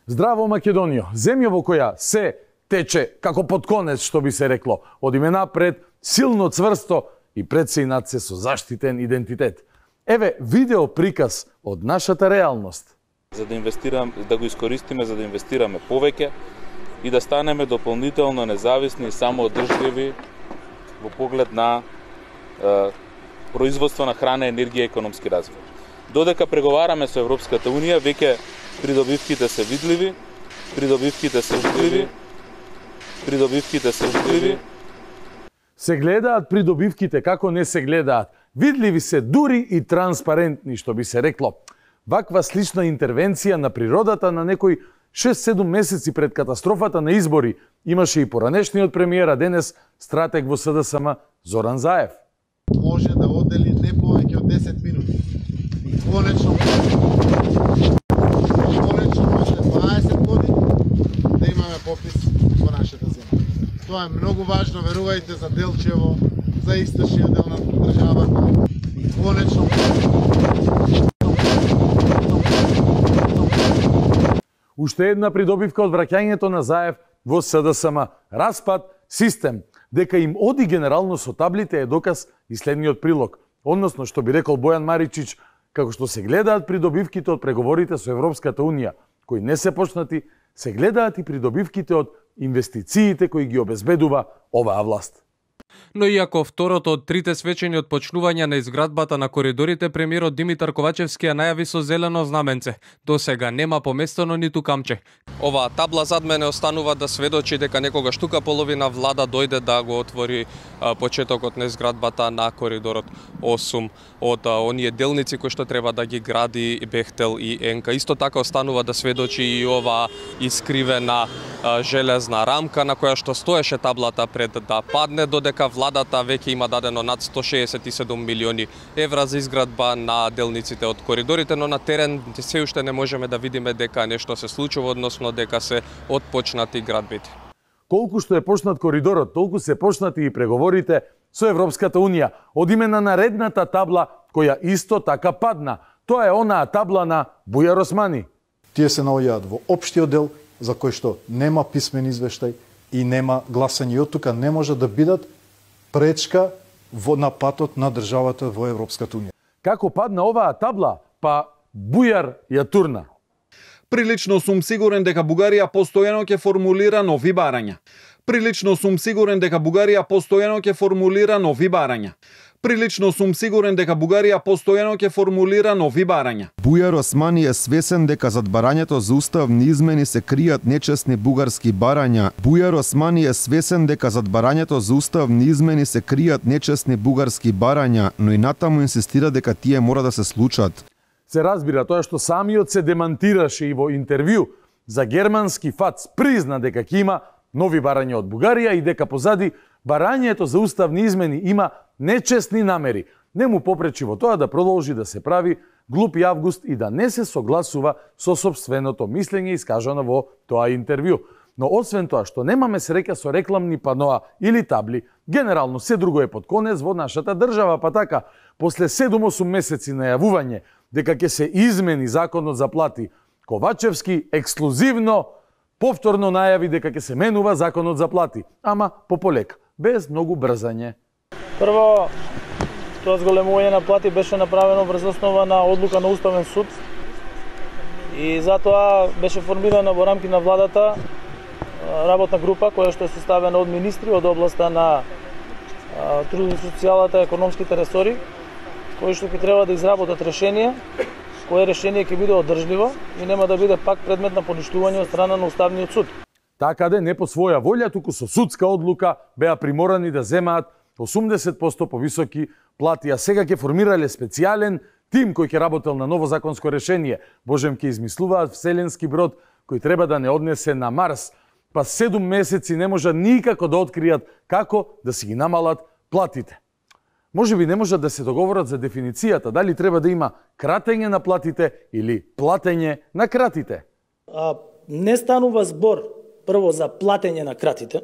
Здраво Македонијо, земја во која се тече како под конец, што би се рекло, од име напред, силно, цврсто и пред се и над се со заштитен идентитет. Еве видео приказ од нашата реалност. За да го искористиме, за да инвестираме повеќе и да станеме дополнително независни и самоодржливи во поглед на производство на храна, енергија и економски развој. Додека преговараме со Европската Унија, веќе придобивките се видливи, Се гледаат придобивките како не се гледаат. Видливи се дури и транспарентни, што би се рекло. Ваква слична интервенција на природата на некој 6-7 месеци пред катастрофата на избори имаше и поранешниот премиер, а денес стратег во СДСМ Зоран Заев. Може да одели не повеќе од 10 минути. Конечно може 20 години да имаме попис во нашата земја. Тоа е многу важно, верувајте, за Делчево, за источниот дел на државата. Конечно. Уште една придобивка од враќањето на Заев во СДСМ. Распад систем. Дека им оди генерално со таблите е доказ и следниот прилог. Односно, што би рекол Бојан Маричич, како што се гледаат придобивките од преговорите со Европската Унија, кои не се почнати, се гледаат и придобивките од инвестициите кои ги обезбедува оваа власт. Но иако второто од трите свечени од почнување на изградбата на коридорите, премиерот Димитар Ковачевски ја најави со зелено знаменце. До сега нема поместено ниту камче. Оваа табла зад мене останува да сведочи дека некогаш тука половина влада дојде да го отвори почетокот на изградбата на коридорот 8 од оние делници кои што треба да ги гради Бехтел и Енка. Исто така останува да сведочи и оваа искривена железна рамка на која што стоеше таблата пред да падне, додека владата веќе има дадено над 167 милиони евра за изградба на делниците од коридорите, но на терен се уште не можеме да видиме дека нешто се случува, односно дека се отпочнати градбите. Колку што е почнат коридорот, толку се почнати и преговорите со Европската Унија од име на наредната табла која исто така падна. Тоа е онаа табла на Бујар Османи. Тие се наоѓаат во општиот дел за кој што нема писмен извештај и нема гласање, и од тука не може да бидат пречка на патот на државата во Европската Унија. Како падна оваа табла, па Бујар ја турна. Прилично сум сигурен дека Бугарија постојано ќе формулира нови барања. Прилично сум сигурен дека Бугарија постојано ќе формулира нови барања. Прилично сум сигурен дека Бугарија постојано ќе формулира нови барања. Бујар Османи е свесен дека зад барањето за уставни измени се кријат нечесни бугарски барања. Бујар Османи е свесен дека зад барањето за уставни измени се кријат нечесни бугарски барања, но и натаму инсистира дека тие мора да се случат. Се разбира тоа што самиот се демантираше и во интервју за германски ФАЦ призна дека ќе има нови барања од Бугарија и дека позади барањето за уставни измени има нечесни намери. Не му попречи во тоа да продолжи да се прави глупи август и да не се согласува со сопственото мислење искажано во тоа интервју. Но освен тоа што немаме среќа со рекламни паноа или табли, генерално се друго е под конец во нашата држава, па така, после 7-8 месеци најавување дека ќе се измени законот за плати, Ковачевски ексклузивно повторно најави дека ќе се менува законот за плати, ама пополека, без многу брзање. Прво, тоа зголемување на плати беше направено врз основа на одлука на Уставен суд и затоа беше формирана во рамки на владата работна група која што е составена од министри од областа на трудот и социјалата, економските ресори, кои што ќе треба да изработат решение, кое решение ќе биде одржливо и нема да биде пак предмет на поништување од страна на Уставниот суд. Такаде не по своја волја, туку со судска одлука беа приморани да земаат 80% повисоки плати, а сега ќе формирале специјален тим кој ќе работел на ново законско решение. Божем ќе измислуваат вселенски брод кој треба да не однесе на Марс, па 7 месеци не можат никако да откријат како да си ги намалат платите. Може би не можат да се договорат за дефиницијата, дали треба да има кратење на платите или платење на кратите. Не станува збор прво за платење на кратите,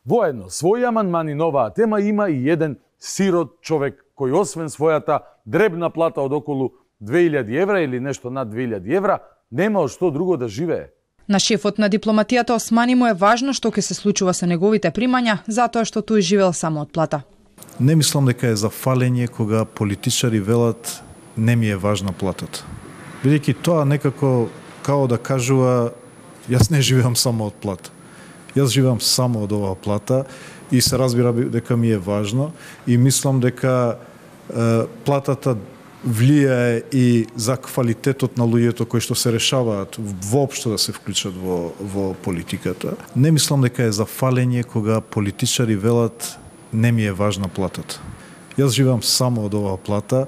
Воедно, своји амандмани на оваа тема има и еден сирот човек кој освен својата дребна плата од околу 2000 евра или нешто над 2000 евра, нема од што друго да живее. На шефот на дипломатијата Османи му е важно што ќе се случува со неговите примања, затоа што тој живел само од плата. Не мислам дека е за фалење кога политичари велат не ми е важна платата. Бидејќи тоа некако као да кажува јас не живеам само од плата. Јас живеам само од оваа плата и се разбира дека ми е важно и мислам дека платата влијае и за квалитетот на луѓето кои што се решаваат воопшто да се вклучат во политиката. Не мислам дека е за фалење кога политичари велат не ми е важна платата. Јас живеам само од оваа плата.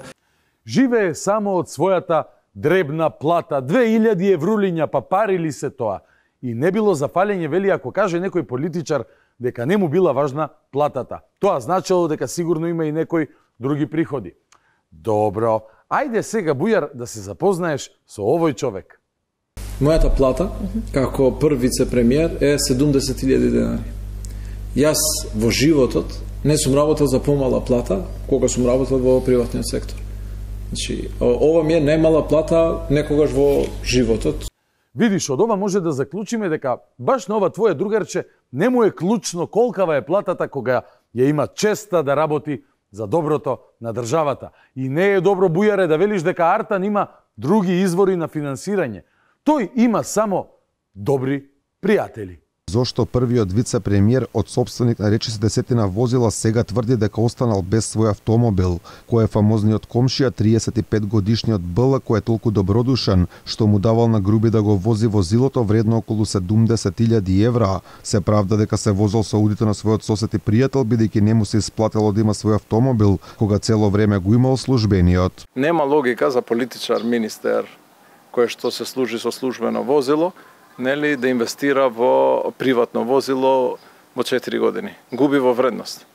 Живее само од својата дребна плата, 2000 еврулиња, па парили се тоа. И не било за фалење, вели, ако каже некој политичар дека не му била важна платата. Тоа значело дека сигурно има и некои други приходи. Добро, ајде сега, Бујар, да се запознаеш со овој човек. Мојата плата, како прв вице-премиер, е 70.000 денари. Јас во животот не сум работел за помала плата, кога сум работел во приватниот сектор. Значи, ова ми е најмала плата некогаш во животот. Видиш, од ова може да заклучиме дека баш на ова твое другарче не му е клучно колкава е платата кога ја има честа да работи за доброто на државата. И не е добро, Бујаре, да велиш дека Артан има други извори на финансирање. Тој има само добри пријатели. Зошто првиот вице-премиер од сопственик на речиси десетина возила сега тврди дека останал без свој автомобил, кој е фамозниот комшија 35-годишниот Бл, кој е толку добродушен, што му давал на груби да го вози возилото вредно околу 70.000 евра. Се правда дека се возел со аудито на својот сосед и пријател, бидејќи не му се исплатело да има свој автомобил, кога цело време го имал службениот. Нема логика за политичар, министер, кој што се служи со службено возило, нели, да инвестира во приватно возило во 4 години. Губи во вредност.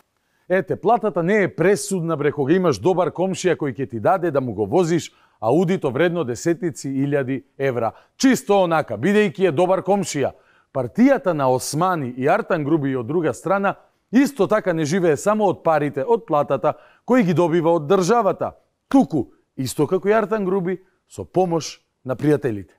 Ете, платата не е пресудна бре кога имаш добар комшија кој ќе ти даде да му го возиш аудито вредно десетици илјади евра. Чисто онака, бидејќи е добар комшија. Партијата на Османи и Артан Груби од друга страна исто така не живее само од парите, од платата кои ги добива од државата. Туку, исто како и Артан Груби, со помош на пријателите.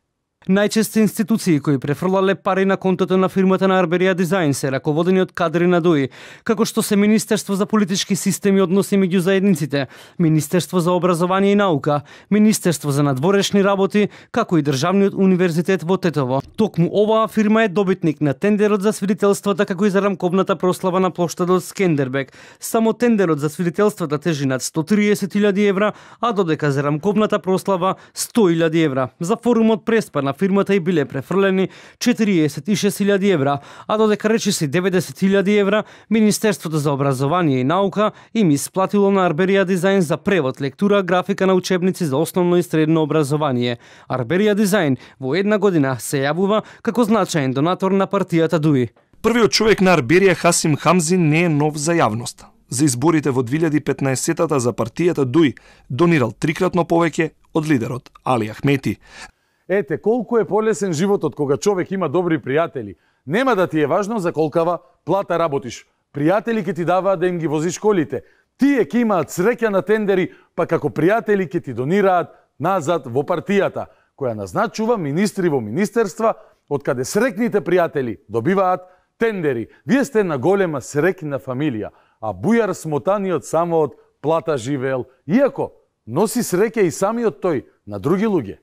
Најчесто институции кои префрлале пари на контото на фирмата на Арберија Дизајн се раководени од кадри на ДУИ, како што се Министерство за политички системи и односи меѓу заедниците, Министерство за образование и наука, Министерство за надворешни работи, како и Државниот универзитет во Тетово. Токму оваа фирма е добитник на тендерот за свидетелствата, како и за рамковната прослава на плоштадот Скендербег. Само тендерот за свидетелствата тежи над 130.000 евра, а додека за рамковната прослава 100.000 евра. За форумот преспа на фирмата и биле префрлени 46.000 евра, а додека речиси 90.000 евра, Министерството за образование и наука им исплатило на Арберија Дизајн за превод, лектура, графика на учебници за основно и средно образование. Арберија Дизајн во една година се јавува како значаен донатор на партијата ДУИ. Првиот човек на Арберија, Хасим Хамзи, не е нов за јавноста. За изборите во 2015-тата за партијата ДУИ донирал трикратно повеќе од лидерот Али Ахмети. Ете, колку е полесен животот кога човек има добри пријатели. Нема да ти е важно за колкава плата работиш. Пријатели ќе ти даваат да им ги возиш колите. Тие ќе имаат среќа на тендери, па како пријатели ќе ти донираат назад во партијата, која назначува министри во министерства, од каде срекните пријатели добиваат тендери. Вие сте на голема срекна фамилија, а Бујар смотаниот само од плата живеел, иако носи среќа и самиот тој на други луѓе.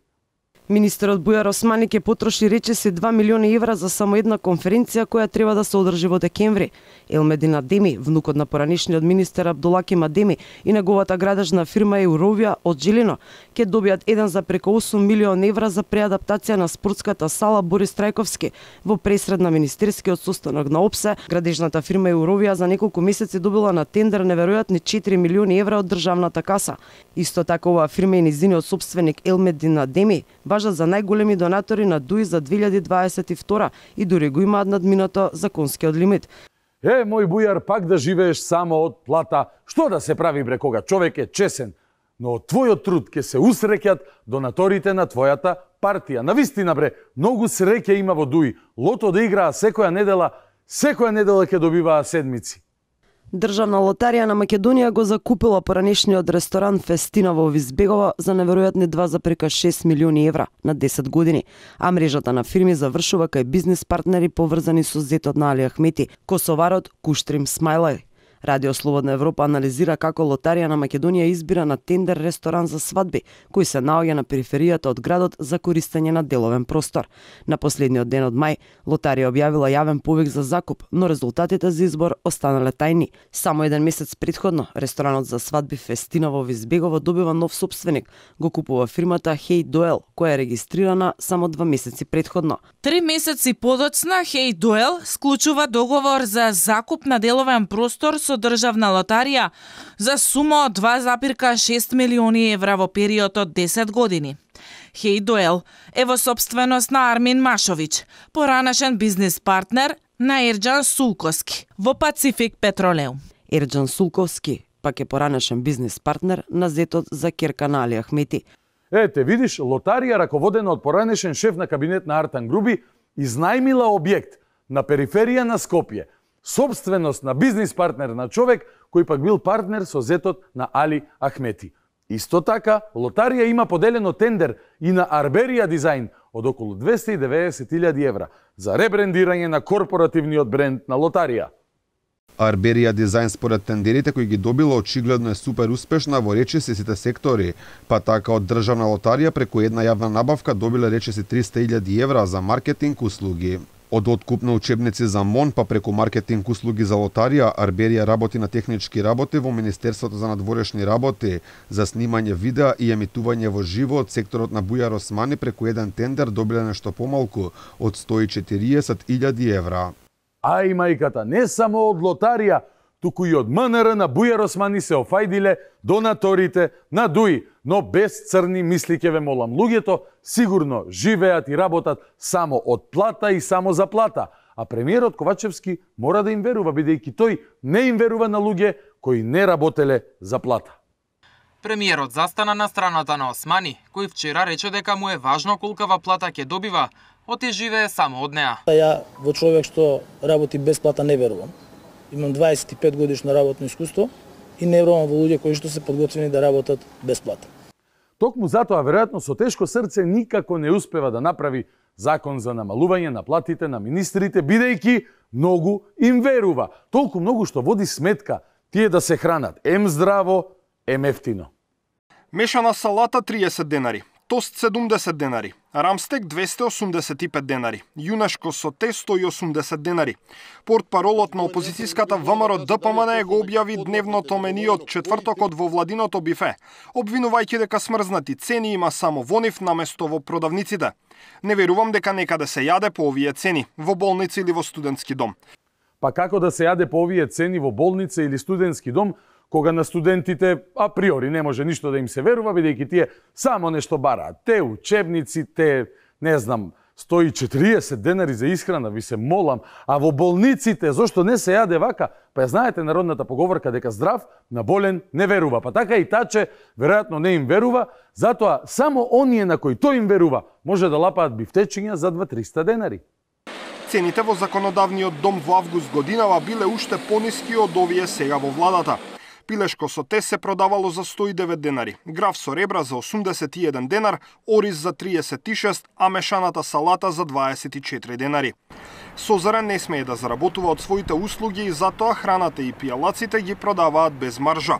Министерот Бујар Османи ќе потроши речиси 2 милиони евра за само една конференција која треба да се одржи во декември. Елмедин Адеми, внукот на поранишниот министер Абдулаким Адеми и неговата градежна фирма Eurovia од Жилино, ќе добијат еден за преку 8 милиони евра за преадаптација на спортската сала Борис Трајковски во пресред на министерскиот состанок на ОПСЕ. Градежната фирма Eurovia за неколку месеци добила на тендер неверојатни 4 милиони евра од државната каса. Исто така оваа фирма и низиниот сопственик Елмедин Адеми важат за најголеми донатори на ДУИ за 2022 и дури го имаат надминато законскиот лимит. Мој Бујар, пак да живееш само од плата. Што да се прави бре кога човек е чесен? Но од твојот труд ќе се усреќат донаторите на твојата партија. Навистина бре, многу среќа има во ДУИ. Лото да играа секоја недела ќе добиваа седмици. Државна лотарија на Македонија го закупила поранешниот ресторан Фестина во Визбегова за неверојатни 2,6 милиони евра на 10 години, а мрежата на фирми завршува кај бизнис партнери поврзани со зетот на Али Ахмети, косоварот Куштрим Смајлај. Радио Слободна Европа анализира како Лотарија на Македонија избира на тендер ресторан за свадби, кој се наоѓа на периферијата од градот за користење на деловен простор. На последниот ден од мај, Лотарија објавила јавен повик за закуп, но резултатите за избор останале тајни. Само еден месец претходно, ресторанот за свадби Фестина во Визбегово добива нов сопственик, го купува фирмата Hey Doel, која е регистрирана само 2 месеци претходно. 3 месеци подоцна Hey Doel склучува договор за закуп на деловен простор со државна лотарија за сума од 2,6 милиони евра во период од 10 години. Hey Doel е во сопственост на Армин Машовиќ, поранешен бизнис партнер на Ерџан Сулковски во Пацифик Петролеум. Ерџан Сулковски пак е поранешен бизнис партнер на зетот за керка на Али Ахмети. Ете, видиш, Лотарија, раководена од поранешен шеф на кабинет на Артан Груби, изнајмила објект на периферија на Скопје, собственост на бизнис партнер на човек кој пак бил партнер со зетот на Али Ахмети. Исто така, Лотарија има поделено тендер и на Арберија Дизајн од околу 290.000 евра за ребрендирање на корпоративниот бренд на Лотарија. Арберија Дизајн според тендерите кои ги добила очигледно е супер успешна во речиси сите сектори, па така од државна лотарија преку една јавна набавка добила речиси 300.000 евра за маркетинг услуги. Од откуп на учебници за МОН па преку маркетинг услуги за лотарија, Арберија работи на технички работи во Министерството за надворешни работи, за снимање видеа и емитување во живо од секторот на Бујар Османи преку еден тендер добила нешто помалку од 140.000 евра. Ај мајката, не само од Лотарија, туку и од МНР на Бујар Османи се офајдиле донаторите на ДУИ, но без црни мисли ќе ве молам. Луѓето сигурно живеат и работат само од плата и само за плата, а премиерот Ковачевски мора да им верува, бидејќи тој не им верува на луѓе кои не работеле за плата. Премиерот застана на страната на Османи, кој вчера рече дека му е важно колкава плата ќе добива, оти живее само од неа. Ја во човек што работи без плата не верувам. Имам 25 годишно работно искуство и не верувам во луѓе кои што се подготвени да работат без плата. Токму затоа, веројатно со тешко срце никако не успева да направи закон за намалување на платите на министрите, бидејќи многу им верува. Толку многу што води сметка тие да се хранат ем здраво, ем ефтино. Мешана салата 30 денари, тост 70 денари, рамстек 285 денари, јунешко соте 180 денари. Портпаролот на опозицијската ВМРО ДПМН го објави дневното мени од четвртокот во владиното бифе, обвинувајќи дека смрзнати цени има само во нив наместо во продавниците. Не верувам дека некаде се јаде по овие цени, во болница или во студентски дом. Па како да се јаде по овие цени во болница или студентски дом, кога на студентите априори не може ништо да им се верува, бидејќи тие само нешто бараат. Те учебници, те, не знам, 140 денари за исхрана, ви се молам, а во болниците, зошто не се јаде вака? Па ја знаете народната поговорка дека здрав на болен не верува. Па така и таче, веројатно не им верува, затоа само оние на кои тој им верува може да лапаат бифтечиња за 2-300 денари. Цените во законодавниот дом во август годинава биле уште пониски од овие сега во владата. Пилешко со те се продавало за 109 денари, граф со ребра за 81 денар, ориз за 36, а мешаната салата за 24 денари. Созарен не смее да заработува од своите услуги и затоа храната и пијалаците ги продаваат без маржа.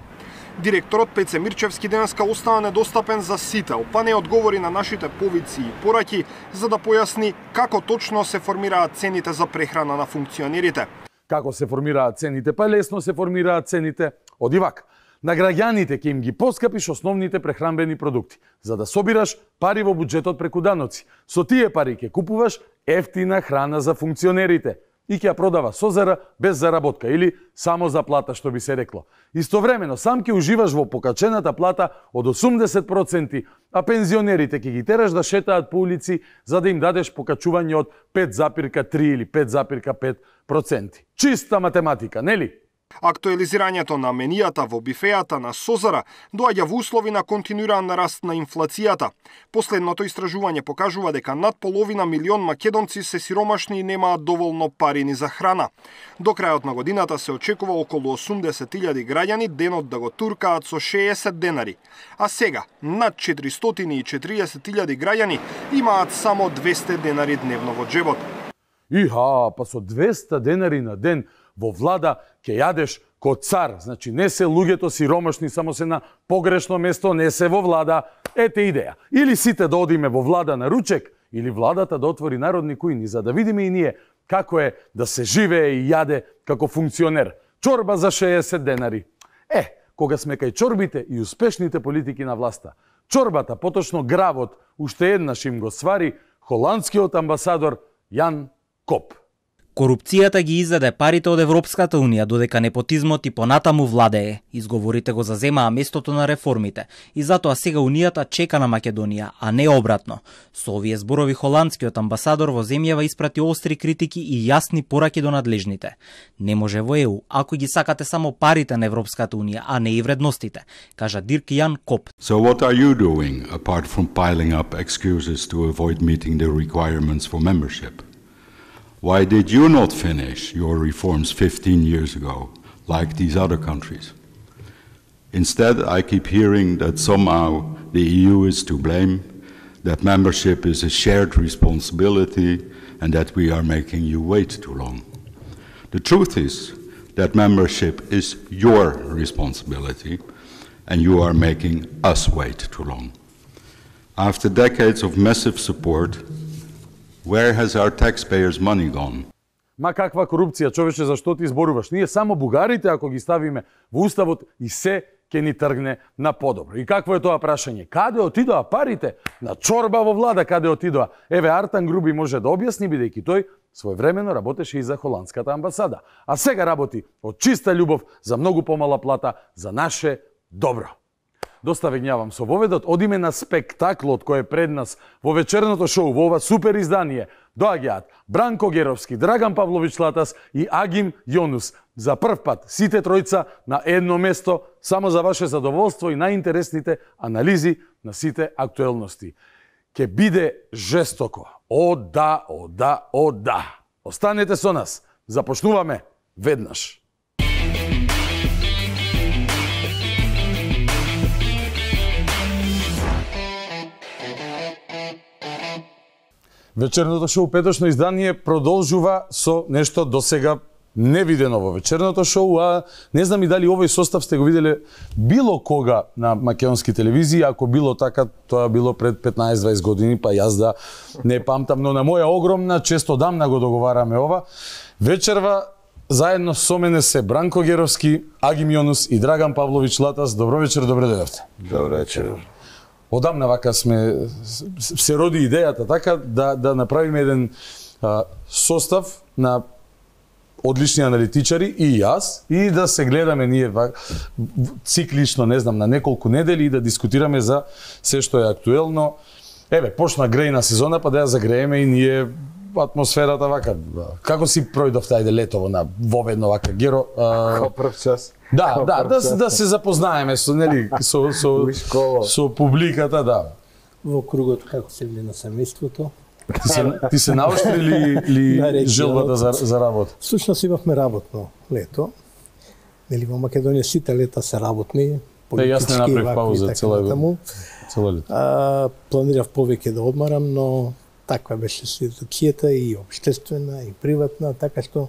Директорот Пеце Мирчевски денеска остана недостапен за сител, па не одговори на нашите повици и пораки за да појасни како точно се формираат цените за прехрана на функционерите. Како се формираат цените? Па лесно се формираат цените. Оди вака. На граѓаните ќе им ги поскапиш основните прехранбени продукти, за да собираш пари во буџетот преку даноци. Со тие пари ќе купуваш ефтина храна за функционерите и ќе ја продава созара без заработка или само за плата, што би се рекло. Истовремено сам ќе уживаш во покачената плата од 80%, а пензионерите ќе ги тераш да шетаат по улици за да им дадеш покачување од 5,3 или 5,5%. Чиста математика, нели? Актуализирањето на менијата во бифејата на Созара доаѓа во услови на континуиран раст на инфлацијата. Последното истражување покажува дека над половина милион македонци се сиромашни и немаат доволно пари ни за храна. До крајот на годината се очекува околу 80.000 граѓани денот да го туркаат со 60 денари, а сега над 440.000 граѓани имаат само 200 денари дневно во джебот. Иха, па со 200 денари на ден во влада ќе јадеш ко цар. Значи не се луѓето сиромашни, само се на погрешно место, не се во влада. Ете идеја. Или сите да одиме во влада на ручек, или владата да отвори народни кујни, за да видиме и ние како е да се живее и јаде како функционер. Чорба за 60 денари. Кога сме кај чорбите и успешните политики на власта, чорбата, поточно гравот, уште еднаш им го свари холандскиот амбасадор Јан Коп. Корупцијата ги изеде парите од Европската Унија, додека непотизмот и понатаму владее. Изговорите го заземаа местото на реформите и затоа сега Унијата чека на Македонија, а не обратно. Со овие зборови холандскиот амбасадор во земјава испрати остри критики и јасни пораки до надлежните. Не може во ЕУ ако ги сакате само парите на Европската Унија, а не и вредностите, кажа Дирк Јан Коп. So what are you doing apart from piling up excuses to avoid meeting the requirements for membership? Why did you not finish your reforms 15 years ago, like these other countries? Instead, I keep hearing that somehow the EU is to blame, that membership is a shared responsibility, and that we are making you wait too long. The truth is that membership is your responsibility, and you are making us wait too long. After decades of massive support, where has our taxpayers' money gone? Ма каква корупција, човече, зашто ти зборуваш? Ние само бугарите, ако ги ставиме во уставот, и се ќе ни тргне на подобро. И какво е тоа прашање? Каде отидоа парите? На чорба во влада каде отидоа? Еве, Артан Груби може да објасни, бидејќи тој своевремено работеше и за холандската амбасада. А сега работи од чиста љубов за многу помала плата за наше добро. Доста ве гнјавам со воведот, одиме на спектаклот кој е пред нас во вечерното шоу, во ова супер издание. Доаѓаат Бранко Геровски, Драган Павлович Латас и Агим Јонус. За прв пат сите тројца на едно место, само за ваше задоволство и најинтересните анализи на сите актуелности. Ке биде жестоко. О да, о да, о да. Останете со нас. Започнуваме веднаш. Вечерното шоу, петочно издание, продолжува со нешто досега невидено во вечерното шоу, а не знам и дали овој состав сте го виделе било кога на македонски телевизии. Ако било така, тоа било пред 15-20 години, па јас да не памтам, но на моја огромна чест одамна го договараме ова. Вечерва заедно со мене се Бранко Геровски, Агим Јонус и Драган Павлович Латас. Добро вечер, добре дојдовте. Добро вечер. Одамна вака се роди идејата така да направиме еден состав на одлични аналитичари и јас, и да се гледаме ние циклично, не знам, на неколку недели и да дискутираме за се што е актуелно. Еве, почна грејна сезона, па да ја загрееме и ние атмосферата вака. Како си пројдовте ајде летово на воведно вака, Геро? Како прв час. Да се запознаеме со нели со публиката, да. Во кругот како се гледа семејството. Ти се наоштри ли желбата за работа? Всушност имавме работно лето. Нели во Македонија сите лета се работни, политички. Јас не направив пауза цело лето. Планирав повеќе да одмарам, но таква беше ситуацијата и општествена и приватна, така што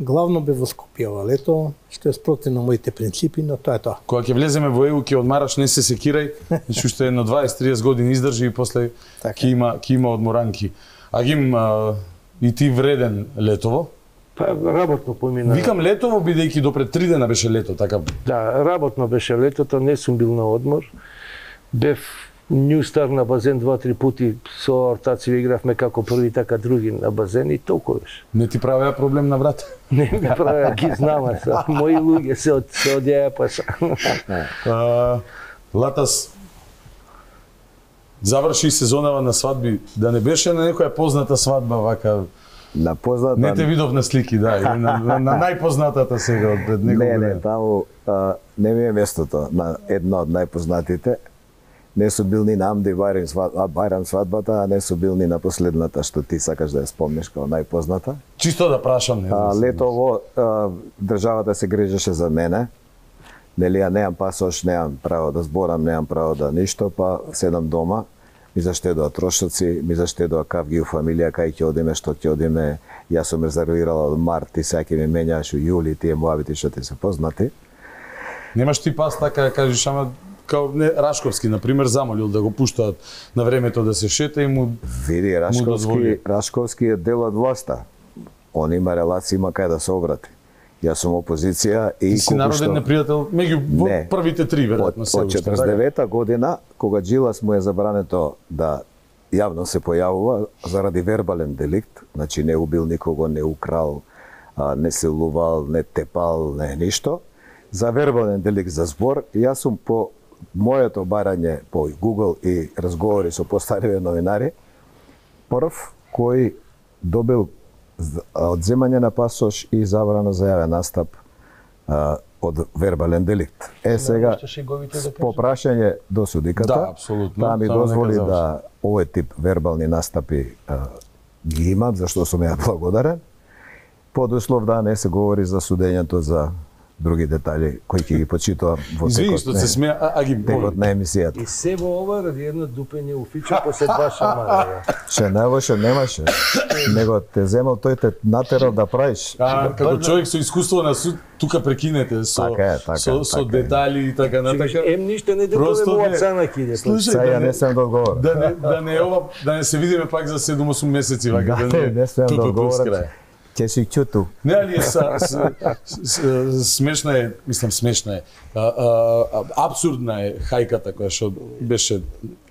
главно бе во Скопје ова лето, што е спротивно моите принципи, но тоа е тоа. Кога ќе влеземе во ЕУ, ќе одмараш, не се секирај, значи уште едно 20-30 години издржи и после ќе има одморанки. Агим, и ти вреден летово? Па работно помина. Викам летово, бидејќи до пред 3 дена беше лето, така? Да, работно беше летото, не сум бил на одмор. Бев New Star на базен 2-3 пути, со ортаци игравме како први, така други на базен и толку беше. Не ти правеа проблем на врата? Не ми правеа, ги знаме са. Мои луѓе се одјаја паса. Латас, заврши сезонава на свадби, да не беше на некоја позната свадба, вака, На позната... Не те видов на слики, да, или на најпознатата сега од пред неколку дена. Не, таму не ми е местото на една од најпознатите. Не су бил ни на Амди Бајрам свадбата, а не су бил ни на последната што ти сакаш да ја спомниш како најпозната. Чисто да прашам, не. Летово државата се грижеше за мене. Нели, ја неам пасош, неам право да зборам, неам право да ништо, па седам дома, ми заштедува трошоци, ми заштедува кавги у фамилија, кај ќе одиме, што ќе одиме. Јас сум резервирала од март, ти сега ќе ми менјаш у јули, тие муабити што ти се познати. Немаш ти пас така да кажеш, ама као не, Рашковски, например, замолил да го пуштаат на времето да се шета и му види, Рашковски е дел од власта. Он има релации, има кај да се обрати. Јас сум опозиција и... Ти си народен непријател меѓу првите три, веројатно се. Од 49-та година, кога Джилас му е забрането да јавно се појавува заради вербален деликт, значи не убил никого, не украл, не силувал, не тепал, не ништо, за вербален деликт за збор, јас сум по моето барање по Google и разговори со постариви новинари, прв кој добил одземање на пасош и забрана за јавен настап од вербален деликт. Сега, по прашање до судиката, таа ми дозволи да овој тип вербални настапи ги имам, зашто сум ја благодарен, под услов да не се говори за судењето за други детали кои ќе ги почитувам во текот на емисијата. И се во ова ради едно дупење у фичо после два шамара. Ше најлоше немаше, него те земал, тој те натерал да правиш. Како човек со искуство на суд, тука прекинете со детали и така натака. Ем ништо не детове во цена киде. Сега не сем да одговорам. Да не се видиме пак за 7-8 месеци, вака не сем да одговорам. Ќе си чуту. Не, али смешна е, мислам смешна е, апсурдна е хајката која што беше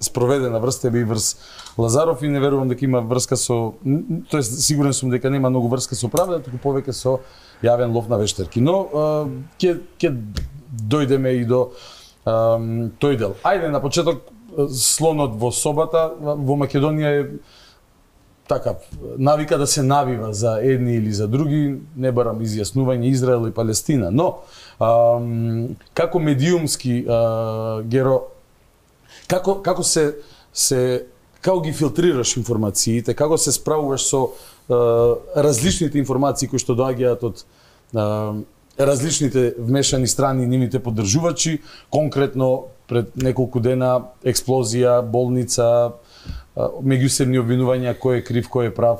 спроведена врз тебе и врз Лазаров и не верувам дека има врска со, тоест сигурен сум дека нема многу врска со правда, туку повеќе со јавен лов на вештерки. Но ќе дојдеме и до тој дел. Ајде на почеток, слонот во собата во Македонија е така, навика да се навива за едни или за други, не барам изјаснување Израел и Палестина, но како медиумски геро, како ги филтрираш информациите, како се справуваш со различните информации кои што доаѓаат од различните вмешани страни и нивните поддржувачи, конкретно пред неколку дена експлозија, болница, меѓусебни обвинувања кој е крив, кој е прав?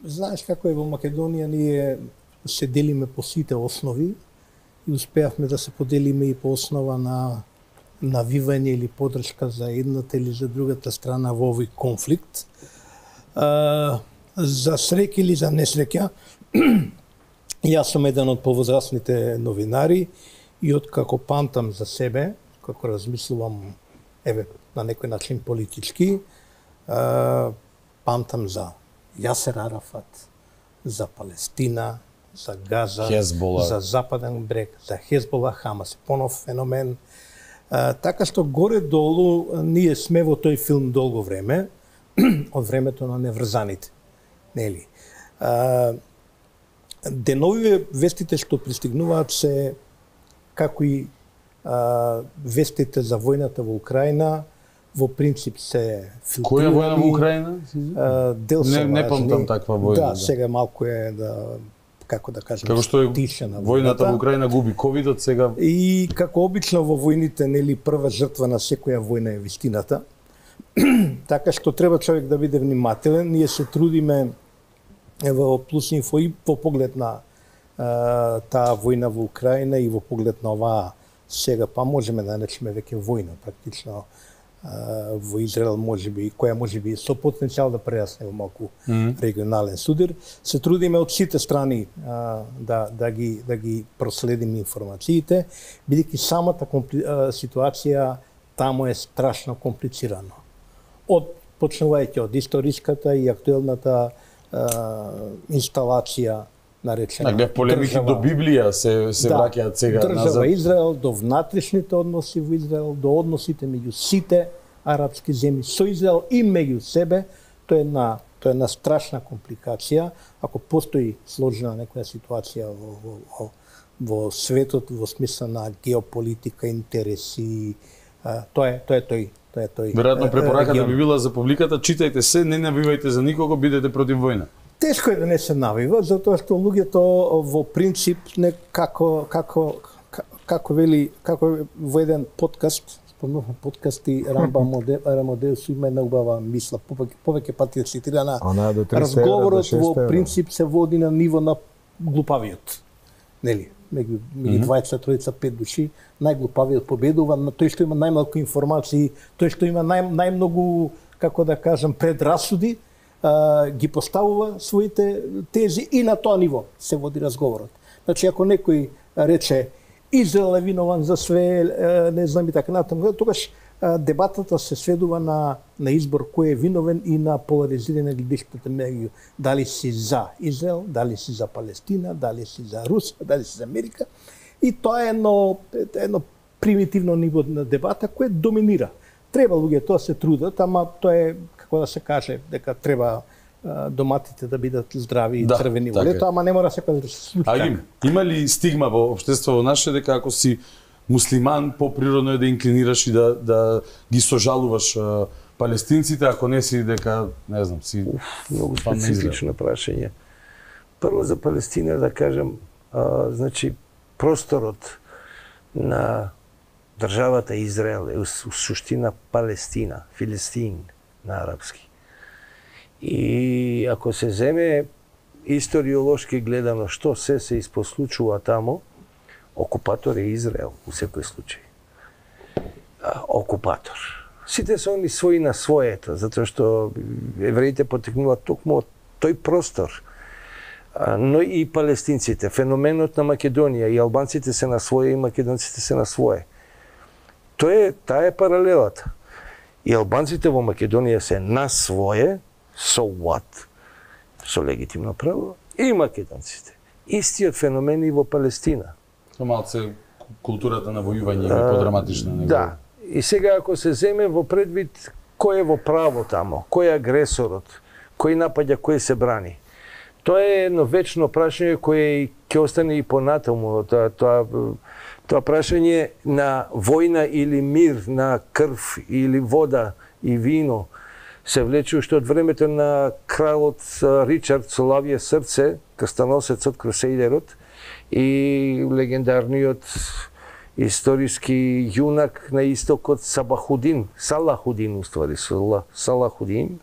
Знаеш како е во Македонија, ние се делиме по сите основи и успеавме да се поделиме и по основа на навивање или поддршка за едната или за другата страна во овој конфликт. За среќа или за несреќа, јас сум еден од повозрастните новинари и откако памтам за себе, како размислувам на некој начин политички, памтам за Јасер Арафат, за Палестина, за Газа, Хезбола, за Западен брег, за Хезбола, Хамас, понов феномен. Така што горе-долу ние сме во тој филм долго време, од времето на неврзаните. Нели? Деновиве вестите што пристигнуваат се како и вестите за војната во Украина, во принцип се филтрирани. Која војна во Украина? Не памтам таква војна. Да, сега малку е како да кажем, како што е тишена војната во Украина губи ковидот сега. И како обично во војните, нели, прва жртва на секоја војна е вистината. Така што треба човек да биде внимателен. Ние се трудиме во Плюс Инфо и во поглед на таа војна во Украина и во поглед на оваа сега, па можеме да наречеме веќе војна, практично во Израел можеби, која можеби со потенцијал да прерасне во малку регионален судир. Се трудиме од сите страни да ги проследиме информациите, бидејќи самата ситуација таму е страшно комплицирано. Почнувајќи од историската и актуелната инсталација наречена полемики до Библија се враќаат сега назад. Држава Израел, до внатрешните односи во Израел, до односите меѓу сите арапски земји со Израел и меѓу себе, тоа е една Тоа е една страшна компликација. Ако постои сложна некоја ситуација во светот, во смисла на геополитика, интереси, тоа е тој. Веројатно препораката би била за публиката, читајте се, не навивајте за никого, бидете против војна. Тешко е да не се навива, затоа што луѓето во принцип не како во еден подкаст, спомнувам подкасти Рамодеус има една убава мисла, повеќе пати цитирана. Разговорот во принцип се води на ниво на глупавиот. Нели? Меѓу двајца, тројца, 5 души, најглупавиот победува, на тој што има најмалку информации, тој што има најмногу, како да кажам, предрасуди, ги поставува своите тези и на тоа ниво се води разговорот. Значи, ако некој рече Израел е винован за све, не знам и така натаму, тогаш дебатата се сведува на избор кој е виновен и на поларизирање гледишката меѓу дали си за Израел, дали си за Палестина, дали си за Русија, дали си за Америка. И тоа е едно примитивно ниво на дебата кој доминира. Треба луѓето да се трудат, ама тоа е, како да се каже, дека треба доматите да бидат здрави и црвени во лето, ама не мора секој да се случи така. Има ли стигма во општеството наше дека ако си муслиман, поприродно е да инклинираш и да ги сожалуваш палестинците, ако не си дека, не знам, си... Многу специфично прашање. Прво за Палестина да кажам, значи, просторот на државата Израел е у суштина Палестина, Филистин на арапски. И ако се земе историолошки гледано што се испослучува тамо, окупатор е Израел у секој случај. Окупатор. Сите се они своји на своето, затоа што евреите потекнуваат токму од тој простор. Но и палестинците. Феноменот на Македонија, и албанците се на своje, и македонците се на своje. Таа е паралелата. И албанците во Македонија се на своje, so what? Со легитимно право, и македонците. Истиот феномен и во Палестина. Малце културата на војување е подраматична. Да. И сега ако се земе во предвид кој е во право тамо, кој е агресорот, кој напаѓа, кој се брани. Тоа е едно вечно прашање кое ќе остане и понатаму. Тоа прашање на војна или мир, на крв или вода и вино се влече уште од времето на кралот Ричард со лавје срце, крстоносецот, крусейдерот, и легендарниот историски јунак на истокот Салахудин уствари, Салахудин,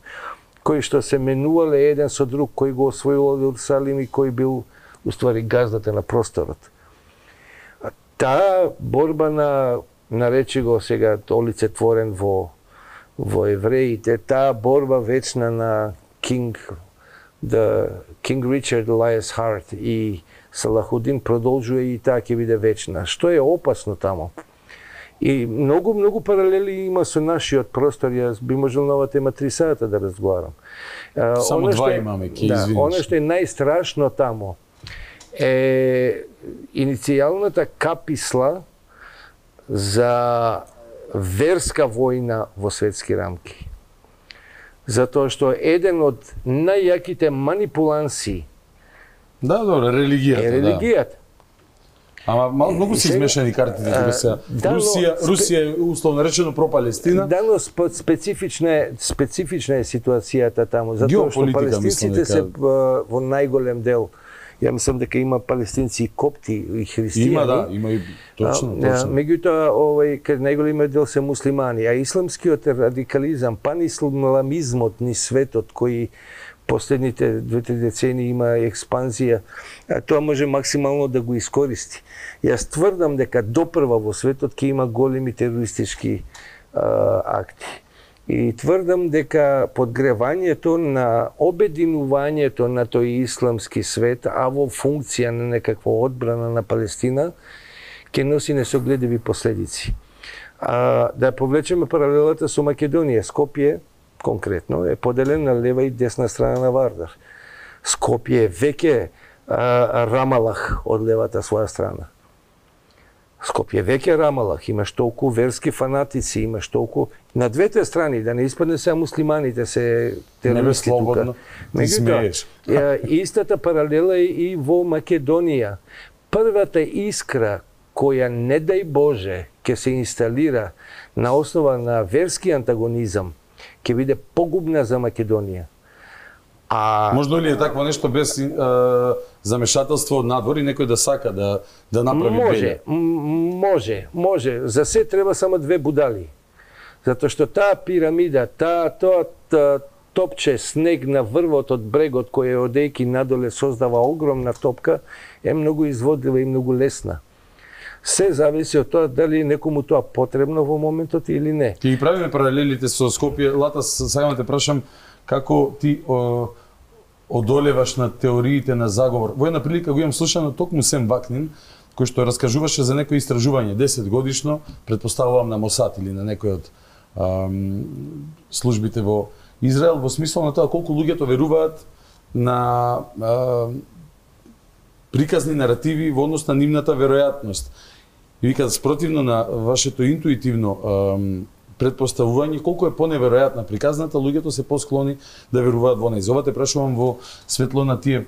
кој што се менувале еден со друг, кој го освоил Иерусалим и кој бил уствари газдата на просторот. Таа борба наречи го сега олицетворен во евреите, таа борба вечна на King Richard Elias Hart и Салахудин продолжува и таа ќе биде вечна. Што е опасно тамо? И многу паралели има со нашиот простор. Јас би можел на оваа тема 3 сата да разговарам. Само два имаме, ќе извиниш. Оно што е најстрашно тамо е иницијалната каписла за верска војна во светски рамки. Затоа што еден од најјаките манипуланси религијата. Ама многу се измешани картите тука сега. Русија е условно речено пропалестина. Но специфична е ситуацијата таму, затоа што палестинците се во најголем дел. Ја мислам дека има палестинци и копти и христијани. Има и точно. Меѓутоа, кај најголемиот дел се муслимани, а исламскиот радикализам, панисламизмот ни светот кој последните 2-3 децени има експанзија, тоа може максимално да го искористи. Јас тврдам дека допрва во светот ќе има големи терористички акти. И тврдам дека подгревањето на обединувањето на тој исламски свет, а во функција на некаква одбрана на Палестина, ќе носи несогледиви последици. Да повлечеме паралелата со Македонија, Скопје конкретно е поделен на лева и десна страна на Вардар. Скопје е веќе Рамалах од левата своја страна. Скопје веќе Рамалах, имаш толку верски фанатици, имаш толку на двете страни, да не испадне се муслиманите се терористи тука. Меѓутоа, истата паралела е и во Македонија. Првата искра која, не дај Боже, ќе се инсталира на основа на верски антагонизам, ќе биде погубна за Македонија. Можно ли е такво нешто без замешателство од надвор и некој да сака да направи беле? Може. За се треба само две будали. Затоа што таа пирамида, тоа топче снег на врвот од брегот кој е одејки надоле создава огромна топка, е многу изводлива и многу лесна. Се зависи од тоа дали некому тоа потребно во моментот или не. Ќе ги правиме паралелите со Скопје. Лата, сега те прашам, како ти одолеваш на теориите на заговор? Во една прилика го имам слушано токму Сем Вакнин, кој што раскажуваше за некој истражување 10 годишно, предпоставувам на Мосад или на некој од службите во Израел, во смисла на тоа колку луѓето веруваат на приказни наративи во однос на нивната веројатност. И вика, спротивно на вашето интуитивно предпоставување, колку е поневеројатна приказната, луѓето се посклони да веруваат во неја. Ова те прашувам во светло на тие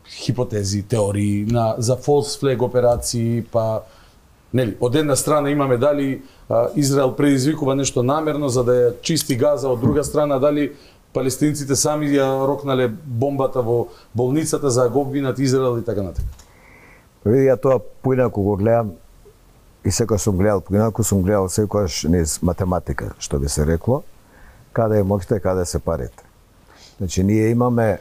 хипотези, теории за false flag операции, па нели, од една страна имаме дали Израел предизвикува нешто намерно за да ја чисти Газа, од друга страна дали палестинците сами ја рокнале бомбата во болницата за да го обвинат Израел и така натаму. Види, ја тоа поинаку го гледам и секој сум гледал, поинаку сум гледал секојаш низ математика, што би се рекло, каде е моќта, каде се парите. Значи, ние имаме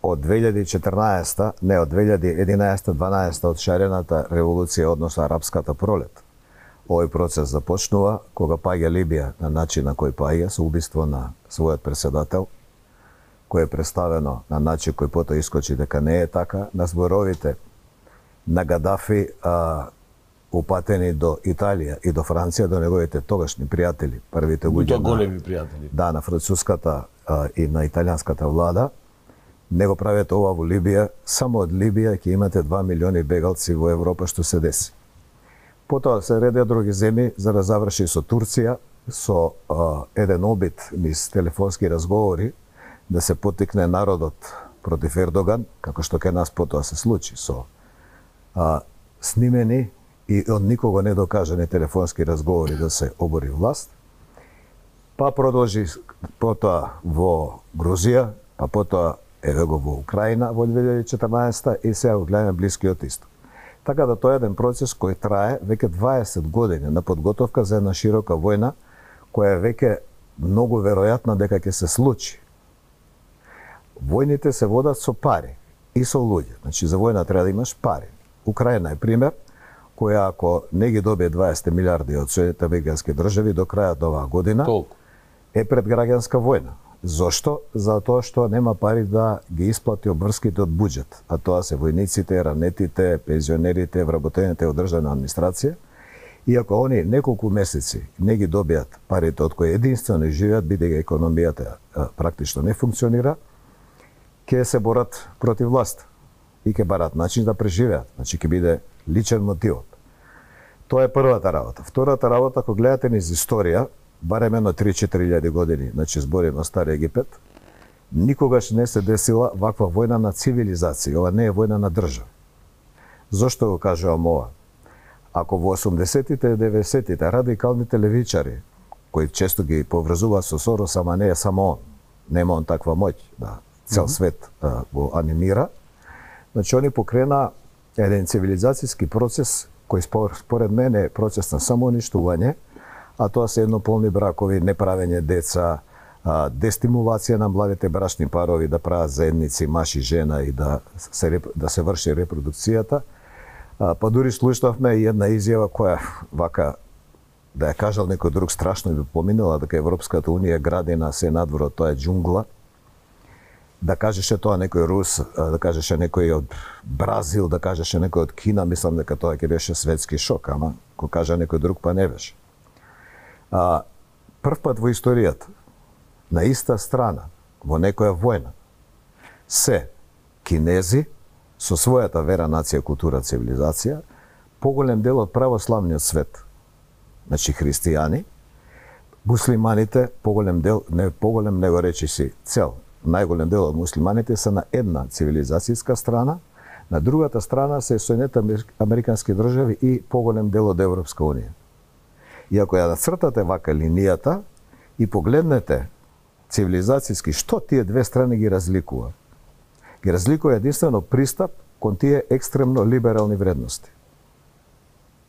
од 2014, не од 2011-12 од шарената револуција, односно арапската пролет. Овој процес започнува кога паѓа Либија на начин на кој паѓа, со убиство на својот председател, кој е представено на начин кој потоа искочи дека не е така, на зборовите на Гадафи упатени до Италија и до Франција, до неговите тогашни пријатели, првите луѓе големи пријатели. Да, на француската и на италијанската влада, не го правете ова во Либија, само од Либија ќе имате 2 милиони бегалци во Европа, што се деси. Потоа се редеа други земји за да заврши со Турција, со еден обид низ телефонски разговори да се поттикне народот против Ердоган, како што ке нас потоа се случи со снимени и од никого не докажани телефонски разговори да се обори власт. Па продолжи потоа во Грузија, па потоа еве го во Украина во 2014 и сега го гледаме Блискиот Исток. Така да тоа е еден процес кој трае веќе 20 години на подготовка за една широка војна која е веќе многу веројатна дека ќе се случи. Војните се водат со пари и со луѓе. Значи за војна треба да имаш пари. Украина е пример која ако не ги добие 20 милиарди од Соединетите американски држави до крајот на оваа година, е пред граѓанска војна. Зошто? Затоа што нема пари да ги исплати обврските од буџет, а тоа се војниците, ранетите, пензионерите, вработените од државна администрација. И ако они неколку месеци не ги добијат парите од кои единствено живеат, бидејќи економијата практично не функционира, ќе се борат против власт и ќе барат начин да преживеат. Значи ќе биде личен мотивот. Тоа е првата работа. Втората работа, ако гледате низ историја, барем едно 3-4 години, значи зборим о Стар Египет, никогаш не се десила ваква војна на цивилизација. Ова не е војна на држава. Зошто го кажувам ова? Ако во 80-тите и 90-тите радикалните левичари, кои често ги поврзуваат со Сорос, ама не е само он, нема он таква моќ да цел свет го анимира, значи они покрена еден цивилизацијски процес кој според мене е процес на самоуништување, а тоа се еднополни бракови, неправење деца, дестимулација на младите брачни парови да прават заедници маж и жена и да се врши репродукцијата. Па дури слушнавме и една изјава која вака да ја кажал некој друг страшно би поминала дека Европската унија гради на се надвор од тоа џунгла. Да кажеше тоа некој Рус, да кажеше некој од Бразил, да кажеше некој од Кина, мислам дека тоа ќе беше светски шок, ама ко кажа некој друг па не беше. Прв пат во историјата на иста страна во некоја војна се кинези со својата вера, нација, култура, цивилизација поголем дел од православниот свет, значи христијани, муслиманите, поголем дел, не поголем, него речи си цел, најголем дел од муслиманите се на една цивилизацијска страна, на другата страна се Соединетите Американски држави и поголем дел од Европска унија. И ако ја нацртате вака линијата и погледнете цивилизацијски што тие две страни ги разликува, ги разликува единствено пристап кон тие екстремно либерални вредности.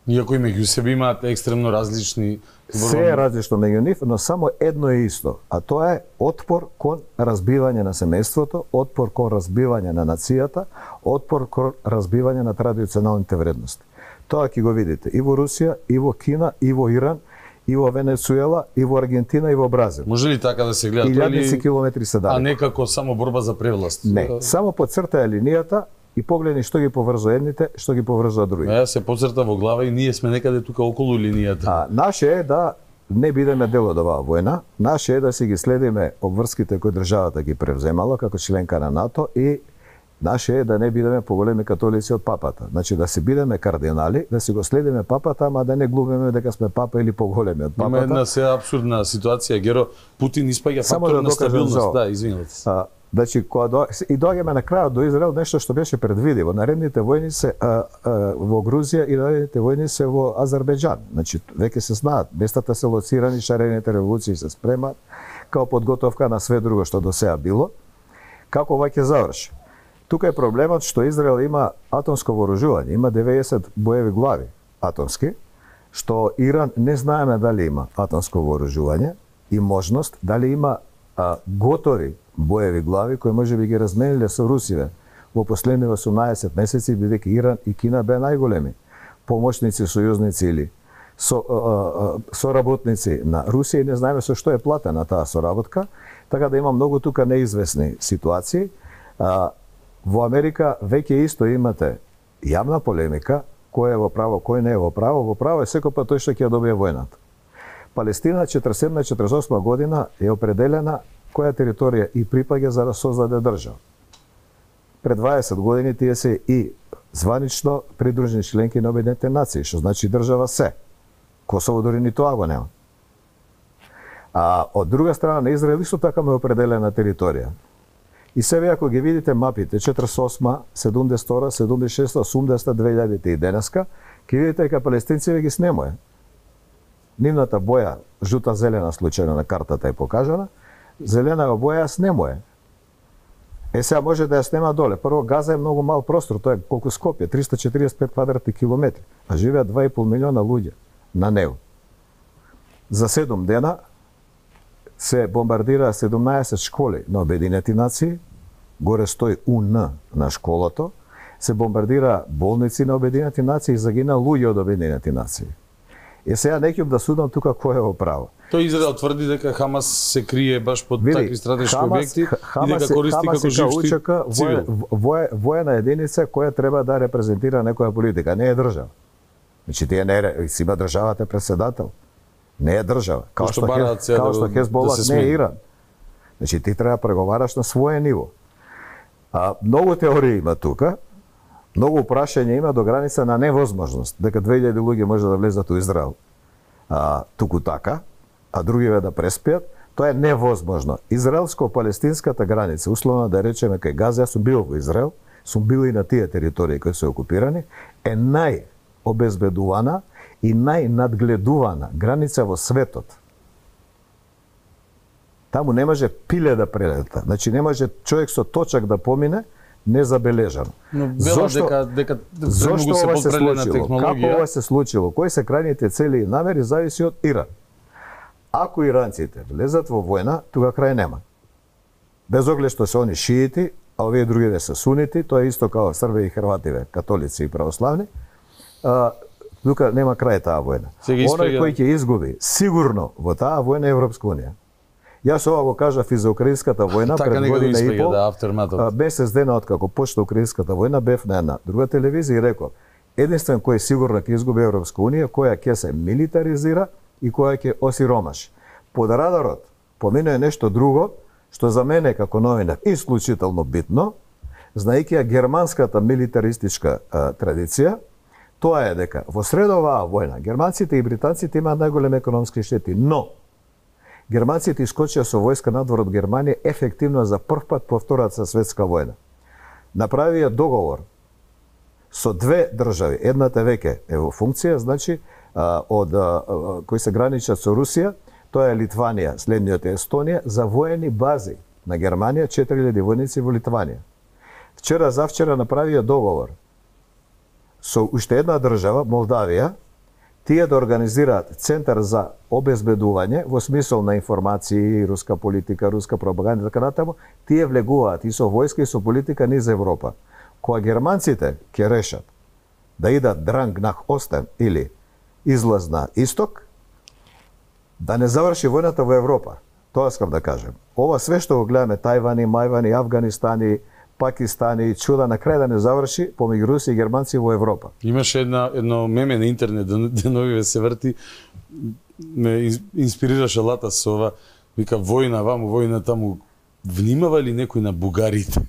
Иако и меѓу себе имаат екстремно различни... Се е различно меѓу нив, но само едно е исто, а тоа е отпор кон разбивање на семејството, отпор кон разбивање на нацијата, отпор кон разбивање на традиционалните вредности. Тоа ќе го видите и во Русија, и во Кина, и во Иран, и во Венецуела, и во Аргентина, и во Бразил. Може ли така да се гледа? Илјадници километри се далеко. А не како само борба за превласт? Не, само подцртаја линијата и погледни што ги поврзува едните, што ги поврзува другите. Ја се подцрта во глава и ние сме некаде тука околу линијата. Наше е да не бидеме дел од оваа војна, наше е да си ги следиме обврските кои државата ги превземала како членка на НАТО и наше е да не бидеме поголеми католици од папата. Значи да си бидеме кардинали, да си го следиме папата, ама да не глумиме дека сме папа или поголеми од папата. Има една се абсурдна ситуација, Геро, Путин испаѓа фактор на стабилност. Да, извинете се. Значи, и доаѓаме на крајот до Израел, нешто што беше предвидиво. Наредните војни се во Грузија и наредните војни се во Азербејџан. Значи, веќе се знаат, местата се лоцирани, шарените револуции се спремаат, као подготовка на све друго што до сега било. Како ова ќе заврши? Тука е проблемот што Израел има атомско вооружување, има 90 боеви глави атомски, што Иран не знаеме дали има атомско вооружување и можност, дали има готови боеви глави кои може би ги размениле со Русија во последни 18 месеци, бидејќи Иран и Кина беа најголеми помошници, сојузници или соработници на Русија и не знаеме со што е платена таа соработка, така да има многу тука неизвестни ситуации. Во Америка веќе исто имате јавна полемика, кој е во право, кој не е во право. Во право е секој пат тој што ќе ја добие војната. Палестина 47-48 година е определена која територија и припаѓа за да создаде држава. Пред 20 години тие се и званично придружени членки на Обединетите нации, што значи држава се. Косово дори ни тоа го нема. А од друга страна на Израел исто така му е определена територија. И себе ако ги видите мапите 48, 72, 76, 80, 2000 и денеска, ќе видите дека палестинците ги снемоја. Нивната боја, жута-зелена случајно на картата е покажана, зелена боја снемоја. Сега може да ја снема доле. Прво, Газа е многу мал простор, тоа е колку Скопје, 345 квадратни километри, а живеат 2,5 милиона луѓе на него. За 7 дена се бомбардира 17 школи на Обединети нации, горе стои УН на школото, се бомбардира болници на Обединети нации и загина луѓе од Обединети нации. Сега не ќе да судам тука кој е во право. Тој Израел тврди дека Хамас се крие баш под такви стратешки објекти и дека користи како жившти цивил. Воена единица која треба да репрезентира некоја политика, не е држава. Значи тие не е, си има државата председател. Не е држава. Као што Хезбола не е Иран. Значи ти треба преговараш на своје ниво. Многу теории има тука. Многу прашања има до граница на невозможност дека 2000 луѓе може да влезат у Израел туку така, а другиве да преспијат. Тоа е невозможно. Израелско-палестинската граница, условно да речеме кај Газа, јас сум бил во Израел, сум бил и на тие територии кои се окупирани, е најобезбедувана и најнадгледувана граница во светот. Таму не може пиле да прелета. Значи не може човек со точак да помине незабележано. Но дека зошто се ова се подпрелена случило? технологија? Како ова се случило? Кои се крајните цели и намери зависи од Иран. Ако иранците влезат во војна, тука крај нема. Без оглед што се они шиити, а овие другиве се сунити, тоа е исто као Срби и Хрвативе, католици и православни, тука нема крај таа војна. Оној кој ќе изгуби сигурно во таа војна е Европска унија. Јас ова го кажав и за украинската војна пред година и пол. Месец дена откако почна украинската војна, бев на една друга телевизија и реков: единствен кој сигурно ќе изгуби Европска унија, која ќе се милитаризира и која ќе осиромаши. Под радарот помине нешто друго, што за мене како новинар исклучително битно, знаејќи ја германската милитаристичка традиција, тоа е дека во сред оваа војна германците и британците имаат најголеми економски штети, но германците искочија со војска надвор од Германија ефективно за прв пат по Втората светска војна. Направија договор со две држави, едната веќе е во функција, значи од кои се граничат со Русија, тоа е Литванија, следниот е Естонија, за воени бази на Германија, 4000 војници во Литванија. Вчера завчера направија договор со уште една држава, Молдавија, тие да организираат центар за обезбедување во смисол на информации, руска политика, руска пропаганда и така натаму, тие влегуваат и со војска и со политика низ Европа. Кога германците ќе решат да идат дранг нах Остен или излаз на исток, да не заврши војната во Европа. Тоа искам да кажем. Ова све што го гледаме, Тајвани, Мајвани, Афганистани, Пакистани, чуда на крај да не заврши помеѓу руси и германци во Европа. Имаше едно меме на интернет, деновиве се врти, ме инспирираше Лата со ова, вика војна ваму, војна таму, внимава ли некој на бугарите?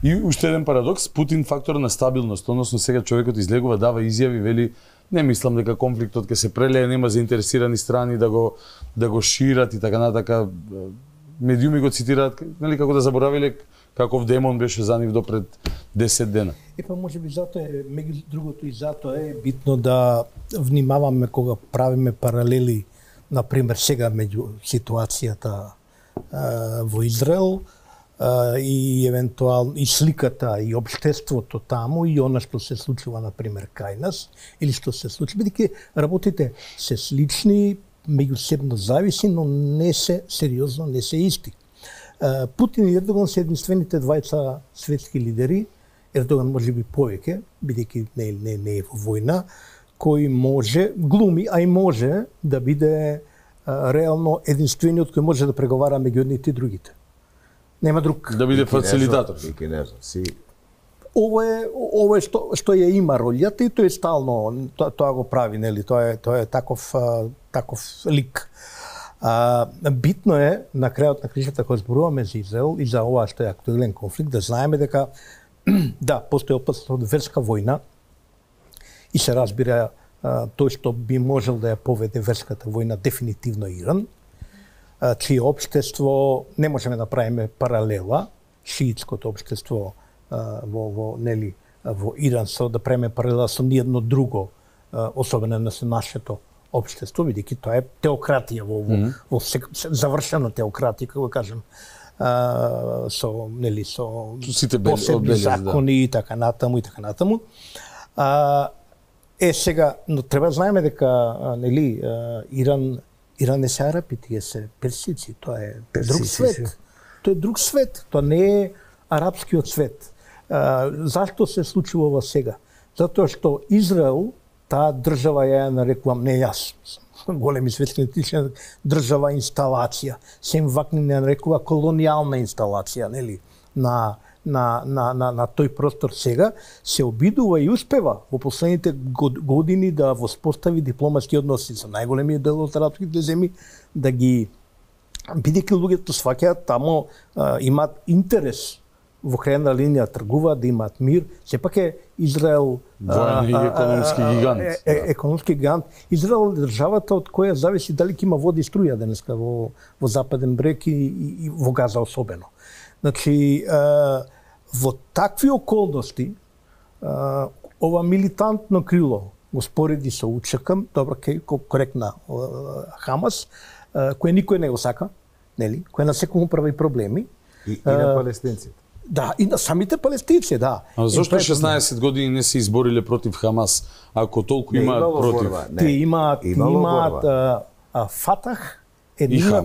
И уште еден парадокс, Путин фактор на стабилност, односно сега човекот излегува, дава изјави, вели не мислам дека конфликтот ќе се прелее, нема заинтересирани страни да го шират и така натака. Медиуми го цитираат, нели, како да заборавиле каков демон беше за нив до пред 10 дена. Епа можеби затоа е, меѓу другото и затоа е битно да внимаваме кога правиме паралели, например сега меѓу ситуацијата во Израел и евентуално и сликата и општеството таму и она што се случува например кај нас или што се случи, бидејќи работите се слични, меѓусебно зависи, но не се сериозно, не се исти. Путин и Ердоган се единствените двајца светски лидери, Ердоган можеби повеќе, бидејќи не е во војна, кој може, глуми, а и може да биде реално единствениот кој може да преговара меѓу едните и другите. Нема друг. Да биде фацилитатор. Ова е што ја има ролјата и тој стално тоа го прави, нели, тоа е таков лик. Битно е на крајот на кришата кога зборуваме за Израел и за ова што е актуелен конфликт, да знаеме дека да, постои опасност од верска војна и се разбира тој што би можел да ја поведе верската војна дефинитивно Иран, чие општество не можеме да направиме паралела, шиитското општество во Иран со да правиме паралела со ниедно друго, особено на нашето општество, бидејќи тоа е теократија во завршена теократија, како кажем, со сите посебни закони и така натаму и така натаму. Сега, но треба знаеме дека Иран не се арапи, тие се персици, тоа е друг свет. Тоа е друг свет, тоа не е арапскиот свет. Зашто се случува ова сега? Затоа што Израел, таа држава ја нарекувам, не јас, големи светски држава инсталација, сем вак не нарекува колонијална инсталација, нели, на тој простор сега, се обидува и успева во последните години да воспостави дипломатски односи со најголемиот дел од арапските земји, да ги, бидејќи луѓето сваќаат тамо, имаат интерес во крајна линија тргуваат, да имаат мир. Сепак е Израел економски гигант. Економски гигант. Израел е државата од која зависи дали ќе има вода и струја денеска во Западен брег и во Газа особено. Значи, во такви околности, ова милитантно крило го спореди со УЧК, добро, коректна, Хамас, кој никој не го сака, нели, кој на секому прави проблеми. И на палестинците. Да, и на самите палестинци, да. А зошто 16 години не се избориле против Хамас, ако толку имаат против? Тие имаат Фатах, едината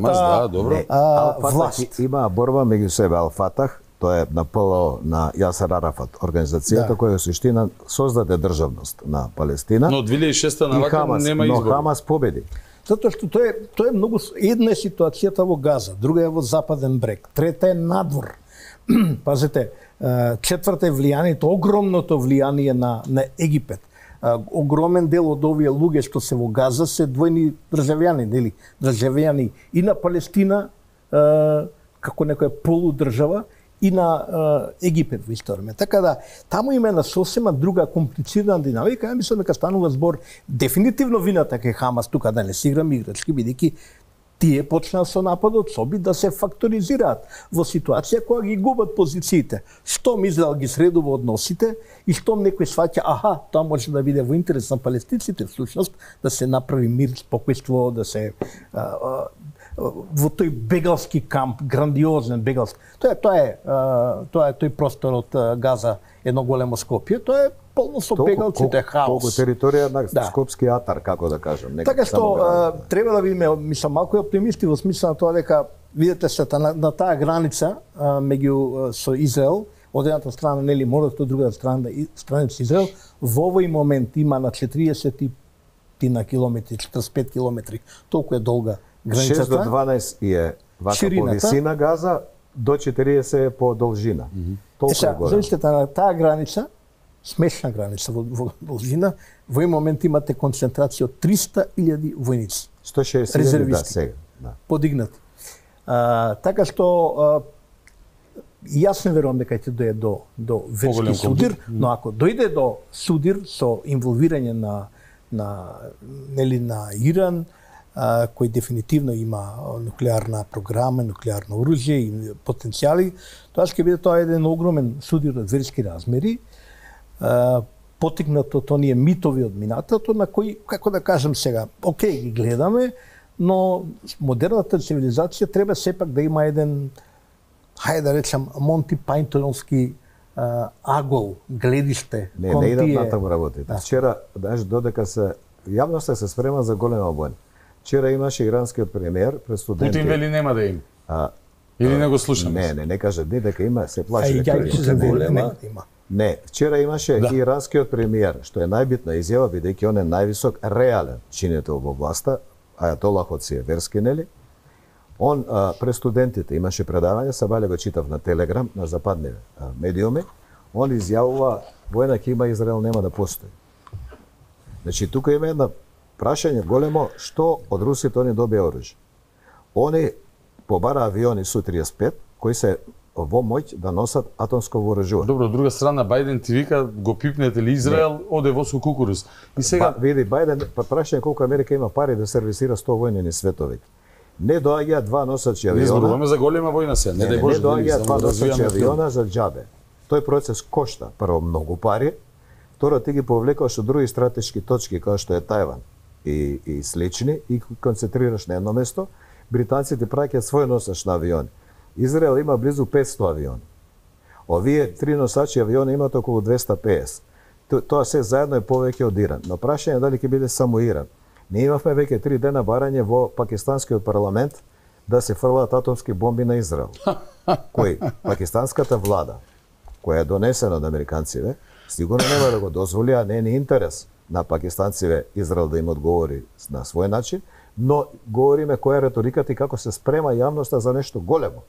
власт. Има борба меѓу себе. Ал-Фатах, тоа е на ПЛО на Јасер Арафат, организацијата која во суштина создаде државност на Палестина. Но 2006 навака нема избор. Но Хамас победи. Затоа што тоа е многу, една е ситуацијата во Газа, друга е во Западен брег, трета е надвор. Пазете, четврта е влијанието, огромното влијание на Египет. Огромен дел од овие луѓе што се во Газа се двојни државјани, нели? Државјани и на Палестина, како некоја полудржава, и на Египет во исто време. Така да, таму има една сосема друга комплицирана динамика. Ја мислам дека станува збор дефинитивно вината кај Хамас, тука да не си играм играчки, бидејќи тие почнаа со нападот, со обид да се факторизираат во ситуација кога ги губат позициите. Штом Израел ги средува односите и штом некој сваќа, аха, тоа може да биде во интерес на палестинците, всушност, да се направи мир, спокојство, да се во тој бегалски камп, грандиозен бегалски. Тоа е тој простор од Газа, едно големо Скопје, тоа е полно со бегалци, тоа е хаос. Толку територија на Скопски атар, како да кажам. Така што треба да видиме, мислам, малку е оптимисти во смисла на тоа дека видите се на таа граница меѓу со Израел, од едната страна нели морето, од другата страна страница Израел, во овој момент има на 40 на километри, 45 километри, толку е долга границата. 6 до 12 е вака по висина Газа, до 40 е по должина. Толку е голем. Замислете на таа граница, смешна граница во должина, во овој момент имате концентрација од 300.000 војници. 160.000 сега. Подигнати. Така што јас не верувам дека ќе дојде до верски судир, но ако дојде до судир со инволвирање на Иран, кој дефинитивно има нуклеарна програма, нуклеарно оружје и потенцијали, тоа ќе биде еден огромен судир од верски размери, потикнато од оние митови од минатото, на кои, како да кажам сега, окей, ги гледаме, но модерната цивилизација треба сепак да има еден, хајде да речам, Монти Пајнтонски агол, гледиште. Не идат натаму работите. Вчера, додека јавноста се спрема за голема војна. Вчера имаше иранскиот премиер пред студенти. Путин вели нема да има. Или не го слушаме? Не кажа ни дека има, се плаши дека има. Не, вчера имаше иранскиот премиер, што е најбитна изјава, бидејќи он е највисок реален чинител во власта, ајатолахот си е верски, нели? Он пред студентите имаше предавање, сабале го читав на Телеграм, на западни медиуми, он изјавува војна ќе има Израел нема да постои. Значи тука има една прашање големо, што од русите они добија оружје. Они побара авиони Су-35 кои се во моќ да носат атомско вооружување. Добро, од друга страна Бајден ти вика го пипнете ли Израел, оде во со кукуруз. И сега види Бајден прашање колку Америка има пари да сервисира 100 војни светови. Не доаѓаат два носачи авиона. Не зборуваме за голема војна сега, не дај Боже. Не доаѓаат два носачи авиона за џабе. Тој процес кошта прво многу пари, второ ти ги повлекуваш од други стратешки точки како што е Тајван и слични и концентрираш на едно место. Британците праќаат свој носач на авиони. Израел има близу 500 авиони. Овие три носачи авиони имаат околу 250. Тоа се заедно е повеќе од Иран. Но прашање дали ќе биде само Иран. Ние имавме веќе 3 дена барање во пакистанскиот парламент да се фрлаат атомски бомби на Израел. Кој пакистанската влада, која е донесена од американците, сигурно нема да го дозволи, а не е ни интерес на пакистанците Израел да им одговори на свој начин, но говориме која е реториката и како се спрема јавноста за нешто големо,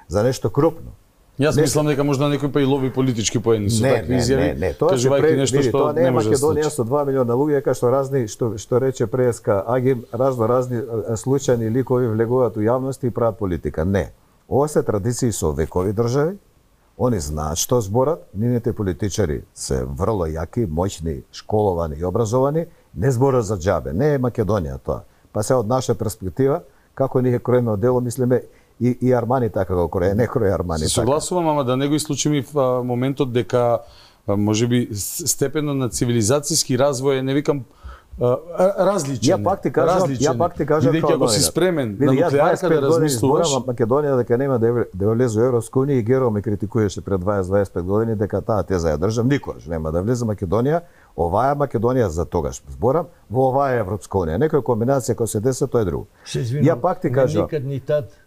за нешто крупно. Јас мислам дека можда некој па и лови политички поени со такви изјави. Не, тоа не е Македонија со 2 милиона луѓе, како што разни што рече преска Агим, разни случајни ликови влегуваат у јавност и прават политика. Не. Ова се традиции со векови држави. Они знаат што зборат, нивните политичари се врло јаки, моćни, школовани и образовани, не зборат за џабе. Не е Македонија тоа. Па се од наша перспектива, како ние кроиме дело, мислиме и Армани така го крои, не крои Армани така. Согласувам, ама да не го исклучиме в моментот дека можеби степенот на цивилизацијски развој, не викам различен. Ја пак ти кажам бидејќи ако си спремен на нуклеарка да размислуваш, Македонија дека нема да влезе во Европска унија и Геро ме критикуваше пред 20-25 години дека таа теза ја држам, никогаш нема да влезе Македонија. Оваа Македонија за тогаш зборам, во оваа Европска унија. Некоја комбинација која се деси, тоа е друго. Ја пак ти кажам.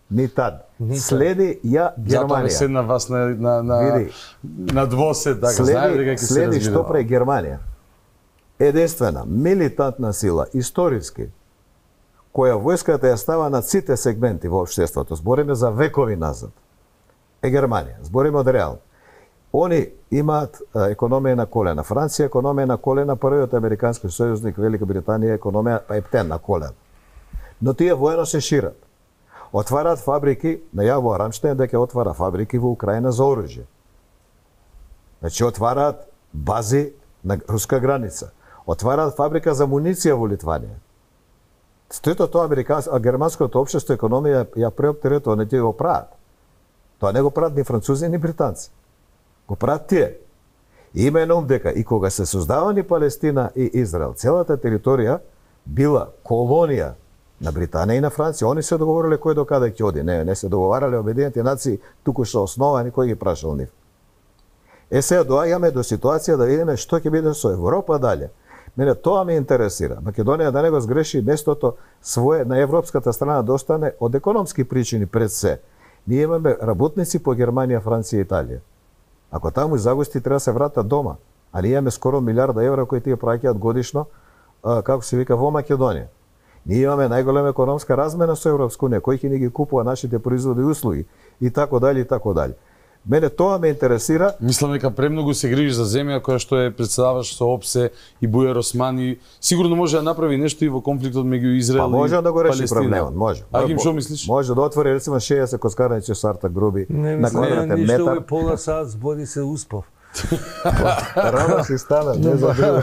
Ни тад. Следи ја Германија. Затоа седна вас на двосед, така знае дека ќе се разбира. Следи што прави Германија. Единствена милитантна сила историски која војската ја става на сите сегменти во општеството, збориме за векови назад, е Германија. Збориме од реал. Они имаат економија на колена. Франција економија на колена, првиот американски сојузник Велика Британија економија ептен на колена. Но тие воено се шират. Отвараат фабрики, најавува Рамштайн дека отвара фабрики во Украина за оружје. Значи отвараат бази на руска граница. Отвараат фабрика за муниција во Литванија. Сето тоа германското општество економија ја преоптеретува, не ќе го прават. Тоа не го прават ни французи ни британци. Го прават тие. И има на ум дека и кога се создавани Палестина и Израел, целата територија била колонија на Британија и на Франција. Они се договориле кој до каде ќе оди. Не се договарале Обединените нации туку што основани, кој ги прашал нив. Сега доаѓаме до ситуација да видиме што ќе биде со Европа дале. Мене тоа ме интересира. Македонија да не го сгреши местото свое на европската страна да остане од економски причини пред се. Ние имаме работници по Германија, Франција и Италија. Ако таму загости треба се вратат дома, а ние имаме скоро милиарда евра кои тие праќаат годишно, како се вика, во Македонија. Ние имаме најголема економска размена со Европска унија, кој ќе ни ги купува нашите производи и услуги и така дали и така дали. Мене тоа ме интересира. Мислам дека премногу се грижи за земја која што е председаваш со ОПСЕ и Бујар Османи. Сигурно може да направи нешто и во конфликтот меѓу Израел и Палестина. Може да го реши проблемот, може. Агим, што мислиш? Може да отвори рецимо 60 коскарници со Артак Груби на квадратен метар. Ништо пола саат збори се успав. Рано си стана, не забрива.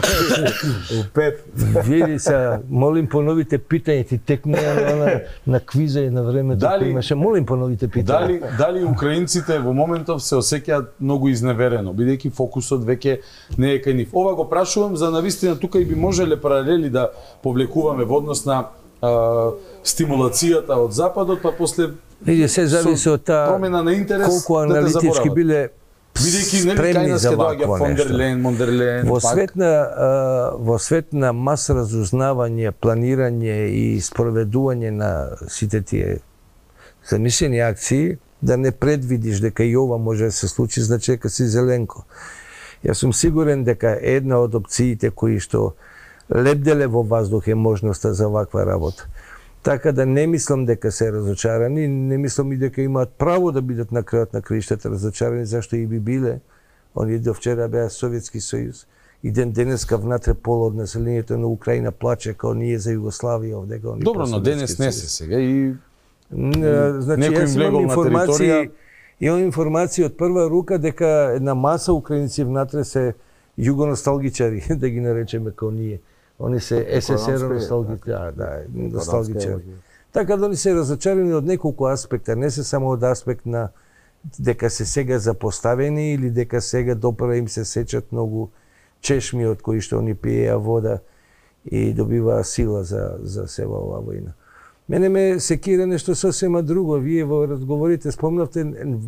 У 5. Види се, молим поновите питања, ти текнеа на квиза и на времето кој имаше. Молим поновите питања. Дали украинците во моментов се осеќаат многу изневерено, бидејќи фокусот веќе не е кај нив. Ова го прашувам за навистина тука и би можеле паралели да повлекуваме во однос на стимулацијата од западот, па после види се зависи од таа промена на интерес, колку аналитички биле бидејќи нели се доаѓа Фондерлен, Мондерлен, во свет на мас разузнавање, планирање и спроведување на сите тие замислени акции, да не предвидиш дека и ова може да се случи, значи дека си зеленко. Јас сум сигурен дека една од опциите кои што лебделе во воздух е можноста за ваква работа. Така да не мислам дека се разочарани, не мислам и дека имаат право да бидат на крајот на краиштата разочарани, зашто и би биле. Они до вчера беа Советски сојуз. И денеска внатре пол од населението на Украина плаче као ние за Југославија овдека. Добро, но денес не се сега и значи јас имам информации, информации од прва рука дека една маса украинци внатре се југоносталгичари, да ги наречеме као ние. Они се СССР носталгичари. Така да они се разочарани од неколку аспекта, не се само од аспект на дека се сега запоставени или дека сега допра им се сечат многу чешми од кои што они пиеа вода и добиваа сила за сева оваа војна. Мене ме секира нешто сосема друго. Вие во разговорите спомнавте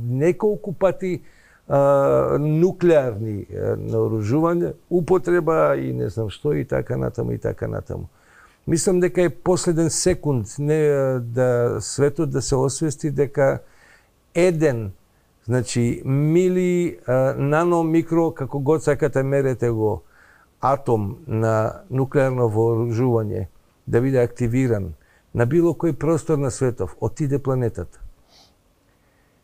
неколку пати нуклеарни наоружувања, употреба и не знам што и така натаму и така натаму. Мислам дека е последен секунд да светот да се освести дека еден, значи мили, нано, микро, како год сакате мерете го, атом на нуклеарно вооружување да биде активиран на било кој простор на светов, отиде планетата.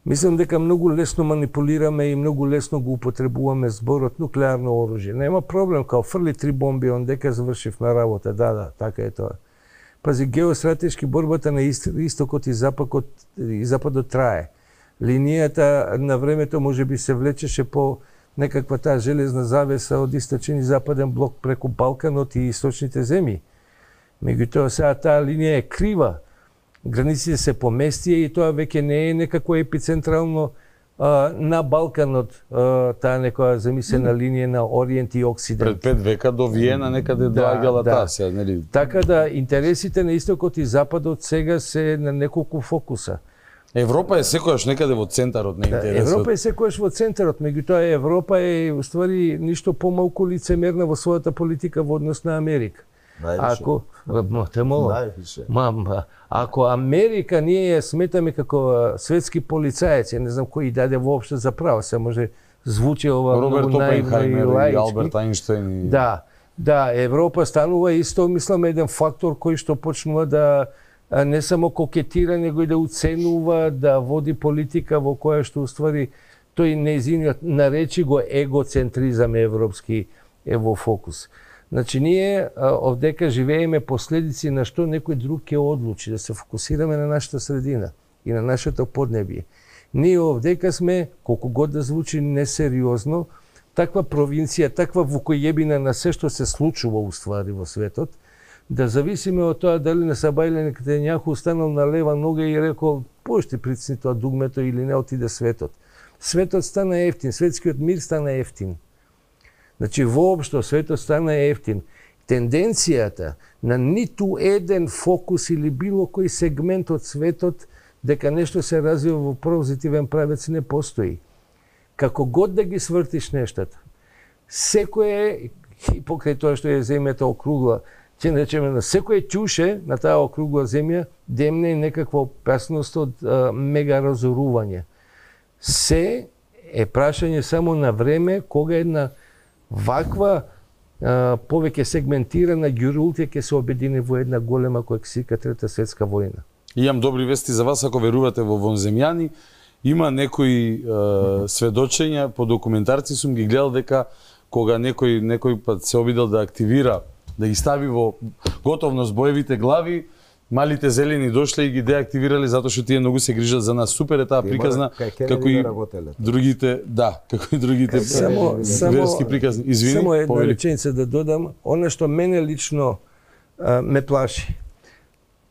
Мислам дека многу лесно манипулираме и многу лесно го употребуваме зборот нуклеарно оружје. Нема проблем, као фрли 3 бомби, ондека завршивме работа. Да, така е тоа. Пази, геостратешки борбата на истокот и западот трае. Линијата на времето може би се влечеше по некаква таа железна завеса од источен и западен блок преку Балканот и источните земји. Меѓутоа, сега таа линија е крива. Границите се поместија и тоа веќе не е некако епицентрално на Балканот, таа некоја замислена линија на Ориент и Оксидент. Пред 5 века до Виена некаде доаѓала таа сега, нели? Така да интересите на истокот и западот сега се на неколку фокуса. Европа е секојаш некаде во центарот на интересот. Европа е секојаш во центарот, меѓутоа Европа е уствари ништо помалку лицемерна во својата политика во однос на Америка. Ако Америка ние ја сметаме како светски полицаец, не знам кој даде воопшто за право, се може звучи ова Роберт Опенхаймер и Алберт Ајнштајн. Да, Европа станува исто, мислам, еден фактор кој што почнува да не само кокетира, него и да уценува, да води политика во која што уствари тој нејзиниот наречи го егоцентризам европски е во фокус. Значи, ние овдека живееме последици на што некој друг ќе одлучи, да се фокусираме на нашата средина. и на нашето поднебие. Ние овдека сме, колку год да звучи несериозно, таква провинција, таква вукојебина на се што се случува уствари во светот, да зависиме од тоа дали на Сабајле Нетањаху останал на лева нога и рекол пошти прицни тоа дугмето или не отиде светот. Светот стана ефтин, светскиот мир стана ефтин. Значи, воопшто светот стана ефтин. Тенденцијата на ниту еден фокус или било кој сегмент од светот дека нешто се развива во позитивен правец не постои. Како год да ги свртиш нештата, секое, и покрај тоа што е земјата округла, ќе речеме на секое ќуше на таа округла земја демне и некаква опасност од мега разорување. Се е прашање само на време кога една ваква повеќе сегментирана ѓурултија ќе се обедини во една голема која се вика Трета светска војна. Имам добри вести за вас ако верувате во вонземјани. Има некои сведочења по документарци сум ги гледал дека кога некој пат се обидел да активира, да ги стави во готовност боевите глави, малите зелени дошле и ги деактивирали затоа што тие многу се грижат за нас. Супер е таа приказна како и другите, да, како и другите верски приказни. Извини, само една реченица да додам, она што мене лично ме плаши.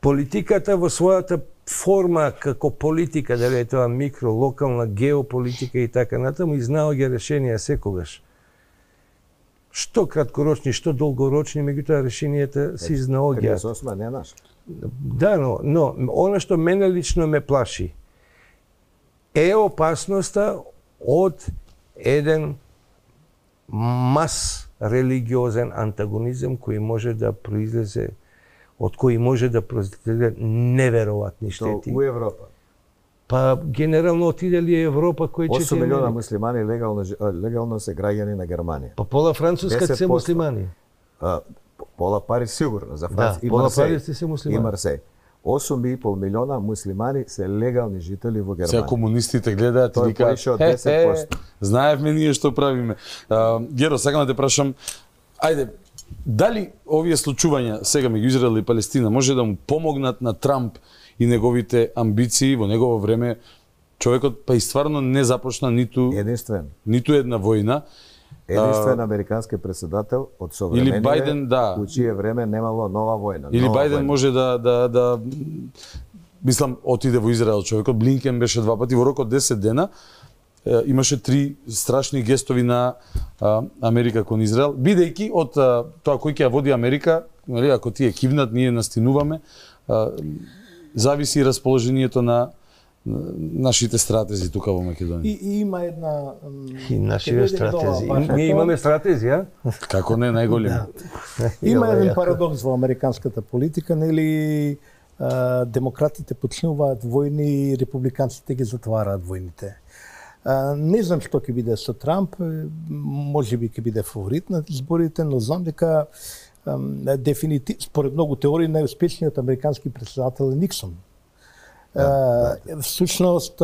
Политиката во својата форма како политика, дали е тоа микро, локална, геополитика и така натаму, изнаоѓа решенија секогаш. Што краткорочни, што долгорочни, меѓутоа решенијата се изнаоѓаат. 38 не е наш. Да, но она што мене лично ме плаши е опасноста од еден мас религиозен антагонизам кој може да произлезе, од кој може да произлезе неверојатни штети. Што у Европа? Па генерално отиде ли Европа кој 8 милиона муслимани легално се граѓани на Германија. Па пола Француска се муслимани. Пола Париз сигурно за Франција и Марсеј. И Марсеј. 8,5 милиона муслимани се легални жители во Германија. Сега комунистите гледаат и викаат, знаевме ние што правиме. Геро, сакам да те прашам, ајде, дали овие случувања сега меѓу Израел и Палестина може да му помогнат на Трамп и неговите амбиции во негово време? Човекот па и стварно не започна ниту една војна. Единствен американски председател од современите, или Бајден, да, у чие време немало нова војна. Или Бајден може да мислам отиде во Израел човекот, Блинкен беше 2 пати во рок од 10 дена. Имаше 3 страшни гестови на Америка кон Израел, бидејќи од тоа кој ќе ја води Америка, нели, ако тие кивнат, ние настинуваме, зависи и расположението на нашите стратези тука во Македонија. И има една и нашите стратези. Ние имаме стратезија? Како не, најголем. Има еден парадокс во американската политика, нели демократите почнуваат војни, републиканците ги затвараат војните. Не знам што ќе биде со Трамп, можеби ќе биде фаворит на изборите, но знам дека дефинитивно според многу теории најуспешниот американски претседател е Никсон. Всушност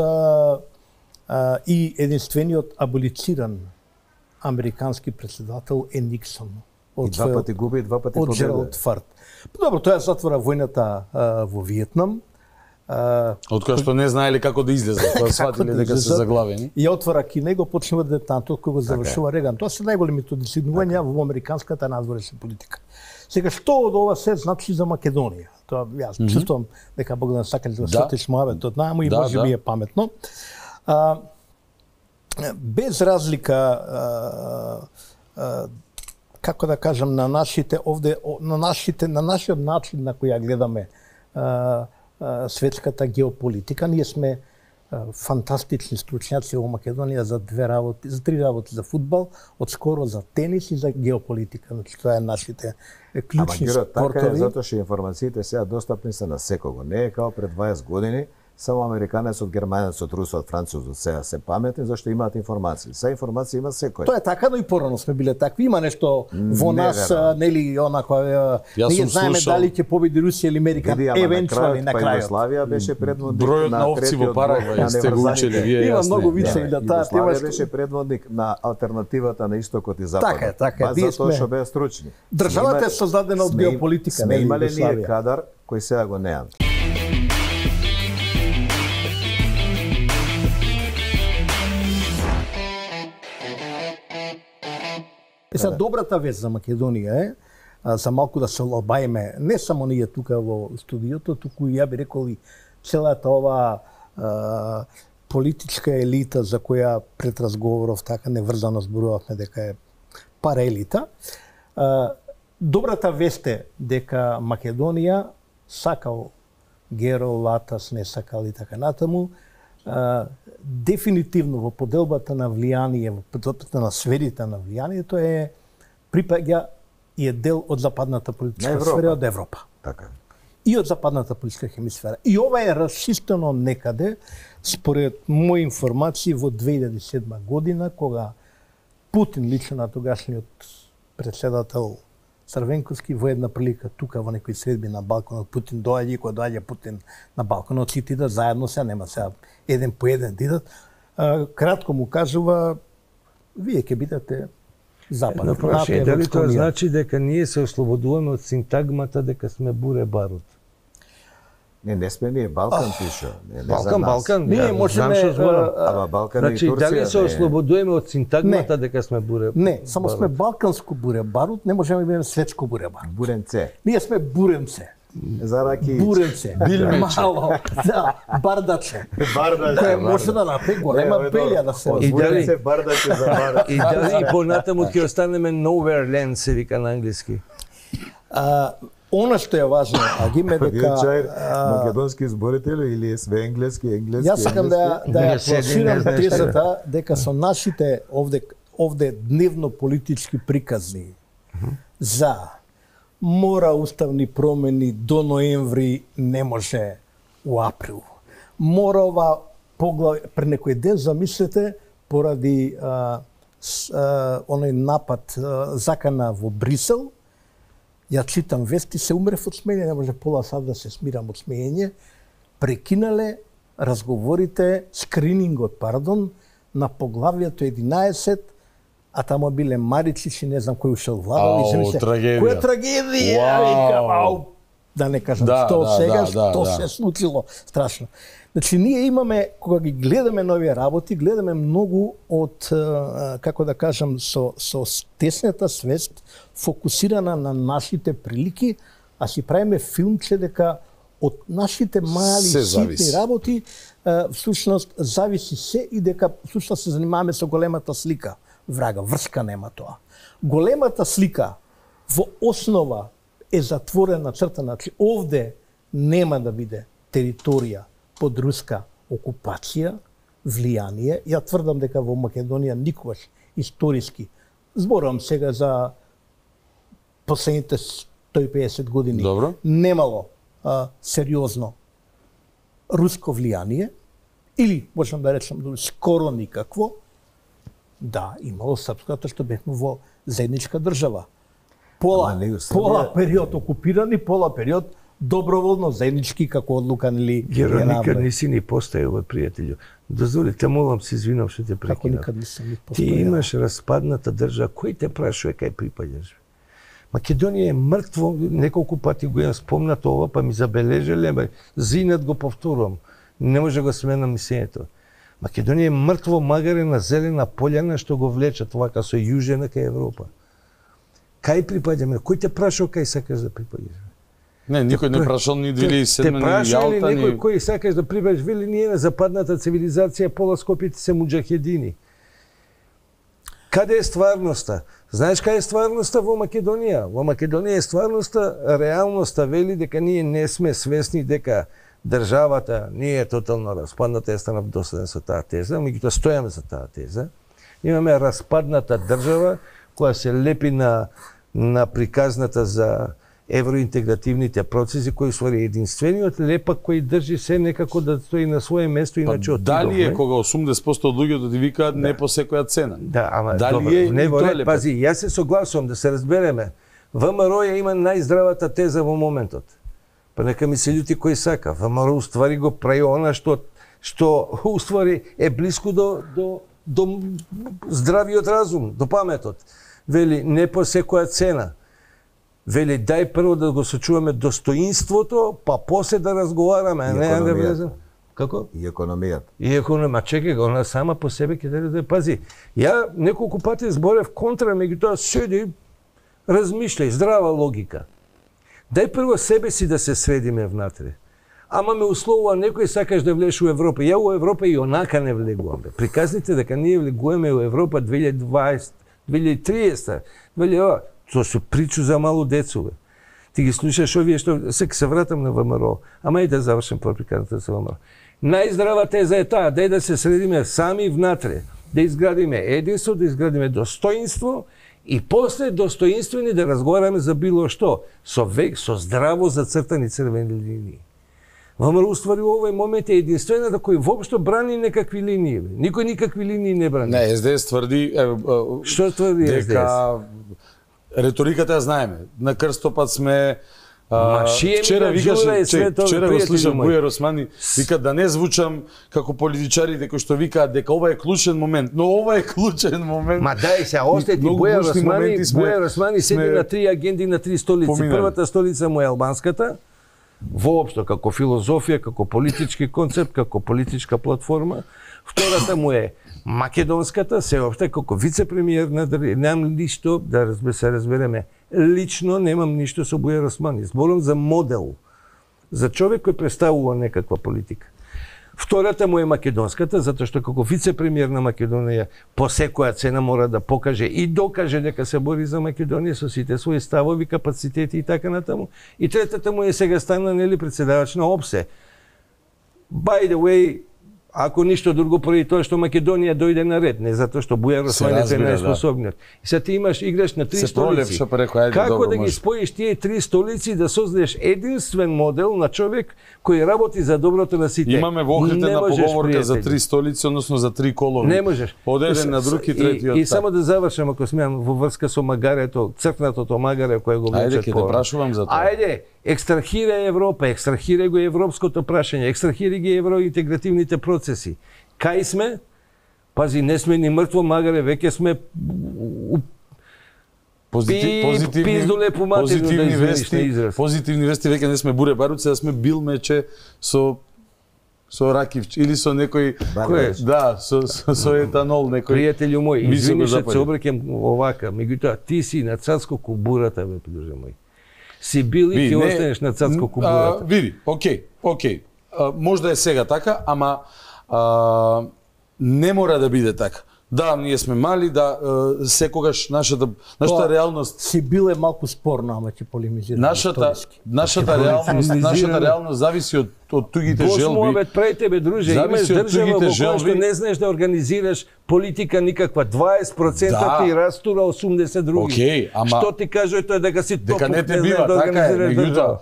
и единствениот аболициран американски претседател е Никсон. И 2 пати губи, 2 пати победи. Од Джералд Форд. Добро, тоа затвора војната во Виетнам. Од која што не знаеле како да излезат, кога сватиле дека се заглавени. И отвора Кина и го почнува детантот кога завршува Реган. Тоа се најголемите достигнувања во американската надворешна политика. Сега што од ова се значи за Македонија? Тоа јас чувствувам дека Богдан сакали да сотиш муабетот наму и може би е паметно. Без разлика како да кажам на нашите овде на нашиот начин на кој ја гледаме светската геополитика, ние сме фантастични стручњаци во Македонија за 3 работи, за фудбал, одскоро за тенис и за геополитика. Значи тоа е нашите клучни спортови. Така е затоа што информациите сега достапни се на секого. Не е као пред 20 години, само американецот, германецот, русот, французот сега се паметни зашто имаат информации. Се информации има секој. Тоа е така, но и порано сме биле такви. Има нешто во нас, нели, онака ние знаеме дали ќе победи Русија или Америка евентуално на крајот. Југославија беше предводник бројот на овци во Парагвај, сте го учели вие. Има многу више и да таа тема беше предводник на алтернативата на истокот и западот. Така, затоа што беа стручни. Државата е создадена од геополитика. Сме имале ние кадар кој сега го неам. Сега добрата вест за Македонија е, за малку да се олабаеме, не само ние тука во студиото, туку ја би рекол и целата ова политичка елита за која пред разговоров така неврзано зборувавме дека е параелита. Добрата вест е дека Македонија сакал Геро, Латас, не сакал и така натаму, дефинитивно во поделбата на влијание, во поделбата на сферите на влијанието е припаѓа и е дел од западната политичка сфера од Европа. Така. И од западната политичка хемисфера. И ова е расчистено некаде, според мои информации, во 2007 година, кога Путин, лично на тогашниот председател Црвенковски, во една прилика тука во некои средби на балконот, Путин доаѓа и кога доаѓа Путин на балконот, сите идат заедно, сега нема сега еден по еден идат. Кратко му кажува, вие ќе бидете запад. Но прашање, дали тоа значи дека ние се ослободуваме од синтагмата дека сме буре барут? Не сме ние, Балкан пиша. Балкан. Ние можеме... Ама Балкан и Турција... Дали се ослободуваме од синтагмата дека сме буре барут? Не, само сме балканско буре барут, не можеме да бидеме светско буре барут. Буренце. Ние сме буренце. Зараки. Буренце. Мало. Да, бардаче. Кој може да направи голема пелја да се Буренце, бардаче за барут. И дали понатаму ќе останеме nowhere land, се вика на англиски? Она што е важно, Агиме, дека... Македонски зборител или све енглески? Јас сакам да ја пласирам тезата дека со нашите овде дневно политички приказни за мора уставни промени до ноември, не може у април. Мора ова поглавје, пред некој ден замислете, поради оној напад закана во Брисел, ја читам вести, се умрев од смеење, не може пола сат да се смирам од смеење, прекинале разговорите, скринингот, на поглавието 11, а тамо биле Маричич и не знам кој ушел владал. Трагедија. Која трагедија? Да не кажам што сега, што се случило, страшно. Значи, ние имаме, кога ги гледаме нови работи, гледаме многу од, како да кажам, со тесната свест, фокусирана на нашите прилики, а си правиме филмче дека од нашите мали, ситни работи, всушност, зависи се и дека всушност се занимаваме со големата слика. Врага, врска нема тоа. Големата слика во основа е затворена црта, значи овде нема да биде територија под руска окупација, влијание. Ја тврдам дека во Македонија никогаш историски, зборувам сега за последните 150 години, немало сериозно руско влијание, или можам да речем скоро никакво. Да, имало српското што бевме во заедничка држава. Пола период окупирани, пола период доброволно заеднички како одлука или Геро, никад не си ни постојал, пријателју. Дозволи, те молам се извинам што те прекинав. Како никад не си ни постојал? Ти имаш распадната држава, кој те прашува кај припаѓаш? Македонија е мртво, неколку пати го имам спомнато ова, па ми забележале, зинат го повторувам. Не може го сменам мислењето. Македонија е мртво магарена зелена пољана што го влечат вака со јужена кај Европа. Кај припаѓаме? Кој те прашал кај сакаш да припаѓаш? Не, никој не прашал ни 2007 ни Јалта. Те прашал ли некој кој сакаш да припаѓаш? Вели ние на западната цивилизација пола скопите се муџахедини. Каде е стварноста? Знаеш каде е стварноста во Македонија? Во Македонија е стварноста, реалноста вели дека ние не сме свесни дека државата не е тотално распадната, ја станав доследен со таа теза, меѓутоа стојаме за таа теза. Имаме распадната држава која се лепи на приказната за евроинтегративните процеси, кој ствари единствениот лепак кој држи се некако да стои на свое место, иначе отидовме. Дали е кога 80% од луѓето ти викаат не по секоја цена? Да, ама дали е не во ред, пази, јас се согласувам да се разбереме. ВМРО ја има најздравата теза во моментот. Па нека ми се љути кој сака. ВМРО уствари го прави она што уствари е блиско до здравиот разум, до паметот. Вели не по секоја цена. Вели дај прво да го сочуваме достоинството, па после да разговараме, а не да влезем. Како? И економијата. И економија, чекај го, она сама по себе ќе даде, пази. Ја неколку пати зборев контра, меѓутоа седи, размишљај, здрава логика. Дај прво себе си да се средиме внатре. Ама ме условува некој сакаш да влезеш у Европа. Ја у Европа и онака не влегувам. Приказните дека ние влегуваме у Европа 2020, 2030, 2000, тоа се причу за мало децове. Ти ги слушаш овие што се вратам на ВМРО, ама и да завршам приказната за ВМРО. Најздрава теза е таа, дај да се средиме сами внатре, да изградиме единство, да изградиме достоинство и после достоинствени да разговараме за било што, со здраво зацртани црвени линии. ВМРО уствари овој момент е единствената кој воопшто брани некакви линии. Никој никакви линии не брани. Не, СДС тврди што тврди дека реториката ја знаеме. На крстопат сме вчера го слушам Бујар Османи вика да не звучам како политичарите кои што викаат дека ова е клучен момент, но ова е клучен момент. Ма дај се, остајте Бујар Османи седи на 3 агенди на 3 столици. Првата столица му е албанската, воопшто како филозофија, како политички концепт, како политичка платформа. Втората му е македонската, сеопшто како вице-премиер на немам ништо да се разбереме. Лично немам ништо со Бујар Османи. Зборам за модел, за човек кој представува некаква политика. Втората му е македонската, затоа што како вице-премиер на Македонија по секоја цена мора да покаже и докаже дека се бори за Македонија со сите своји ставови, капацитети и така натаму. И третата му е сега стана нели претседавач на ОПСЕ. By the way, ако ништо друго поради тоа што Македонија дојде на ред, не затоа што Бујар Османи е најспособниот. И сега ти играш на 3 столици. Како да ги споиш тие 3 столици да создадеш единствен модел на човек кој работи за доброто на сите? Имаме во охридна поговорка за 3 столици, односно за 3 колони. Не можеш. Од еден на друг и третиот. И само да завршам, ако смеам, во врска со магарето, цркнатото магаре кое го влечат. Ајде, ќе те прашувам за тоа. Ајде, екстрахира Европа, екстрахира го европското прашање, екстрахира ги евроинтегративните процеси. Кај сме? Пази, не сме ни мртво магаре, веќе сме пиздоле по матерно да извиниш на израз. Позитивни вести, веќе не сме буре баруци, а сме бил мече со ракивч или со некој да, со етанол некој. Пријателју мој, извиниш се обраќам овака, меѓутоа ти си на цацко кубурата, бе, друже мој. Си бил и ќе останеш на цацко кубурата. Види, окей. Можда е сега така, ама не мора да биде така. Да, ние сме мали, да, секогаш нашата реалност си бил е малку спорно, ама ќе полемизирам. Нашата реалност зависи од тугите желби. Босмовет пред тебе, друже, имаш држава во која што не знаеш да организираш политика никаква. 20% ти растура, 80 други. Океј, ама што ти кажува тоа дека си дека не те бива, така е, меѓутоа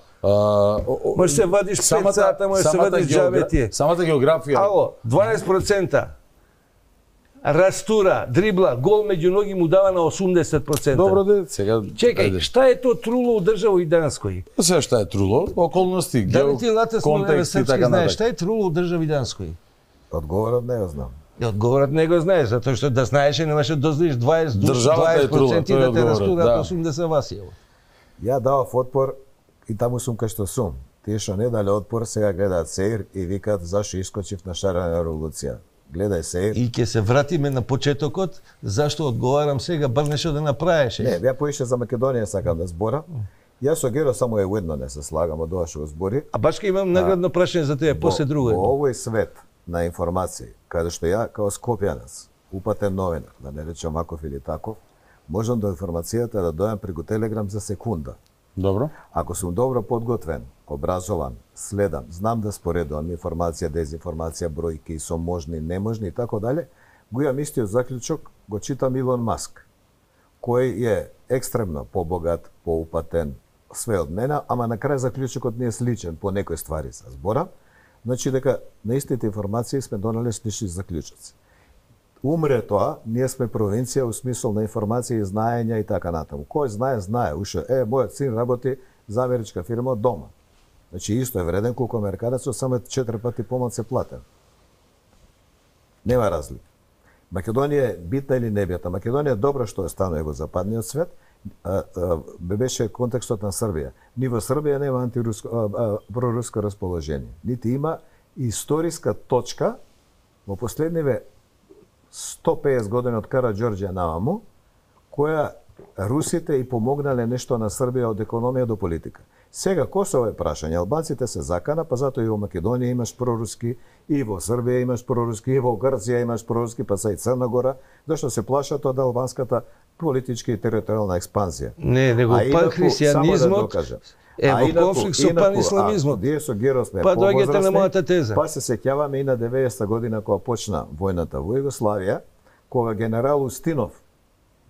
може се вадиш 5 сата, може се вадиш џабе. Самата географија. Ало, 12%. Растура, дрибла, гол меѓу ноги му дава на 80%. Добро де, сега. Чекај, шта е тоа труло у држава и Данској? Се шта е труло? Околности, контекст и така натаму. Шта е труло у држава и Данској? Одговорот не го знам. Одговорот не го знаеш, затоа што да знаеше немаше да дозволиш 20% да те растураат 80 Васиево. Ја давав отпор и таму сум кај што сум. Тие што не дале отпор сега гледаат сеир и викаат зашо искочив на шарена револуција. Гледај се. И ќе се вратиме на почетокот, зашто одговарам сега, бар нешто да направиш. Не, ја поише за Македонија сакам да збора. Јас со Геро само едно не се слагам од ова што го збори. А башка имам наградно прашање за тебе, после друго. Во овој свет на информации, каде што ја како скопјанец, упатен новинар, да не речам Маков или Таков, можам до информацијата да дојам преку Телеграм за секунда. Добро. Ако сум добро подготвен, образован, следам, знам да споредувам информација, дезинформација, бројки, со можни, неможни и тако дале, го имам истиот заклучок, го читам Илон Маск, кој е екстремно побогат, поупатен, све од мене, ама на крај заклучокот не е сличен по некои ствари се збора, значи дека на истите информации сме донели слични заклучоци. Умре тоа, ние сме провинција у смисол на информација и знаења и така натаму. Кој знае, знае. Ушо, мојот син работи за америчка фирма од дома. Значи, исто е вреден колку американецот, само 4 пати помал се платен. Нема разлика. Македонија е битна или небитна. Македонија е добро што е станува во западниот свет, беше контекстот на Србија. Ни во Србија нема проруско расположение. Нити има историска точка во последниве 150 години од Караѓорѓе наваму, која русите и помогнале нешто на Србија од економија до политика. Сега Косово е прашање, албанците се закана, па затоа и во Македонија имаш проруски, и во Србија имаш проруски, и во Грција имаш проруски, па са и Црна Гора, зашто се плашат од албанската политичка и територијална експанзија. Не, него пан-христијанизмот е во конфликт со пан-исламизмот. Ние со Геро сме па доаѓате на мојата теза. Па се сеќаваме и на 90-та година кога почна војната во Југославија, кога генерал Устинов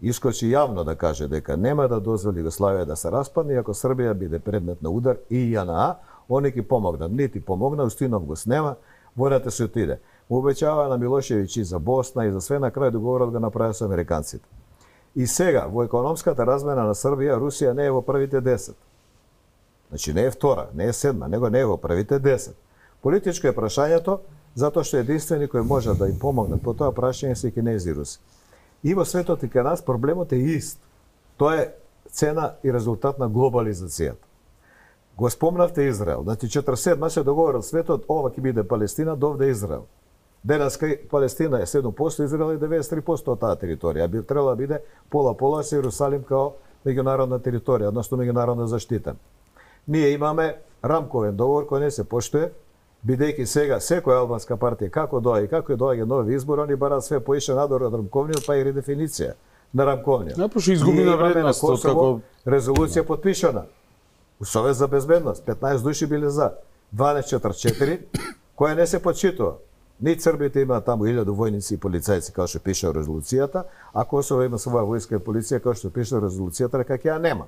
искочи јавно да каже дека нема да дозволи Југославија да се распадне, ако Србија биде предмет на удар и JNA, они ќе помогнат. Нити помогна, Устинов го снема, војната се отиде. Му обеќава на Милошевиќ и за Босна и за све, на крај договорот го направи со американците. И сега, во економската размена на Србија, Русија не е во првите 10. Значи не е втора, не е седма, него не е во првите 10. Политичко е прашањето, затоа што единствени кој може да им помогнат по тоа прашање се кинези и руси. И во светот и кај нас проблемот е ист. Тоа е цена и резултат на глобализацијата. Го спомнавте Израел. Значи 47 се договорил светот, ова ќе биде Палестина, довде Израел. Денеска Палестина е 7%, Израел е 93% од таа територија. Би требало да биде пола-пола со Иерусалим као меѓународна територија, односно меѓународно заштитен. Ние имаме рамковен договор кој не се поштуе, бидејќи сега секоја албанска партија како доаѓа нови избори, они бараат све поише надвор од рамковниот, па и редефиниција на рамковниот. Напуши изгуби на вредност како резолуција потпишана. У Совет за безбедност 15 души биле за, 12-4, која не се почитува. Ни Србите имаат таму 1000 војници и полицајци, како што пише резолуцијата, а Косово има своја војска и полиција, како што пише резолуцијата, дека ја нема.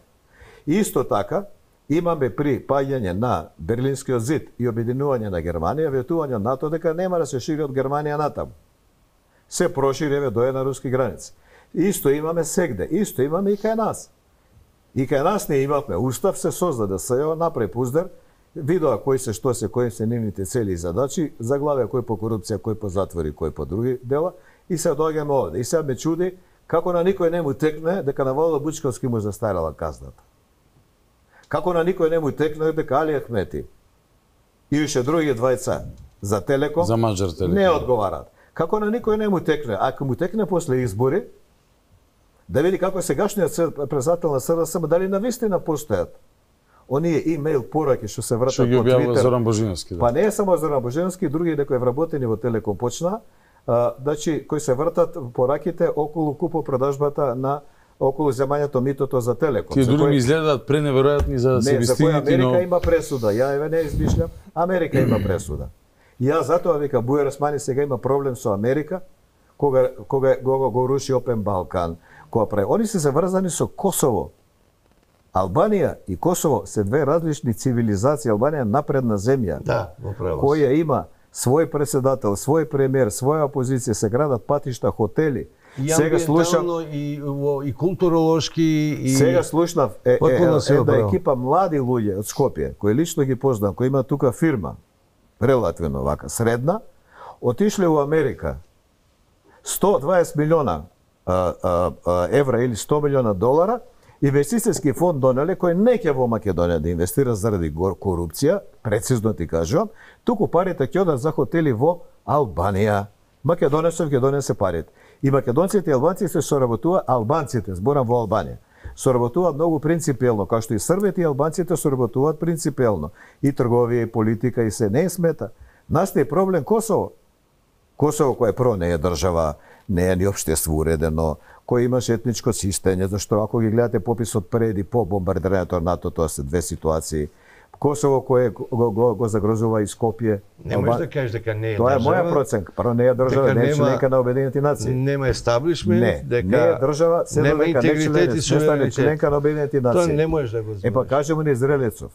Исто така, имаме при паѓање на Берлинскиот зид и обединување на Германија, ветување на НАТО дека нема да се шири од Германија натаму. Се проширеве до една руски граница. Исто имаме сегде, исто имаме и кај нас. И кај нас не имавме устав, се создаде СЈО, направи пуздер, видоа кои се што се, кои се нивните цели и задачи, заглавија кој по корупција, кој по затвори, кој по други дела, и се доаѓаме овде. И сега ме чуди како на никој не му текне дека на Владо Бучковски му застарела казната. Како на никој не му текне дека Али Ахмети и уште други двајца за Телеком за Маџар Телеком не одговараат. Како на никој не му текне, ако му текне после избори, да види како сегашниот председател на СДСМ дали навистина постојат оние имејл пораки што се вратат по Твитер. Зоран Божиновски, да. Па не е само Зоран Божиновски, други некои вработени во Телеком почна, значи кои се вратат пораките околу купо-продажбата на околу земањето митото за Телеком. Тие дури ми изгледаат преneveroјатни за да се вистинити, но Америка има пресуда. Ја еве не измишлям, Америка има пресуда. Ја затоа вика Бујар Османи сега има проблем со Америка кога го руши Опен Балкан. Кога прави, они се заврзани со Косово. Албанија и Косово се две различни цивилизации. Албанија е напредна земја. Да, во правост. Која има свој председател, свој премиер, своја опозиција, се градат патишта, хотели. И сега слушам и културолошки и сега слушнав една екипа млади луѓе од Скопје, кои лично ги познам, кои има тука фирма, релативно вака средна, отишле во Америка. 120 милиона евра или 100 милиона долара, инвестицијски фонд донеле кој не ќе во Македонија да инвестира заради корупција, прецизно ти кажувам, туку парите ќе одат за хотели во Албанија. Македонија се парите. И македонците и албанците се соработува, албанците, зборам во Албанија, соработуваат многу принципиелно, како што и србите и албанците соработуваат принципиелно. И трговија, и политика, и се не смета. Настаje проблем Косово. Косово кој прво не е држава, не е ни општество уредено, кој имаше етничко чистење, зашто ако ги гледате пописот пред и по бомбардирањето на НАТО, тоа се две ситуации. Косово кое го загрозува и Скопје. Не можеш да кажеш дека не е тоа држава. Тоа е моја проценка. Прво не е држава, не е членка на Обединените нации. Нема естаблишмент, дека не е држава, се нема дека не е членка на Обединените нации. Тоа не можеш да го збориш. Па кажемо на израелецов.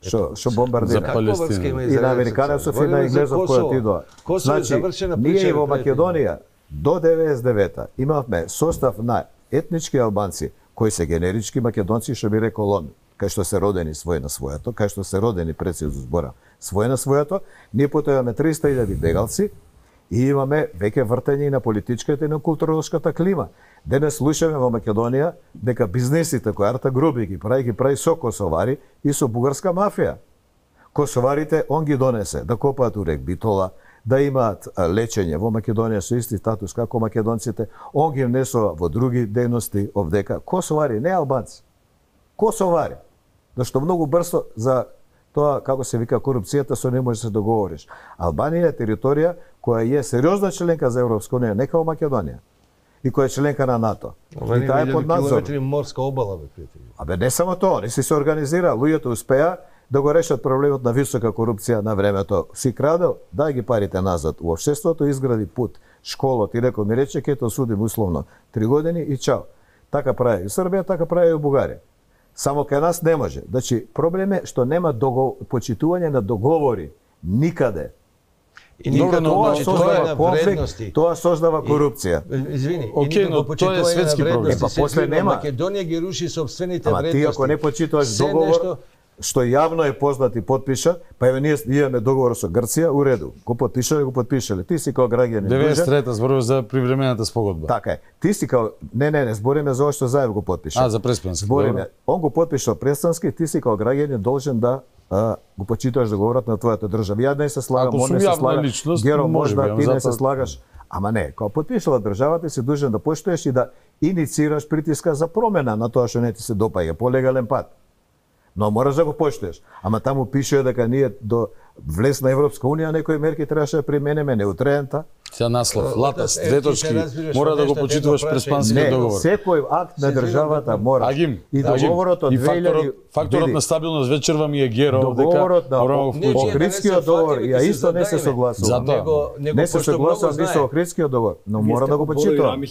Што бомбардира за Палестина. И на американецов и на инглезов која тидоа. Значи, ние во Македонија до 99-та имавме состав на етнички албанци кои се генерички македонци, што би рекол он, кај што се родени свој на својато, кај што се родени прецизно збора, свој на својато, ние потоа имаме 300.000 бегалци и имаме веќе вртење и на политичката и на културолошката клима. Денес слушаме во Македонија дека бизнесите кои Арта Груби ги прави со косовари и со бугарска мафија, Косоварите он ги донесе да копаат у рек Битола, да имаат лечење во Македонија со исти статус како македонците, он ги внесува во други дејности овдека. Косовари, не албанци. Косовари. Зашто многу брзо за тоа, како се вика, корупцијата со не може да се договориш. Албанија е територија која е сериозна членка за Европска унија, не како Македонија, и која е членка на НАТО. И таа е под надзор. Километри морска обала, бе, пријатели. Абе, не само тоа, не се организира, луѓето успеа да го решат проблемот на висока корупција на времето. Си крадел, дај ги парите назад. У општеството изгради пут, школот и рекол ми рече, ќе те осудим условно 3 години и чао. Така прави и Србија, така прави и у Бугарија. Само кај нас не може. Значи, проблем е што нема почитување на договори никаде. И никако тоа вредности. Тоа создава корупција. Извини, окей, но тоа е светски проблем. Па после нема. Македонија ги руши собствените вредности. Ама ти ако не почитуваш договор, што јавно е познат и подпиша, па еве ние имаме договор со Грција, у реду. Го подпишале. Ти си како граѓанин. 93-та зборуваш за привремената спогодба. Така е. Ти си како не збориме за што заедно го подпиша. За Преспански. Збориме. Он го подпиша Преспански, ти си како граѓанин должен да го почитуваш договорот на твојата држава. Ја не се слагам, он не се слага. Геро можда ти не се слагаш. Ама не, кога подпишала државата си должен да поштоеш и да иницираш притиска за промена на тоа што не ти се допаѓа по легален пат. Но мораш да го поштоеш. Ама таму пише дека ние до влез на Европска унија некои мерки требаше да применеме неутрента. Сега наслов, латас, 2 точки, мора да го почитуваш Преспанскиот договор. Секој акт на државата мора. И договорот од 2000... Факторот на стабилност вечерва ми е Геро, договорот на Охридскиот договор, ја исто не се согласувам. Не се согласувам ни со Охридскиот договор, но мора да го почитувам.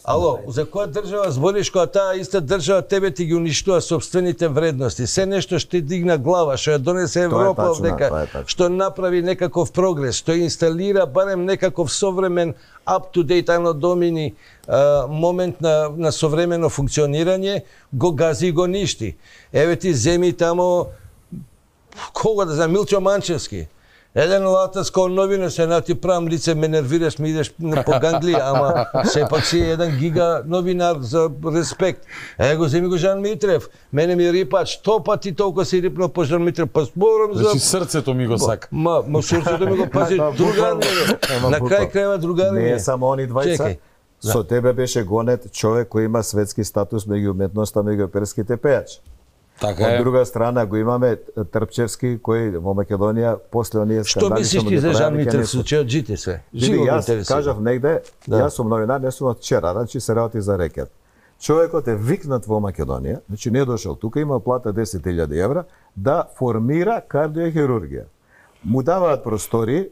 Ало, за која држава збориш кога таа иста држава тебе ти ги уништува собствените вредности? Се нешто што дигна глава, што ја донесе Европа овдека, што направи некаков прогрес, што инсталира барем некаков современ up-to-date anno domini момент на современо функционирање, го гази и го ништи. Еве ти земи тамо, кога да знам, Милчо Манчевски. Еден латас као новина се на ти правам лице, ме нервираш, ми идеш по Гангли, ама сепак си еден гига новинар за респект. Го земи го Жан Митрев. Мене ми рипач, 100 пати толку си рипнал по Жан Митрев, па зборам за... Значи срцето ми го сака. Ма срцето ми го пази, другар ми. На крај крајва другар ми. Не е само они двајца. Со тебе беше гонет човек кој има светски статус меѓу уметноста, меѓу оперските пејачи. Така е. Од друга страна го имаме Трпчевски кој во Македонија после оние скандали. Што мислиш ти за Жан Митрев случајот жите се? Живо јас кажав негде, јас сум новинар, не сум од вчера, значи се работи за рекет. Човекот е викнат во Македонија, значи не дошол тука, има плата 10.000 евра да формира кардиохирургија. Му даваат простори,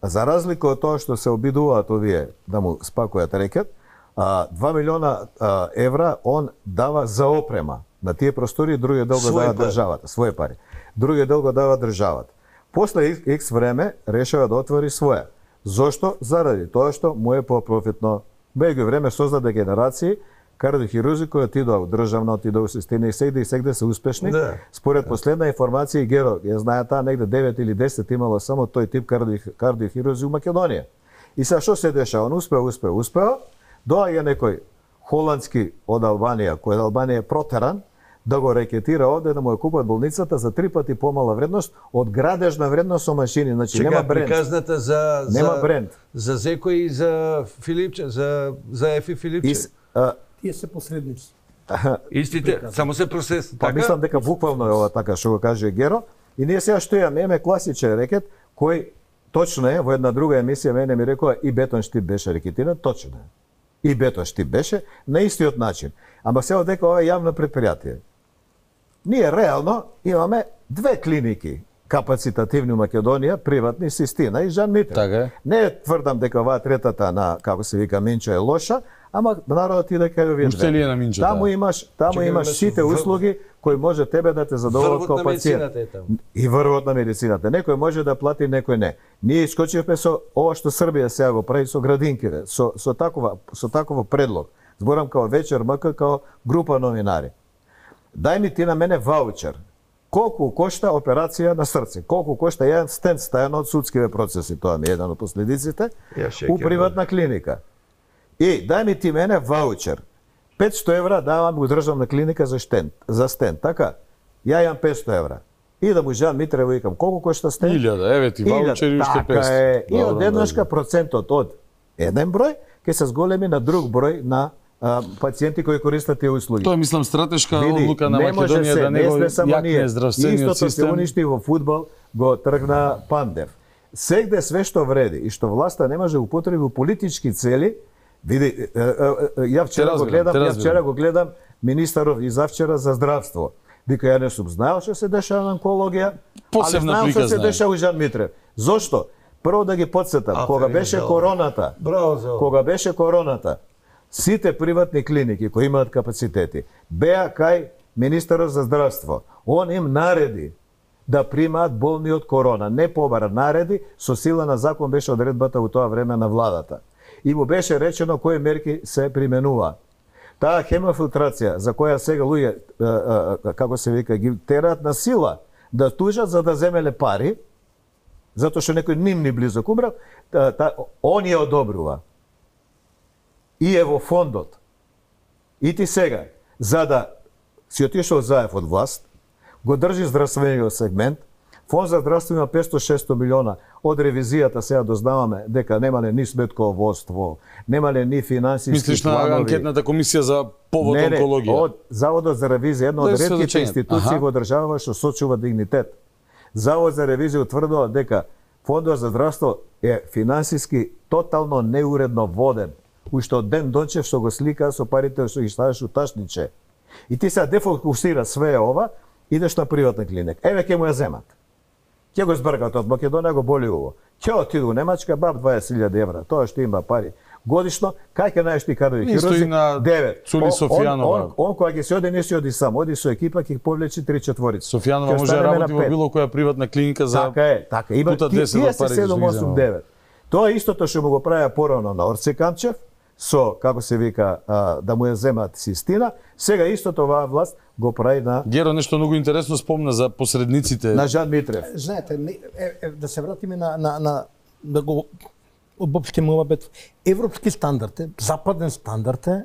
за разлика од тоа што се обидуваат овие да му спакуваат рекет, 2 милиона евра он дава за опрема. На тие простори другиот дел го дава државата, своје пари. Другиот дел го дава државата. После X време решава да отвори своја. Зошто? Заради тоа што му е по-профитно. Меѓу време создаде генерации кардиохирурзи кои отидоа у државна, отидоа у системи и сегде се успешни. Според последна информација и Геро, ја знае таа негде 9 или 10 имало само тој тип кардиохирурзи у Македонија. И сега што се дешава? Он успеа. Доаѓа некој холандски од Албанија, кој од Албанија е протеран, да го рекетира овде, да му ја купат болницата за 3 пати помала вредност од градежна вредност со машини. Значи нема бренд. Приказната нема бренд. За Зеко и за Филипче, за Ефи Филипче. Тие се посредници. Истите, само се процес. Па мислам дека буквално е ова така што го каже Геро. И ние сега што имаме класичен рекет кој точно е во една друга емисија мене ми рекоа и бетон штип беше рекетиран, точно е. И бетон штип беше на истиот начин. Ама се дека ова е јавно предпријатие. Ние реално имаме 2 клиники капацитативни у Македонија, приватни, Систина и Жан Митрев. Така. Не тврдам дека оваа третата на, како се вика, Минчо е лоша, ама народот иде кај овие две. Таму имаш сите услуги кои може тебе да те задоволат како пациент. И врвот на медицината. Некој може да плати, некој не. Ние искочивме со ова што Србија сега го прави со градинките, со такова предлог. Зборам као Вечер МК, као група новинари. Дај ми ти на мене ваучер. Колку кошта операција на срце? Колку кошта еден стент стајано од судскиве процеси? Тоа ми е еден од последиците. У приватна клиника. И дај ми ти мене ваучер. 500 евра давам го државна клиника за стент, така? Ја имам 500 евра. И да му Жан Митрево викам, колку кошта сте? 1000, еве ти ваучери уште 500. Така е. И одеднашка процентот од еден број ќе се зголеми на друг број на пациенти кои користат тие услуги. Тоа мислам стратешка одлука на Македонија да не го јакне здравствениот систем. Истото се уништи во фудбал, го тргна Пандев. Сегде све што вреди и што власта не може употреби во политички цели, види, ја вчера го гледам министеров и завчера за здравство. Вика, ја не сум знаел што се дешава на онкологија, али знаел што се дешава у Жан Митрев. Зошто? Прво да ги подсетам, кога беше короната, сите приватни клиники кои имаат капацитети беа кај министерот за здравство. Он им нареди да примаат болни од корона, не побара, нареди, со сила на закон беше одредбата у тоа време на владата. И му беше речено кои мерки се применуваат. Таа хемофилтрација за која сега луѓе, како се вика, ги тераат на сила да тужат за да земеле пари, затоа што некој ним близок умрал, он ја одобрува. И е во фондот. И ти сега, за да си отишол заев од власт, го држи здравствениот сегмент, Фонд за здравство има 500-600 милиона. Од ревизијата сега дознаваме дека немале ни сметководство, немале ни финансиски планови. Мислиш на анкетната комисија за повод онкологија? Од Заводот за ревизија, една од ретките институции во државава што сочува дигнитет. Завод за ревизија утврдува дека Фондот за здравство е финансиски тотално неуредно воден. Уште од Ден Дончев што го слика со парите што ги ставаш у ташниче. И ти сега дефокусира све ова, идеш на приватна клиника. Еве ќе му ја земат. Ќе го збркат од Македонија, го боли уво. Ќе отиду у Немачка, баб 20.000 евра. Тоа што има пари годишно, кај ќе најдеш ти кадрови хирузи? 9. Цули Софијанова. Он кога ќе се оди, не се оди сам, оди со екипа, ќе повлечи 3-4. Софијанова може да работи во било која приватна клиника за така е. Има 7-8-9. Тоа е истото што му го правеа порано на Орце Камчев, со, како се вика, да му ја земат Систина, сега истото оваа власт го прави на... Геро, нешто многу интересно спомна за посредниците. На Жан Митрев. Знаете, да се вратиме да го обобщиме ова битва. Европски стандард е, западен стандард е,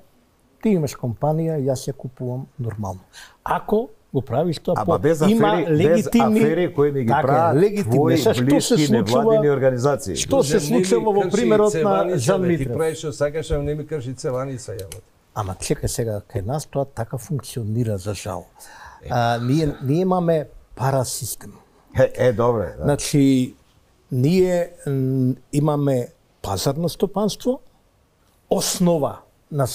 ти имаш компанија, јас ја купувам нормално. Ако го правиш тоа по има легитимни афери кои ми ги прават твои блиски невладини организации. Што се случува во примерот на Жан Митрев? Ти правиш што сакаш, а не ми кажи цеваница јавот. Ама чекај сега, кај нас тоа така функционира за жал. Ние имаме парасистем. Добре. Да. Значи, ние имаме пазарно стопанство, основа на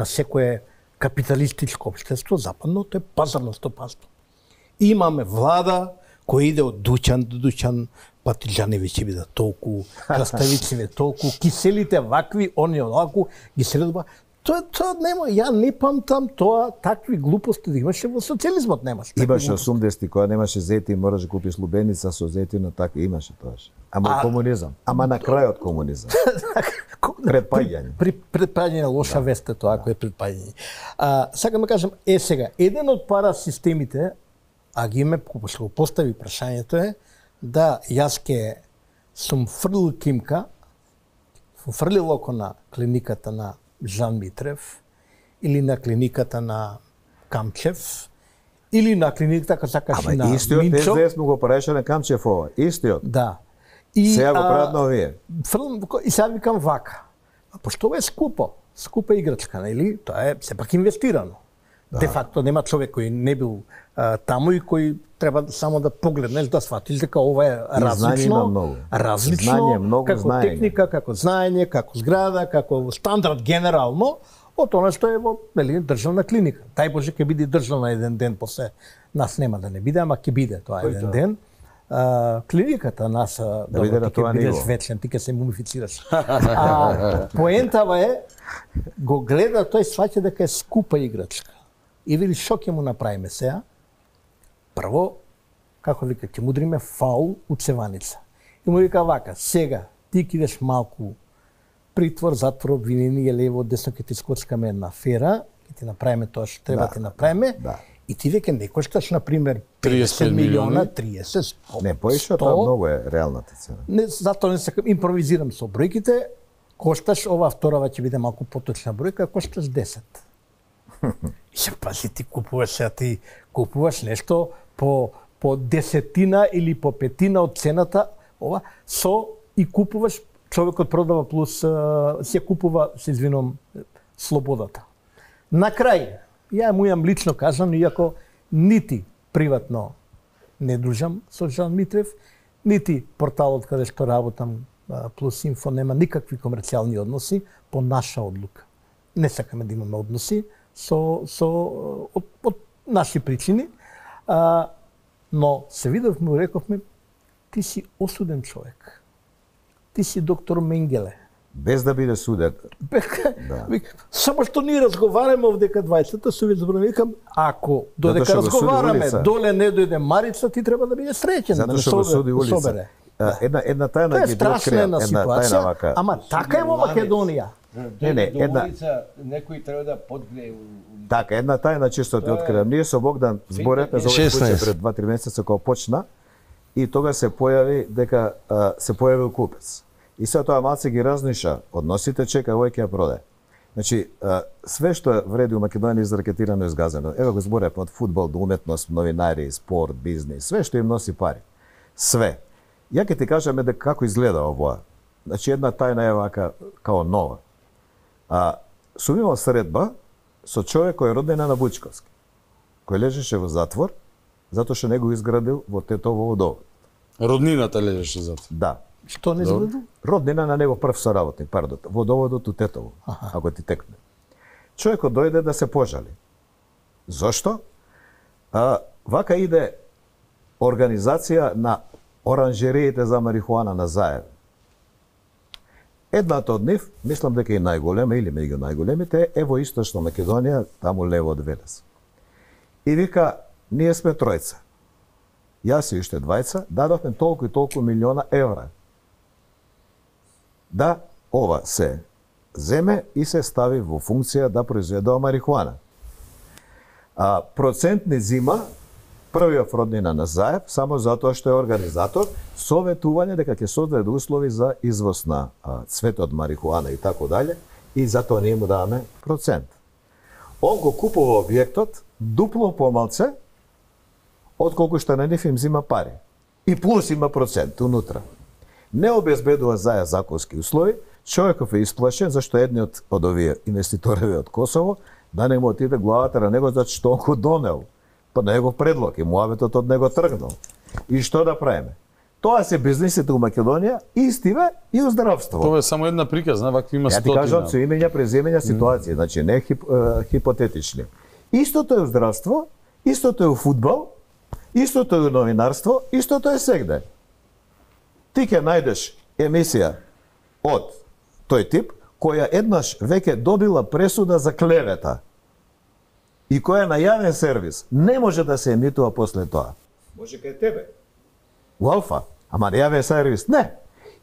секое капиталистичко општество, западното е пазарно стопанство. Имаме влада која иде од дуќан до дуќан, патиџани ќе бидат толку, краставици толку, киселите вакви, они онаку, ги следува. Тоа нема, ја не памтам тоа, такви глупости да имаше во социјализмот, немаше. Имаше 80-ти, кога немаше зетин, мораш да купиш лубеница со зетина, така имаше тоаш. Ама комунизам, ама на крајот комунизам. Предпаѓање. Предпаѓање лоша вест е тоа, ако е предпаѓање. Сакам да кажам, сега, еден од парасистемите, а ги име, што го постави прашањето е, да јас ке сум фрлил кимка, фрлил око на клиниката на Жан Митрев, или на клиниката на Камчев, или на клиниката, како сакаш, на Минчо. Ама истиот СДС му го правеше на Камчев ова, истиот. Да. Сега го прават на овие. И сега викам вака. Пошто ова е скупа играчка, нели? Тоа е сепак инвестирано. Де факто нема човек кој не бил таму и кој треба само да погледнеш, да сватиш дека ова е различно, како техника, како знаење, како зграда, како стандард генерално, од она што е во државна клиника. Тај Боже ќе биде државна еден ден, после нас нема да не биде, ама ќе биде тоа еден ден. Клиниката нас да биде на тоа ниво. Вечен, ти ќе се мумифицираш. Поентава е, го гледа, тој сваќа дека е скупа играчка. И вели што ќе му направиме сега? Прво, како вика, ќе му дриме фаул у цеваница. И му вика вака, сега ти кидеш малку притвор, затвор, обвинение, лево, десно, ќе ти скоцкаме една афера, ќе ти направиме тоа што треба ти направиме, и ти веќе не кошташ, например, 50 милиона, 30, 100. Не, поише тоа многу е реалната цена. Не, затоа не сакам, импровизирам со бројките, кошташ, ова вторава ќе биде малку поточна бројка, кошташ 10. И се пази, ти купуваш нешто по по 10 или по 5 од цената, ова со и купуваш, човекот продава плюс се купува, се извинувам, слободата. На крај, ја му имам лично кажано, иако нити приватно не дружам со Жан Митрев, нити порталот каде што работам Плюс Инфо нема никакви комерцијални односи по наша одлука. Не сакаме да имаме односи од наши причини, но се видовме и рековме, ти си осуден човек. Ти си доктор Менгеле. Без да биде суден. Да. Само што ние разговараме овдека двајцата, се викам, ако додека разговараме, доле не дојде Марица, ти треба да биде среќен. Затоа што го суди улица. Една тајна ги открија, една тајна вака. Ама така е во Македонија. Една некој треба да подгрее. Така, една тајна чисто ти откривам. Ние со Богдан зборевме за овој случај пред 2-3 месеца кога почна и тога се појави дека се појавил купец. И сега тоа малце ги разниша односите, чека овој ќе ја продаде. Значи, све што вреди у Македонија изракетирано и изгазено. Ево го зборевме од фудбал до уметност, новинари, спорт, бизнис, све што им носи пари. Све. Ја ќе ти кажеме дека како изгледа овоа. Значи, една тајна е вака као нова. Сум имал средба со човек кој е роднина на Вучковски, кој лежеше во затвор, затоа што не го изградил во Тетово водовод. Роднината лежеше во затвор? Да. Што не изградил? Роднина на него прв соработник, водоводот у Тетово, ако ти текне. Човекот дојде да се пожали. Зошто? Вака иде организација на оранжериите за марихуана на Заев. Едната од нив, мислам дека и најголема или меѓу најголемите, е во Источна Македонија, таму лево од Велес. И вика, ние сме тројца. Јас и уште двајца, дадовме толку и толку милиона евра. Да, ова се земе и се стави во функција да произведува марихуана. Процент не зима првиот роднина на Заев, само затоа што е организатор, советување дека ќе создаде услови за извоз на цветот марихуана и тако дале, и затоа ние му даваме процент. Он го купува објектот дупло помалце отколку што на нив им зима пари. И плюс има процент унутра. Не обезбедува Заев законски услови, човеков е исплашен зашто едниот од овие инвеститори од Косово да не му отиде главата на него зашто што он го донел. Па негов предлог и муаветот од него тргнал. И што да правиме? Тоа се бизнисите у Македонија, истиве и у здравство. Тоа е само една приказна, вакви има стотина. Ја ти кажам со имења, преземења ситуации, значи не хипотетични. Истото е у здравство, истото е у фудбал, истото е у новинарство, истото е сегде. Ти ќе најдеш емисија од тој тип, која еднаш веќе добила пресуда за клевета и која на јавен сервис не може да се емитува после тоа. Може кај тебе. У Алфа, ама на јавен сервис не.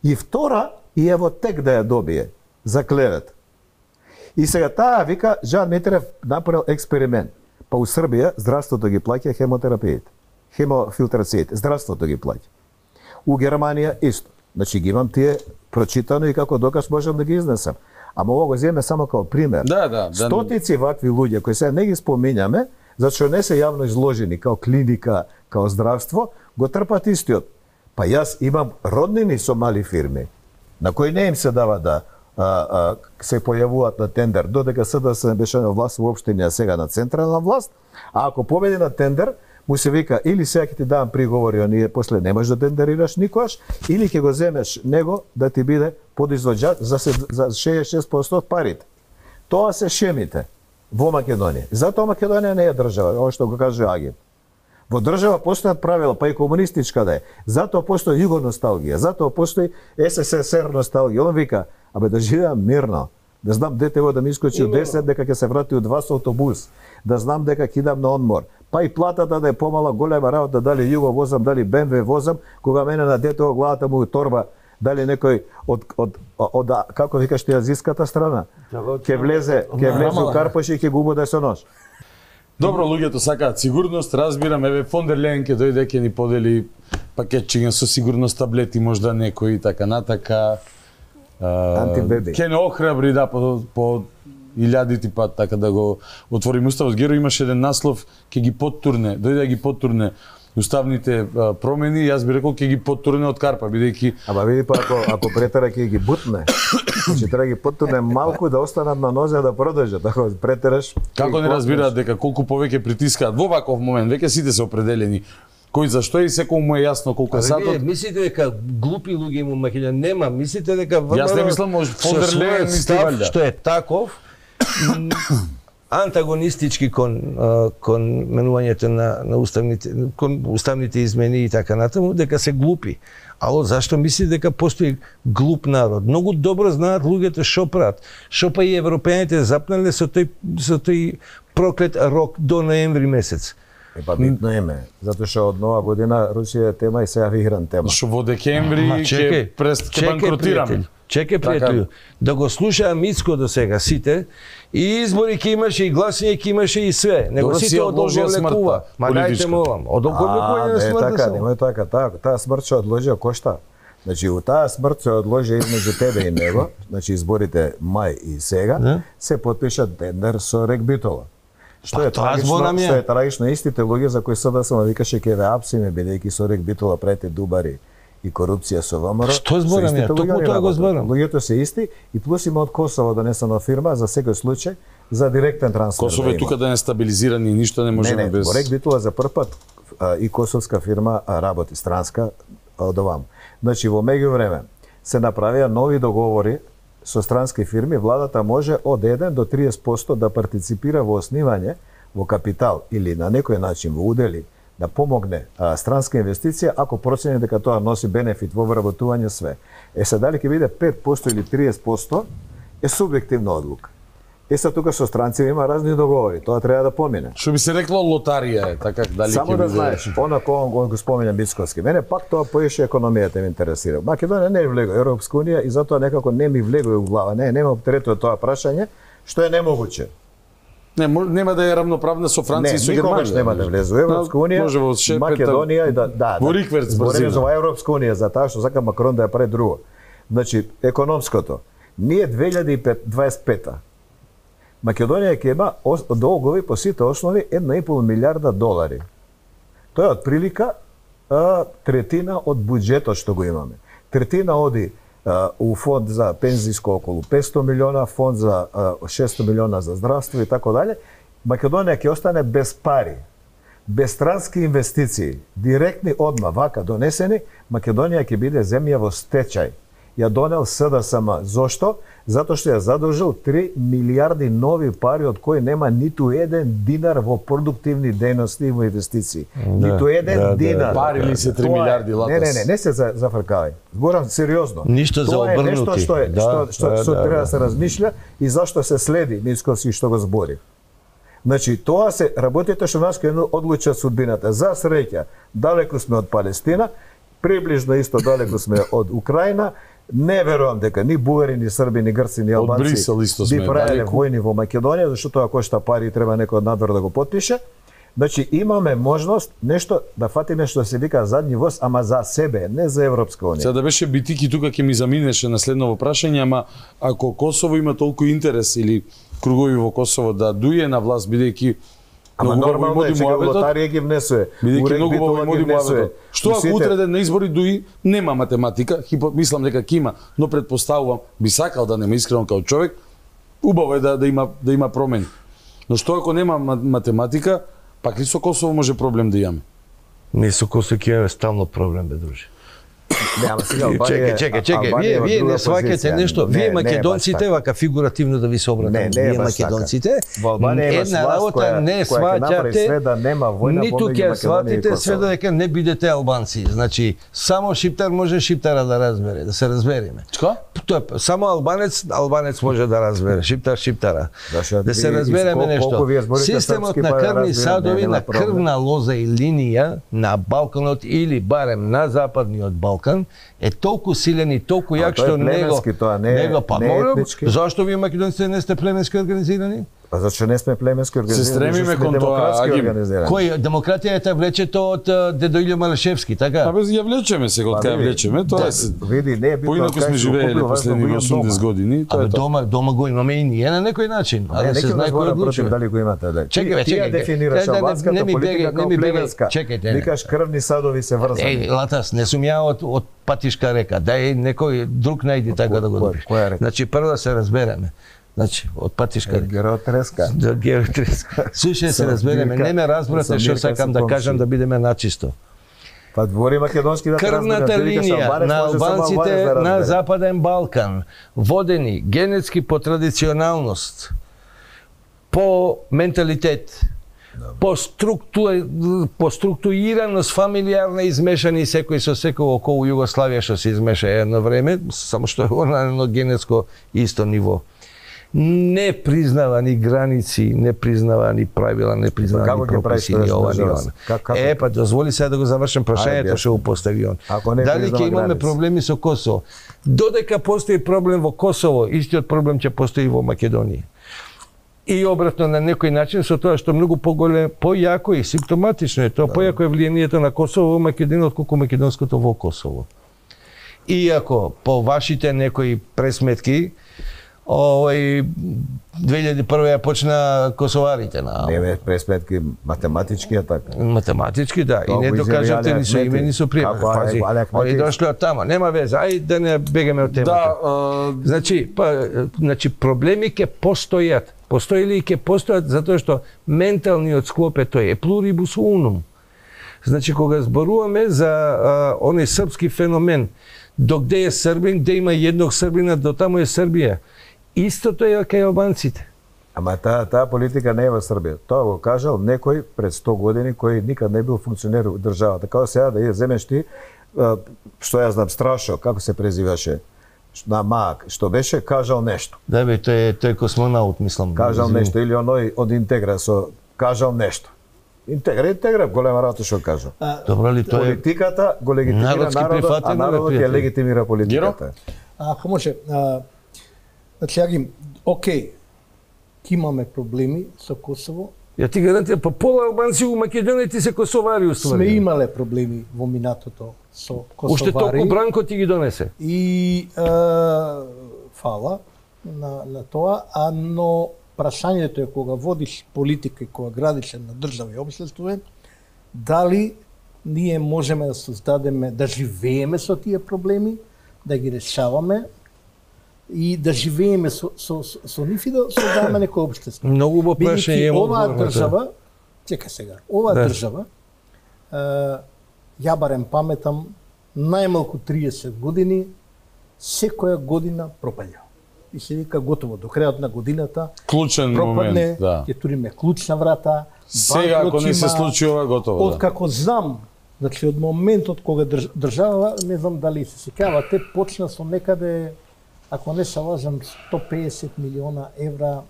И втора, и ево тек да ја добие за клевет. И сега таа вика, Жан Митрев направил експеримент. Па у Србија здравството ги плаќа хемотерапиите, хемофилтрациите, здравството ги плаќа. У Германија исто. Значи ги имам тие прочитано и како доказ можам да ги изнесам. Ама ова го земе само како пример. Стотици вакви луѓе кои сега не ги споминјаме, зашто не се јавно изложени као клиника, као здравство, го трпат истиот. Па јас имам роднини со мали фирми, на кои не им се дава да се појавуваат на тендер, додека СДС беше на власт во општина, сега на централна власт, а ако победи на тендер, му се вика или сега ќе ти давам приговори, а ние после не можеш да тендерираш никогаш, или ќе го земеш него да ти биде подизвоđач за 66% од парите. Тоа се шемите во Македонија. Затоа Македонија не е држава, ова што го каже Агин. Во држава постојат правила, па и комунистичка да е. Затоа постои југоносталгија, затоа постои СССР носталгија. Он вика, абе да живеам мирно, да знам детево да ми искочи од 10 дека ќе се врати од 2 со автобус, да знам дека ќе идам на одмор. Па и платата да е помала, голема работа, дали Југо возам, дали БМВ возам, кога мене на детево главата му торба, дали некој од како викаш ти азиската страна, ќе влезе у Карпош и ќе го убоде со нож. Добро, луѓето сакаат сигурност, разбирам, еве фон дер Лејен ќе дојде, ќе ни подели пакетчиња со сигурност, таблети, можда некои така натака. Антибеби. Ќе не охрабри да по илјадити пат така да го отворим уставот. Геро имаше еден наслов, ќе ги поттурне, дојде да ги поттурне уставните промени, јас би рекол ќе ги поттурне од карпа, бидејќи Ама види па ако претера ќе ги бутне. Значи треба ги поттурне малку да останат на нозе да продолжат. Ако претераш како не разбираат дека колку повеќе притискаат во ваков момент, веќе сите се определени. Кој зашто и секој му е јасно колку е сатот. Мислите дека глупи луѓе има Македонија? Нема, мислите дека Јас не мислам може фон дер Лејен мисли валјда. Што е таков антагонистички кон менувањето на уставните измени и така натаму, дека се глупи. Ало, зашто мисли дека постои глуп народ? Многу добро знаат луѓето што прават. Што па и европејаните запнале со тој проклет рок до ноември месец. Па битно име, затоа што од нова година Русија е тема и сега игран тема. Што во декември ќе банкротираме. Чекај, пријателju, да го слуша Мицко до сега сите, и избори ќе имаше, и гласање ќе имаше, и све. Него сите одолговлекува. Ма дајте молам, одолговлекување на смртта само. Немој така, таа смрт што одложи кошта. Значи, у таа смрт се одложи измеѓу тебе и него, значи изборите мај и сега, се потпиша тендер со Рек Битола. Што е трагично, истите луѓе за кои СДСМ викаше ќе ве апсиме, бидејќи со Рек Битола правите дубари и корупција со ВМРО. Што зборам ја? Токму тоа го зборам. Луѓето се исти и плюс има од Косово донесена фирма за секој случај за директен трансфер. Косово е тука да не стабилизирани и ништо не можеме без. Во Рек Битола за прв пат и косовска фирма работи странска од овам. Значи во меѓувреме се направија нови договори со странски фирми, владата може од 1 до 30% да партиципира во основање, во капитал или на некој начин во удели, да помогне странска инвестиција ако процени дека тоа носи бенефит во вработување све. Се дали ќе биде 5% или 30% е субјективна одлука. Се тука со странци има разни договори, тоа треба да помине. Што би се рекло лотарија е, така дали само да знаеш, онако го спомена Мицковски. Мене пак тоа поише економијата ме интересира. Македонија не е влегла Европска унија и затоа некако не ми влегува во глава. Нема оптерето тоа прашање, што е немогуче. Нема да е рамноправна со Франција и со Германија. Нема да влезе во Европска унија. Македонија и да. Во рикверц брзина. За Европска унија за таа што сака Макрон да ја прави друго. Значи економското. Ние 2025 Македонија ќе има долгови по сите основи 1,5 милиарда долари. Тоа е отприлика третина од буџетот што го имаме. Третина оди у фонд за пензиско околу 500 милиона, фонд за 600 милиона за здравство и така дале. Македонија ќе остане без пари, без странски инвестиции, директни одма вака донесени, Македонија ќе биде земја во стечај. Ја донел СДСМ. Зошто? Затоа што ја задолжил 3 милиарди нови пари од кои нема ниту еден динар во продуктивни дејности и во инвестиции. Ниту еден динар. Пари ли се 3 милиарди латас? Не се зафркавај. Зборам сериозно. Ништо за обрнути. Тоа е нешто што треба да се размишља и зашто се следи Мицковски што го збори. Значи, тоа се работите што нас ќе одлучат судбината. За среќа, далеку сме од Палестина, приближно исто далеку сме од Украина. Не верувам дека ни бугари, ни срби, ни грци, ни албанци би правеле војни во Македонија, зашто тоа кошта пари и треба некој од надвор да го потпише. Значи имаме можност нешто да фатиме што се вика задни воз, ама за себе, не за Европска унија. Сега да беше битики тука ќе ми заминеше на следново прашање, ама ако Косово има толку интерес или кругови во Косово да дуе на власт бидејќи ама нормално е, чека лотарија ги внесува. Бидејќи многу убаво моди муабетот. Што ако утре ден на избори дуи нема математика, мислам дека ќе има, но претпоставувам, би сакал да нема искрено како човек, убаво е да има промени. Но што ако нема математика, пак ли со Косово може проблем да имаме? Не, со Косово ќе имаме стално проблем, бе, друже. Чекај, вие не сваќате нешто. Вие македонците, вака фигуративно да ви се обратам, вие македонците, една работа не сваќате, ниту ќе сватите све додека не бидете албанци. Значи, само шиптар може шиптара да разбере, да се разбереме. Само албанец може да разбере, шиптара. Да се разбереме нешто. Системот на крвни садови, на крвна лоза и линија на Балканот или барем на западниот Балкан е толку силен и толку јак што него па зашто вие македонците не сте племенски организирани? Па зашто не сме племенски организирани? Се стремиме кон тоа, Агим. Кој демократијата влечето од дедо Илјо Малешевски, така? Абе ја влечеме сега, од кај влечеме, тоа е. Види, не е битно. Поинаку сме живееле последни 80 години, тоа е тоа. Дома го имаме и ние на некој начин, а да се знае кој одлучува. Дали го имате, да. Чекај, Ти дефинираш албанската политика како племенска. Чекајте. Викаш крвни садови се врзани. Латас, не сум ја од Патишка река. Дај некој друг најди така да го добиш. Значи прво да се разбереме. Значи, од Патишка Геотреска. Да, Геотреска. Слушај, се разбереме, не ме разбрате што сакам да кажам да бидеме начисто. Па двори македонски да крвната линија на албанците на Западен Балкан, водени генетски по традиционалност, по менталитет, по структурираност фамилиарна измешани секој со секој околу Југославија што се измеша едно време, само што е на едно генетско исто ниво. Не признава ни граници, не признава ни правила, не признава ни прописи, ни ова, ни она. Па дозволи сега да го завршам прашањето што го постави он. Дали ќе имаме проблеми со Косово? Додека постои проблем во Косово, истиот проблем ќе постои во Македонија. И обратно на некој начин со тоа што многу поголем, појако и симптоматично е тоа, појако е влијанието на Косово во Македонија отколку македонското во Косово. Иако по вашите некои пресметки 2001 ја почна косоварите на. Не пресметки математички е така. Математички да, и не докажате ни со име ни со приме. Пази, они дошле од тама, нема веза, ај да не бегаме од темата. Значи проблеми ќе постојат. Постои ли и ќе постојат затоа што менталниот склоп е тој, е плурибус унум. Значи кога зборуваме за оној српски феномен, до где е Србин, где има едног Србина, до таму е Србија. Истото е кај албанците. Ама таа политика не е во Србија. Тоа го кажал некој пред 100 години кој никад не бил функционер во државата. Како сега да земеш ти, што ја знам, Страшо, како се презиваше, на Маак, што беше, кажал нешто. Да бе, тој е космонаут, мислам. Кажал нешто, или оној од Интегра кажал нешто. Интегра, голема работа што кажал. Добро ли тоа е? Политиката го легитимира народот, а народот ја легитимира политиката. Ако може, значи, Агим, окей, имаме проблеми со Косово. Ја ти гарантирам, па пола албанци у Македонија ти се косовари уствари. Сме имале проблеми во минатото со косовари. Уште толку Бранко ти ги донесе. И фала на тоа, но прашањето е кога водиш политика и кога градиш на држава и општество, дали ние можеме да создадеме, да живееме со тие проблеми, да ги решаваме и да живееме со нив и да создаваме некој општество. Многу во прашање оваа држава, чека сега, оваа држава, ја барем паметам, најмалку 30 години, секоја година пропаѓа. И се вика готово, до крајот на годината клучен пропадне, момент, да. Ќе туриме клучна врата. Сега ако не се случи ова, готово. Откако знам, значи од моментот кога држава, не знам дали се сеќавате, почна со некаде, ако не се лажам, 150 милиона евра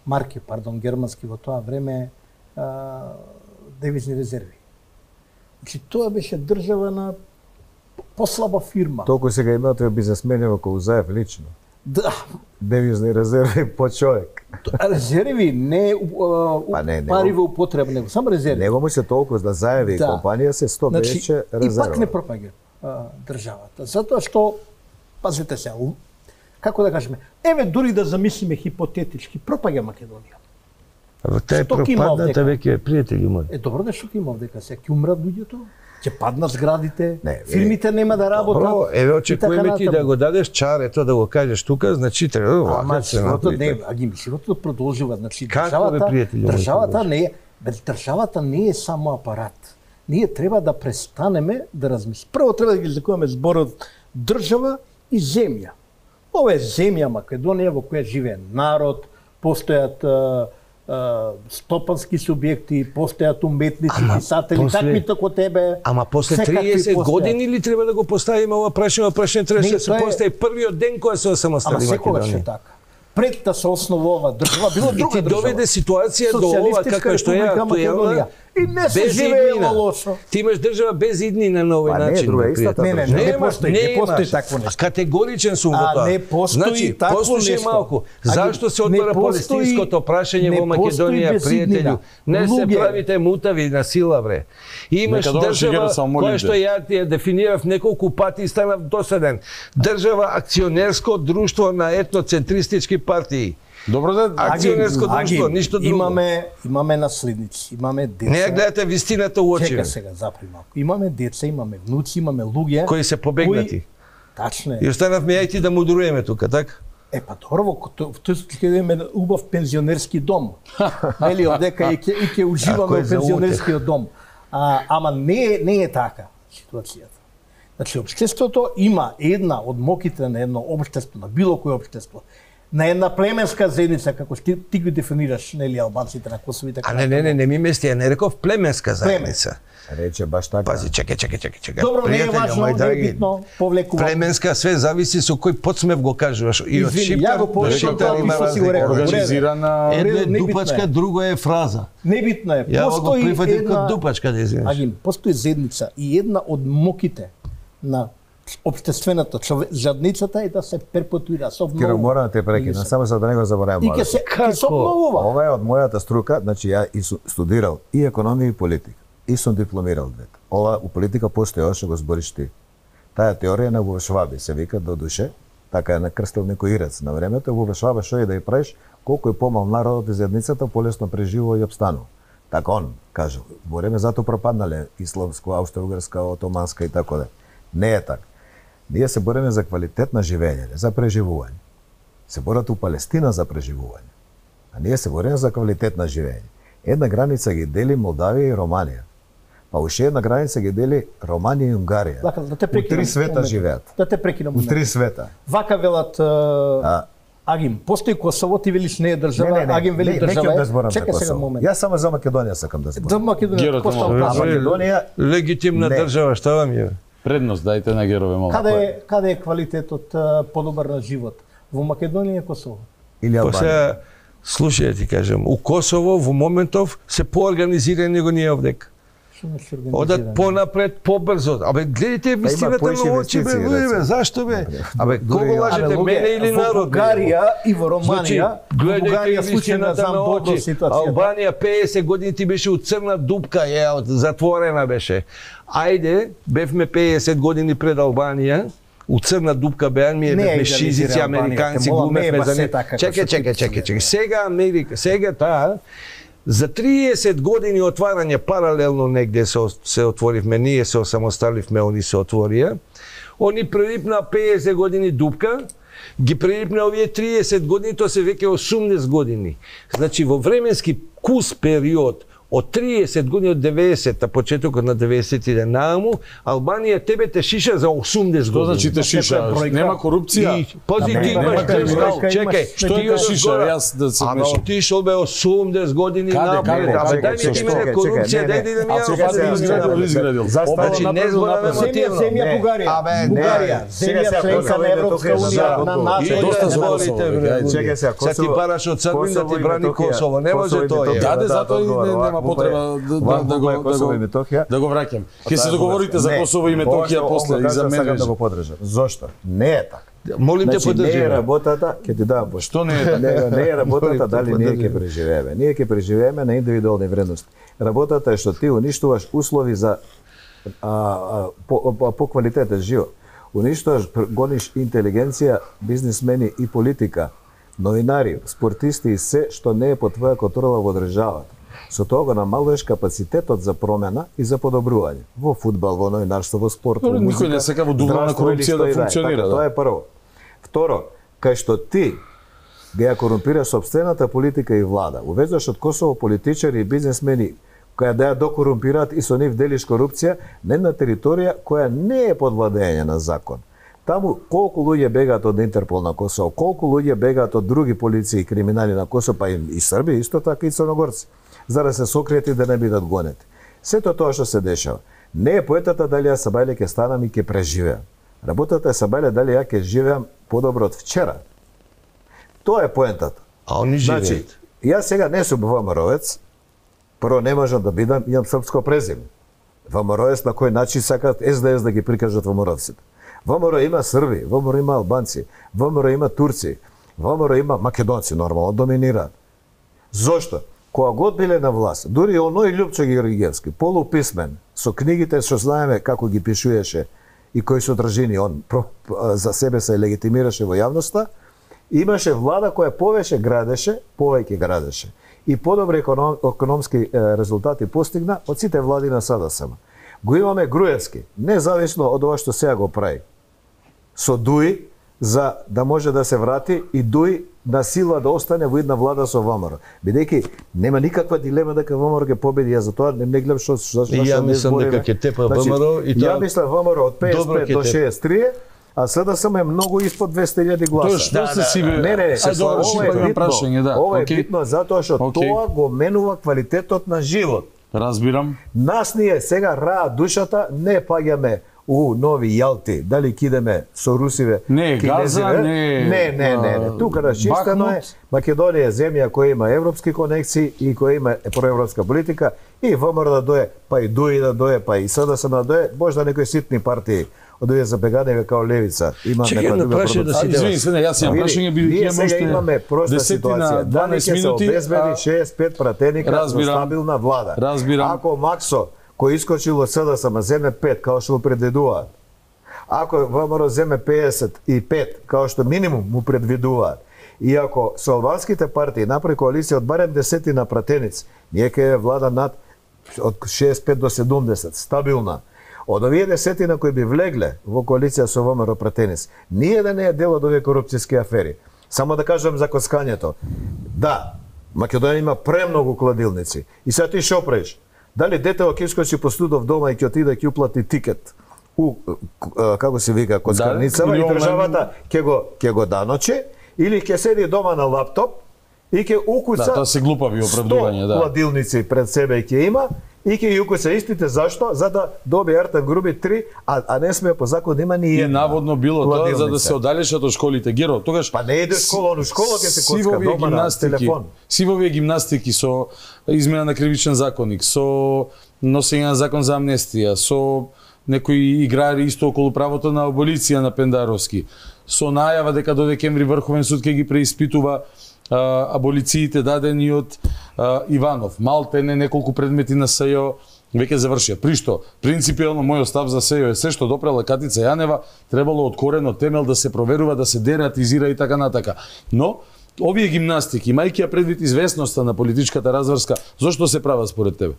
марки, германски во тоа време, девизни резерви. Значи тоа беше држава на послаба фирма. Толку сега имате бизнесмени околу Заев лично. Да. Девизни резерви по човек. Резерви, не пари во употреба, него само резерви. Него му се толку да Заеви компанија се 100 беше резерва. И пак не пропаѓа државата. Затоа што, пазете се, како да кажеме, еве дури да замислиме хипотетички, пропаѓа Македонија. Тај пропадната веќе пријатели мои. Добро да што има овдека, сега ќе умрат луѓето? Ќе паднат зградите, фирмите нема да работат. Добро, еве очекуваме ти да го дадеш чарето да го кажеш тука, значи треба да се направи. Животот продолжува, значи државата не е, државата не е само апарат. Ние треба да престанеме да размислиме. Прво треба да ги разликуваме зборот држава и земја. Ова е земја Македонија во која живее народ, постојат стопански субјекти, постојат уметници, писатели, такви како тебе. Ама после 30 години ли треба да го поставиме ова прашање требаше да се постави првиот ден кога се осамостали Македонија. Ама секогаш е така. Пред да се основува држава, било друга држава. И ти доведе ситуација до ова каква што е актуелна И не се живеело лошо. Ти имаш држава без иднина на овој начин. Не, друга истата. Не постои такво нешто. Категоричен сум во тоа. Не постои такво нешто. Малку. Зашто се отвора палестинското прашање во Македонија, пријателju? Не се правите мутави на сила, бре. Имаш држава која што ја дефинирав неколку пати и станав досаден. Држава акционерско друштво на етноцентристички партии. Добро да акционерско друштво, ништо друго. Имаме наследници, имаме деца. Не гледате вистината у очи. Чека сега, запри малку. Имаме деца, имаме внуци, имаме луѓе кои се побегнати. Тачно е. И останавме ја и ти да мудруеме тука, така? Па добро, во тој случај имаме убав пензионерски дом. Нели, одека и ќе уживаме во пензионерскиот дом. Ама не е така ситуацијата. Значи, општеството има една од моките на едно општество, на било кој општество, на една племенска заедница, како ти ги дефинираш, нели, албанците на Косово и така. Не ми мести, ја не реков племенска заедница. Рече баш така. Пази, чекај. Добро, не е важно, не е битно, повлекува. Племенска, све зависи со кој подсмев го кажуваш. И од Шиптар, организирана... Едно е дупачка, друго е фраза. Небитно е. Ја го прифатив како дупачка, да извинеш. Агим, постои заедница и една од моките на општествената жадницата е да се перпетуира со обновува. Киро, морам да те прекинам, само за да не го заборавам. И ќе се обновува. Ова е од мојата струка, значи ја и студирал и економија и политика. И сум дипломирал двете. Ова у политика постои, ова што го збориш ти. Таа теорија на Шваби се вика до душе, така е накрстил некој ирец на времето, во Шваба што е да ја правиш, колку е помал народот и заедницата, полесно преживува и обстанува. Така он кажал. Во време затоа пропаднале исламско, аустро-угрска, отоманска и така да. Не е така. Ние се бориме за квалитет на живење, за преживување. Се борат у Палестина за преживување. А ние се бориме за квалитет на живење. Една граница ги дели Молдавија и Романија. Па уште една граница ги дели Романија и Унгарија. Да те прекинам. У три света живеат. Да те прекинам. У три света. Вака велат Агим, постои Косово, ти велиш не е држава, Агим вели држава. Чекај сега момент. Јас само за Македонија сакам да зборам. За Македонија, Македонија легитимна држава, што вам е? Предност дајте на герове малку. Каде е квалитетот подобар на живот? Во Македонија и Косово? Или Албанија? Слушај, ти кажам, у Косово во моментов се поорганизирани него ние овдека. Одат понапред, побрзо. Абе, гледайте вистината на очи, бе, бе, зашто бе? Абе, кого лажете, мене или народ? Во Бугарија и во Романија, гледайте вистината на очи. Албанија 50 години ти беше у црна дупка, затворена беше. Ајде, бевме 50 години пред Албанија, у црна дупка беа, бевме шизици, американци, глумевме за не. Чекај. Сега Америка, сега таа, за 30 години отварање паралелно негде се отворивме, ние се осамосталивме, они се отворија. Они прелипна 50 години дупка, ги прелипна овие 30 години, тоа се веќе 80 години. Значи во временски кус период од 30 години, од 90-та, почетокот на 90-тите нааму, Албанија тебе те шиша за 80 години. Што значи те шиша? Нема корупција? Пази, ти имаш кристал, чекај. Што е те шиша? Јас да се мешам. Ама отишол бе 80 години напред. Ама дај ми ти мене корупција, дај да ми ја изградил. Значи не збораме мотивно. Земја Бугарија. Земја членка на Европска унија, на НАТО. Доста зборите. Чекај сега, Косово. Се ти параш од Србин да ти брани Косово. Не може тоа. Даде, затоа нема потреба да го враќам. Ќе се договорите за Косово и Метохија после и за мене. Да го подржам. Зошто? Не е така. Молим те подржи. Не е работата, ќе ти дам. Што не е така? Не е работата дали ние ќе преживееме. Ние ќе преживееме на индивидуални вредности. Работата е што ти уништуваш услови за по квалитетен живот. Уништуваш, гониш интелигенција, бизнисмени и политика, новинари, спортисти и се што не е под твоја контрола во државата. Со тоа го намалуваш капацитетот за промена и за подобрување. Во фудбал, во новинарство, во спорт, во музика. Никој не сака во духовна корупција да функционира. Тоа е прво. Второ, кај што ти ја корумпираш сопствената политика и влада, увезуваш од Косово политичари и бизнисмени која да ја докорумпираат и со нив делиш корупција на една територија која не е под владење на закон. Таму колку луѓе бегаат од Интерпол на Косово, колку луѓе бегаат од други полиции и криминали на Косово, па и Срби, исто така и црногорци, за да се сокријат и да не бидат гонети. Сето тоа што се дешава. Не е поетата дали ја Сабајле ќе станам и ќе преживеам. Работата е Сабајле дали ја ќе живеам подобро од вчера. Тоа е поентата. А они живеат. Значи, јас сега не сум ВМРО-вец, Прво не можам да бидам, имам српско презиме. ВМРО на кој начин сакаат СДС да ги прикажат ВМРО-ците. ВМРО има Срби, ВМРО има Албанци, ВМРО има Турци, ВМРО има Македонци, нормално доминираат. Зошто? Кога год биле на власт, дури оној Љупчо Георгиевски, полуписмен, со книгите што знаеме како ги пишуеше и кои содржини он за себе се легитимираше во јавноста, имаше влада која повеќе градеше и подобри економски резултати постигна од сите влади на СДСМ. Го имаме Груевски, независно од ова што сега го прави, со Дуи, за да може да се врати и Дуи на сила да остане во една влада со ВМРО. Бидејќи нема никаква дилема дека ВМРО ќе победи, ја затоа не гледам што ја мислам дека ќе тепа ВМРО и тоа. Ја мислам ВМРО од 55 до 63, а СДСМ е многу испод 200.000 гласа. Тоа што се си бе? Ова е битно затоа што тоа го менува квалитетот на живот. Разбирам. Нас ние сега раа душата, не паѓаме у нови Јалти, дали кидеме со русиве, не Газа, не. Тука расчистено е. Македонија е земја која има европски конекции и која има проевропска политика и ВМРО да дое, па и Дуи да дое, па и СДСМ да дое, можда некои ситни партии од овие забеганеви као Левица имаат нека друга продукција. Извини се, јас имам прашање, бидејќи сега имаме проста ситуација. 12 минути се обезбеди 6-5 пратеника за стабилна влада. Ако Максо кој искочил од СДСМ земе 5 као што му предвидуваат, ако ВМРО земе 55 као што минимум му предвидуваат, и ако со албанските партии направи коалиција од барем 10 на пратеници, ние ќе влада над од 65 до 70 стабилна. Од овие 10 на кои би влегле во коалиција со ВМРО пратеници, ние да не е дел од овие корупцијски афери. Само да кажам за коскањето. Да, Македонија има премногу кладилници. И сега ти шо правиш? Дали детево ќе искочи по студов дома и ќе отиде ќе уплати тикет у како се вика коскарницава и државата ќе го даночи или ќе седи дома на лаптоп и ќе укуца. Да, тоа се глупави оправдувања, да. Кладилници пред себе ќе има и ќе ги укуца истите зашто? За да добие Артем Груби 3, а не сме по закон да има ни една. И наводно било тоа за да се оддалечат од школите. Геро, тогаш па не иде школа, но школа ќе се коцка дома на телефон. Сивовие гимнастики со измена на кривичен законник, со носење на закон за амнестија, со некои играри исто околу правото на аболиција на Пендаровски, со најава дека до декември Врховен суд ќе ги преиспитува аболициите дадени од Иванов. Малтене неколку предмети на СЈО веќе завршија. Пришто, принципијално мојот став за СЈО е се што допрела Катица Јанева, требало од корен, од темел да се проверува, да се дератизира и така натака. Но, овие гимнастики, имајќи ја предвид известноста на политичката разврска, зошто се прават според тебе?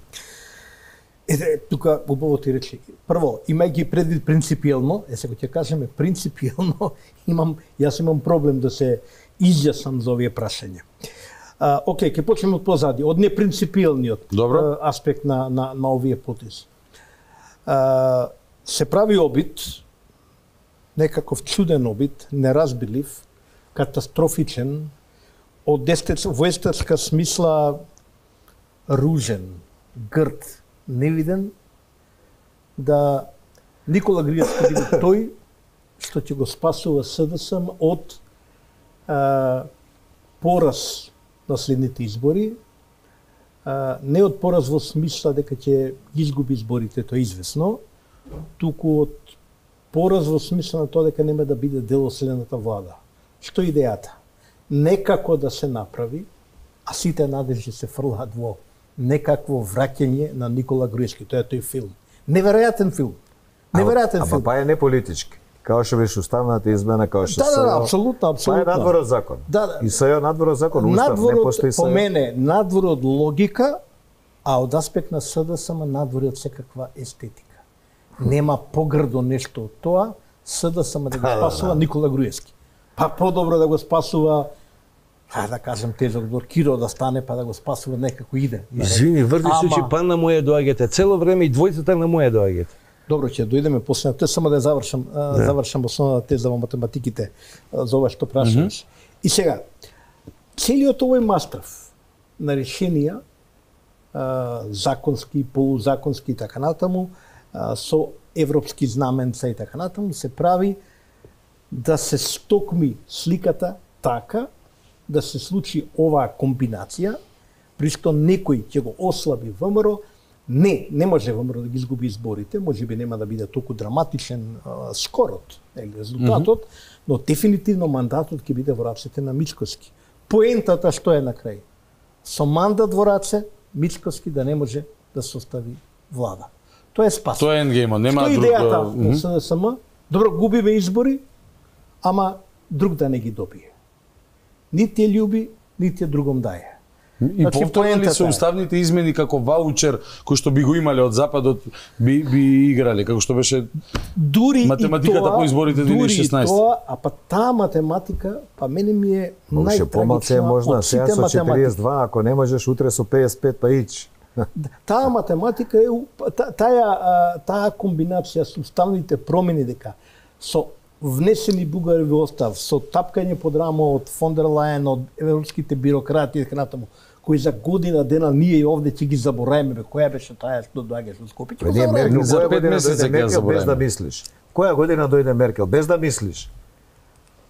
Тука убаво ти речи. Прво, имајќи предвид принципијално, сега ќе кажеме принципијално, јас имам проблем да се изјаснам за овие прашања. Океј, ќе почнеме од позади, од непринципијалниот аспект на овие потези. Се прави обид, некаков чуден обид, неразбилив, катастрофичен, во естетска смисла ружен, грд, невиден, да Никола Груевски биде тој што ќе го спасува СДСМ од пораз на следните избори, не од пораз во смисла дека ќе ги изгуби изборите, тоа е известно, туку од пораз во смисла на тоа дека нема да биде дел од следната влада. Што е идејата? Некако да се направи, а сите надежди се фрлаат во некакво враќање на Никола Груевски. Тоа е тој филм. Неверојатен филм. Неверојатен филм. Па е не политички. Као што беше уставната измена, као што Да, апсолутно. Па е надвор од закон. Да. И СЈО надвор од закон, устав не постои СЈО. По мене, надвор од логика, а од аспект на СДСМ надвор од секаква естетика. Нема погрдо нешто од тоа, СДСМ да го спасува Никола Груевски. Па подобро да го спасува, да кажем тежок збор, Киро да стане па да го спасува некако иде. Извини, врди случај, па на моје доаѓате. Цело време и двојцата на моје доаѓате. Добро, ќе дојдеме после тоа, само да завршам основната теза во математиките за ова што прашуваш. И сега, целиот овој мастрав на решенија, законски, полузаконски и така натаму, со европски знаменца и така натаму, се прави да се стокми сликата така, да се случи оваа комбинација, при што некој ќе го ослаби ВМРО, не може ВМРО да ги изгуби изборите, можеби нема да биде толку драматичен скорот, резултатот, но дефинитивно мандатот ќе биде во рацете на Мицкоски. Поентата што е на крај? Со мандат во раце, Мицкоски да не може да состави влада. Тоа е спас. Тоа е ендгеймот, нема друг. Што е идејата на СДСМ? Добро, губиве избори, ама друг да не ги добие. Нити е љуби, нити е другом дае. И повторно ли се уставните измени како ваучер кој што би го имале од Западот би играле, како што беше дури математиката тоа, по изборите 2016? Дури тоа, а па таа математика, па мене ми е најтрагична од сите со 42, ако не можеш утре со 55 па ич. Таа математика е таа комбинација со уставните промени дека со внесени бугари во остав, со тапкање под рамо од фон дер Лајен, од европските бирократи и така натаму, кои за година дена ние овде ќе ги забораиме, која беше таа што доаѓаше од Скопје. Ние Меркел за 5 месеци ќе забораиме без да мислиш. Која година дојде Меркел без да мислиш?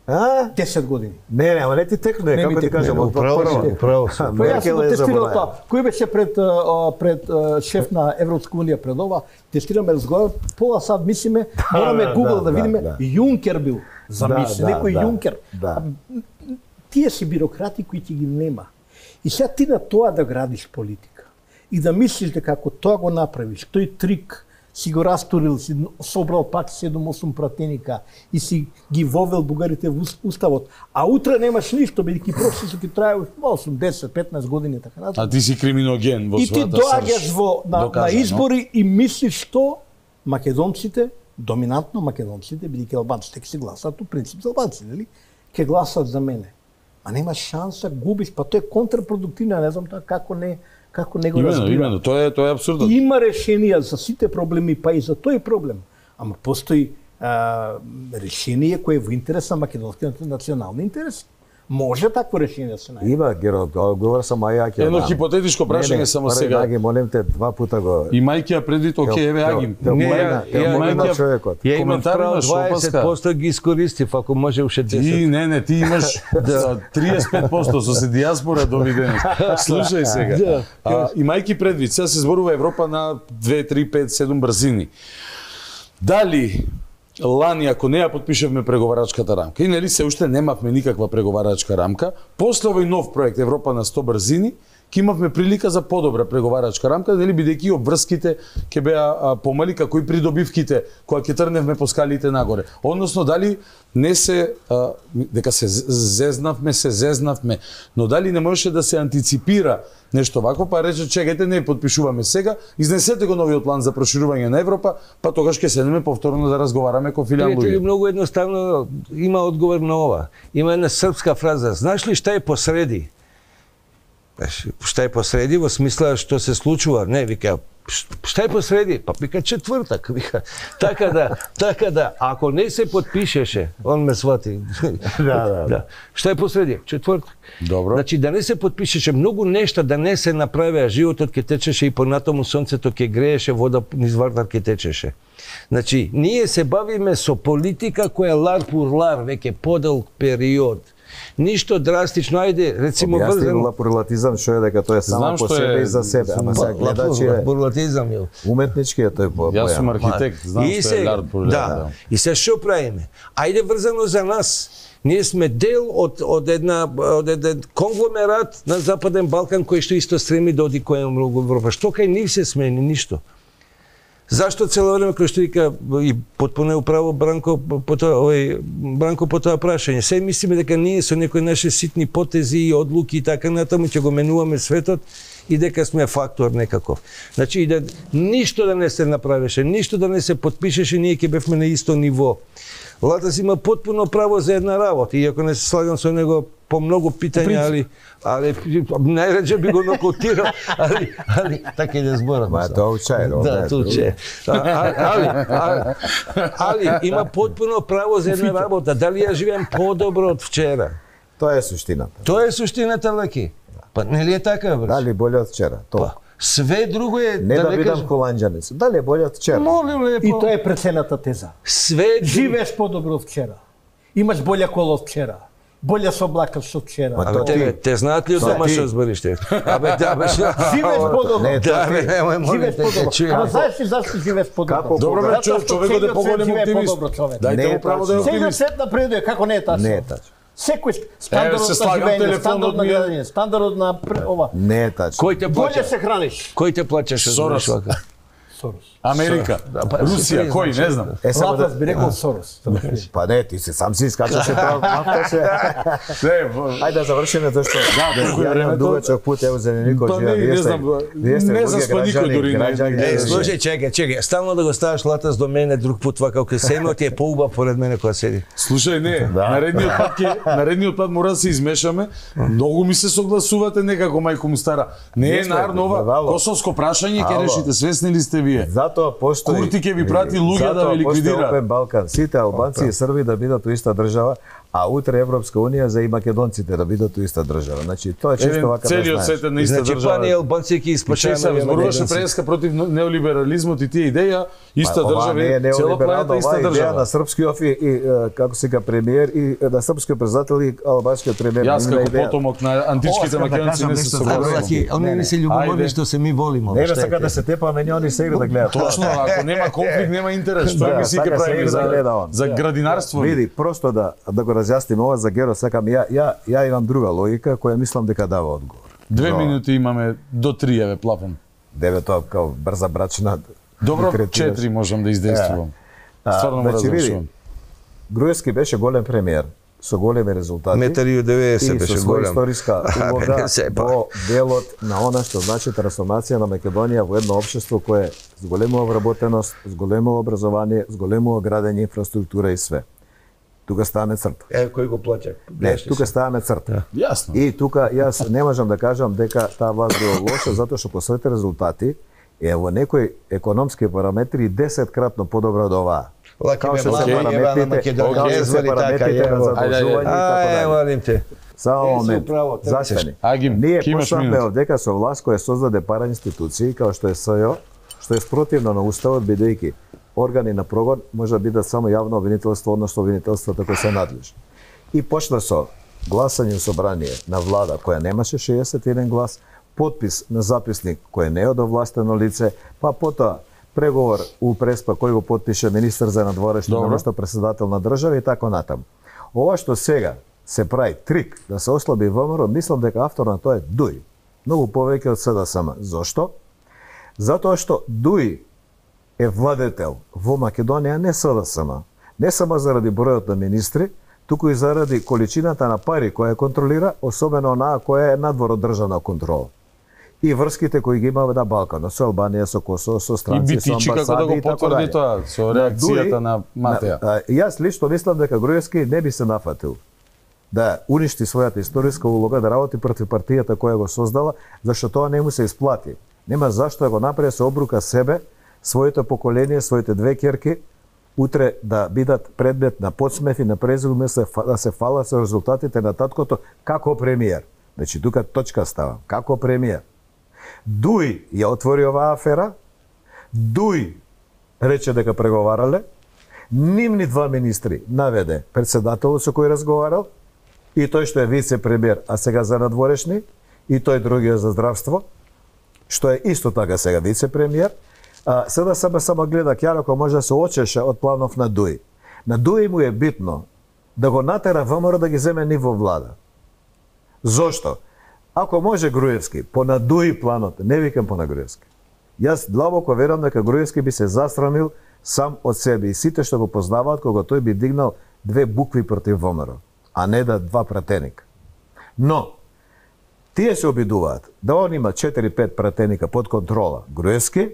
10 години. Не, ама не ти текне, како ти кажам, управо. Меркел е забораиме. Кој беше пред шеф на Европска унија пред ова, тестираме разговор, пола сад мислиме, мораме Google да видиме, Јункер бил. Замисли, некој Јункер. Тие си бюрократи кои ти ги нема. И сега ти на тоа да градиш политика и да мислиш дека ако тоа го направиш, тој трик си го растурил, си собрал пак 7-8 пратеника и си ги вовел бугарите во уставот, а утре немаш ништо, бидејќи процесот ќе трае 8-10-15 години така натаму. А ти си криминоген во својата срж. И ти доаѓаш на избори и мислиш што македонците, доминантно македонците, бидејќи албанците ќе се гласат, у принцип за албанците, нели? Ќе гласат за мене. А нема шанса, губиш, па тоа е контрапродуктивно, не знам тоа како не го разбира. Именно, тоа е апсурдно. Има решенија за сите проблеми, па и за тој проблем. Ама постои решение кое е во интерес на македонскиот национални интереси. Може такво решение да се најде. Има, Герод, говор сам Ајаки. Едно хипотетичко прашање само сега. Аги, молим те, 2 пута го. Имајќи ја предвид, окей, еве Аги. Ја имам право 20% ги искористив, ако може уште 10. Ти имаш 35% со се диаспора довидено. Слушај сега. Имајќи предвид, сега се зборува Европа на 2, 3, 5, 7 брзини. Дали лани, ако не ја подпишевме преговарачката рамка, и нели се уште немавме никаква преговарачка рамка, после овој нов проект Европа на 100 брзини, ќе имавме прилика за подобра преговарачка рамка, нели бидејќи обврските ќе беа помали, како и придобивките кога ќе трневме по скалите нагоре. Односно дали не се дека се зезнавме, но дали не можеше да се антиципира нешто вако, па рече чекајте, не подпишуваме сега, изнесете го новиот план за проширување на Европа, па тогаш ќе седнеме повторно да разговараме ко филијан луѓе. Пријатели, многу едноставно има одговор на ова. Има една српска фраза, знаеш ли шта е посреди? Шта е посреди во смисла што се случува? Не, вика, шта е посреди? Па вика четвртак, вика. Така да, ако не се подпишеше, он ме свати. Да. Шта е посреди? Четвртак. Добро. Значи да не се подпишеше, многу нешта да не се направеа, животот ќе течеше и понатаму сонцето ќе грееше, вода низ вартар ќе течеше. Значи, ние се бавиме со политика која лар пур лар, веќе подолг период. Ништо драстично, ајде, рецимо врзано. Лапурлатизам што е дека тоа е само по себе и за себе, ама сега гледачи е. Лапурлатизам е. Уметнички е тој појам. Јас сум архитект, знам што е лапурлатизам. Да. И се што правиме? Ајде врзано за нас. Ние сме дел од еден конгломерат на Западен Балкан кој што исто стреми да оди кој многу Европа. Што кај нив се смени ништо? Зашто цело време кој што вика и потpuno управо Бранко по тоа прашање. Се мислиме дека ние со некои наши ситни потези и одлуки и така натаму ќе го менуваме светот и дека сме фактор некаков. Значи и да ништо да не се направеше, ништо да не се подпишеше, ние ќе бевме на исто ниво. Латас има потpuno право за една работа, иако не се слагам со него по многу питања, али најредже би го нокаутирал, али така и да зборам. Ма тоа учајно. Да, тоа учајно. Али има потpuno право за една работа. Дали ја живеам подобро од вчера? Тоа е суштината. Тоа е суштината, Леки. Па нели е така, брат? Дали боле од вчера? Тоа. Све друго е не да бидам холанџанец. Дали е боле од вчера? Молим лепо. И тоа е прецената теза. Све живееш подобро од вчера. Имаш болја кола од вчера. Боле се облакаш со вчера. Абе, те знаат ли од домашно збориšte? Абе, да, живееш подобро. Живееш подобро. Ама знаеш ли зашто живееш подобро? Добро бе, човекот е поголем оптимист. Дајте го право да е оптимист. Целиот свет напредува, како не е тачно? Не е тачно. Секој стандардот на живење, стандардот на градење, стандардот на ова. Не е тачно. Кој те плаќа? Боле се храниш. Кој те плаќаше? Сорос. Сорос. Америка, Русија, кој, не знам. Латас би рекол Сорос. Па не, ти се сам си искачаше право. Ајде да завршиме зашто. Да, ја дугачок пут ево за никој живее. Не знам спа никој дури не. Слушај, чекај, стално да го ставаш Латас до мене друг пут вака како семеот ти е поубав поред мене кога седи. Слушај, не, наредниот пат мора да се измешаме. Многу ми се согласувате некако мајко му стара. Не е нарно ова косовско прашање ќе решите, свесни ли сте вие? Затоа постои Курти ќе ви прати луѓе да ве ликвидира. Опен Балкан, сите албанци и срби да бидат у иста држава, а утре Европска унија за и македонците да бидат у иста држава. Значи тоа е чисто вака да знаеш. Целиот свет е на иста држава. Значи пани албанци ќе испачаат. Зборуваше преска против неолиберализмот и тие идеја, иста држава, цела планета иста држава. На српскиот и како се ка премиер и на српскиот председател и албанскиот премиер. Јас како потомок на античките македонци не се согласувам. Они не се љубоморни што се ми волиме. Не сака да се тепаме, не они се игра да гледаат. Точно, ако нема конфликт, нема интерес. Тоа ми си ќе правиме за градинарство. Види, просто да го разјасним ова за Геро, сакам ја имам друга логика која мислам дека дава одговор. 2 минути имаме до 3, еве плафен. 9 тоа као брза брачна. Добро, 4 можам да издействувам. Стварно мора да завршувам. Груевски беше голем премиер со големи резултати. Метари и 90 беше голем. И со историска улога во делот на она што значи трансформација на Македонија во едно општество кое е с голема вработеност, с големо образование, с големо градење инфраструктура и све. Тука ставаме црта. Кој го плаќа? Не, тука ставаме црта. Јасно. И тука јас не можам да кажам дека таа власт била лоша затоа што по своите резултати е во некои економски параметри 10-кратно подобро од оваа. Као што се параметрите на задолжување и така. Само момент. Застани. Ние почнавме дека со власт која создаде параинституции као што е СЈО, што е спротивно на уставот бидејќи органи на прогон може да бидат само јавно обвинителство, односно обвинителствата кои се надлежни. И почна со гласање у собрание на влада која немаше 61 глас, подпис на записник кој не е од овластено лице, па потоа преговор у Преспа кој го потпише министер за надворешни наместо председател на држава и така натаму. Ова што сега се прави трик да се ослаби ВМРО, мислам дека автор на тоа е Дуј. Многу повеќе од СДСМ. Зошто? Затоа што Дуј е владетел во Македонија не СДСМ. Не само заради бројот на министри, туку и заради количината на пари која контролира, особено онаа која е надвор од државна контрола. И врските кои ги има на Балканот, со Албанија, со Косово, со странци, со амбасади и така да го потврди тоа, со реакцијата на Матеја. Јас лично мислам дека Груевски не би се нафатил да уништи својата историска улога, да работи против партијата која го создала, зашто тоа не му се исплати. Нема зашто да го направи се обрука себе, своето поколение, своите две ќерки, утре да бидат предмет на подсмев и на презум, да се фала со резултатите на таткото како премиер. Значи, тука точка става. Како премиер. Дуј ја отвори оваа афера, Дуј рече дека преговарале, нивни два министри наведе председателот со кој разговарал, и тој што е вице-премиер, а сега за надворешни, и тој другиот за здравство, што е исто така сега вице-премиер. Сега само гледа Ќарако може да се очеше од планов на Дуј. На Дуј му е битно да го натера ВМРО да ги земе ниво влада. Зошто? Ако може Груевски, по на Дуј планот, не викам по на Груевски. Јас длабоко верам дека Груевски би се засрамил сам од себе и сите што го познаваат кога тој би дигнал 2 букви против ВМРО, а не да 2 пратеника. Но, тие се обидуваат да он има 4-5 пратеника под контрола Груевски,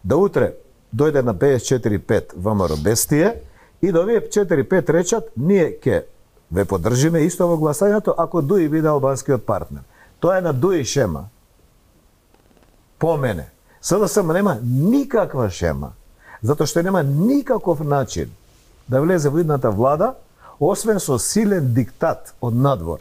да утре дојде на 54-5 ВМРО без тие и да овие 4-5 речат ние ќе ве поддржиме исто во гласањето ако Дуј биде албанскиот партнер. Тоа е на Дуј шема. По мене. СДСМ нема никаква шема, затоа што нема никаков начин да влезе во идната влада, освен со силен диктат од надвор.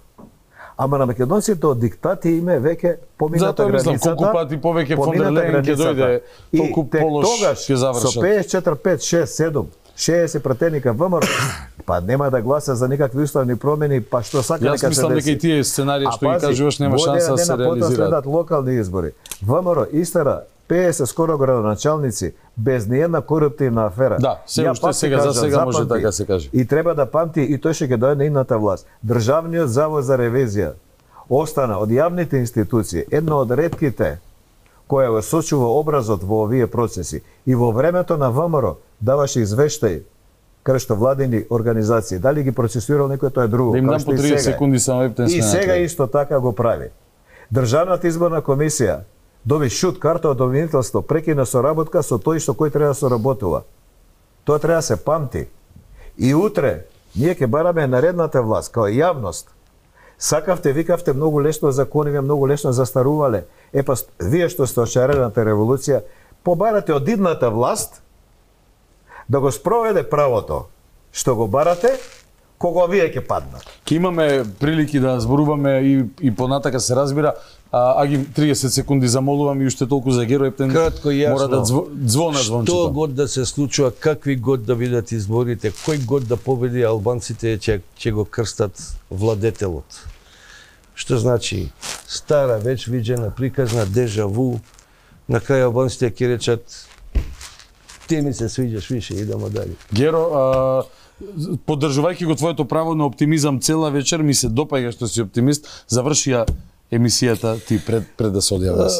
Ама на македонците од диктати име веќе помината границата. Затоа мислам, колку пати повеќе фон дер Лејен ќе дојде, толку полош ќе завршат. Со 54, 5, 6, 7 60 пратени кај ВМРО, па нема да гласа за никакви уставни промени, па што сака нека се деси. Јас мислам дека и тие сценарии што ги кажуваш нема шанса да се реализираат. Следат локални избори. ВМРО истера 50 скоро градоначалници без ниедна коруптивна афера. Да, се уште за сега може така се каже. И треба да памти и тој ќе дојде на идната власт. Државниот завод за ревизија остана од јавните институции едно од ретките која го сочува образот во овие процеси. И во времето на ВМРО даваше извештај кај владени организации. Дали ги процесуирал некој, тоа е друго. Да им дам по 30 секунди само ептен и сега исто така го прави. Државната изборна комисија доби шут карта од обвинителство, прекина соработка со тој што кој треба да соработува. Тоа треба да се памти. И утре ние ќе бараме наредната власт као јавност. Сакавте, викавте многу лесно закониве, многу лесно застарувале. Па вие што сте од шарената револуција, побарате од идната власт да го спроведе правото што го барате, кога вие ќе паднат. Ке имаме прилики да зборуваме и понатака се разбира, Аги 30 секунди замолувам и уште толку за Геро Ептен. Кратко и јасно. Мора да звона звончето. Што год да се случува, какви год да бидат изборите, кој год да победи, албанците ќе го крстат владетелот. Што значи стара, веќе видена, приказна, дежаву. На крај албанците ќе речат ти ми се свиѓаш више, идемо дали. Геро, поддржувајќи го твоето право на оптимизам цела вечер, ми се допаѓа што си оптимист. Заврши ја емисијата ти пред да се одјаваш.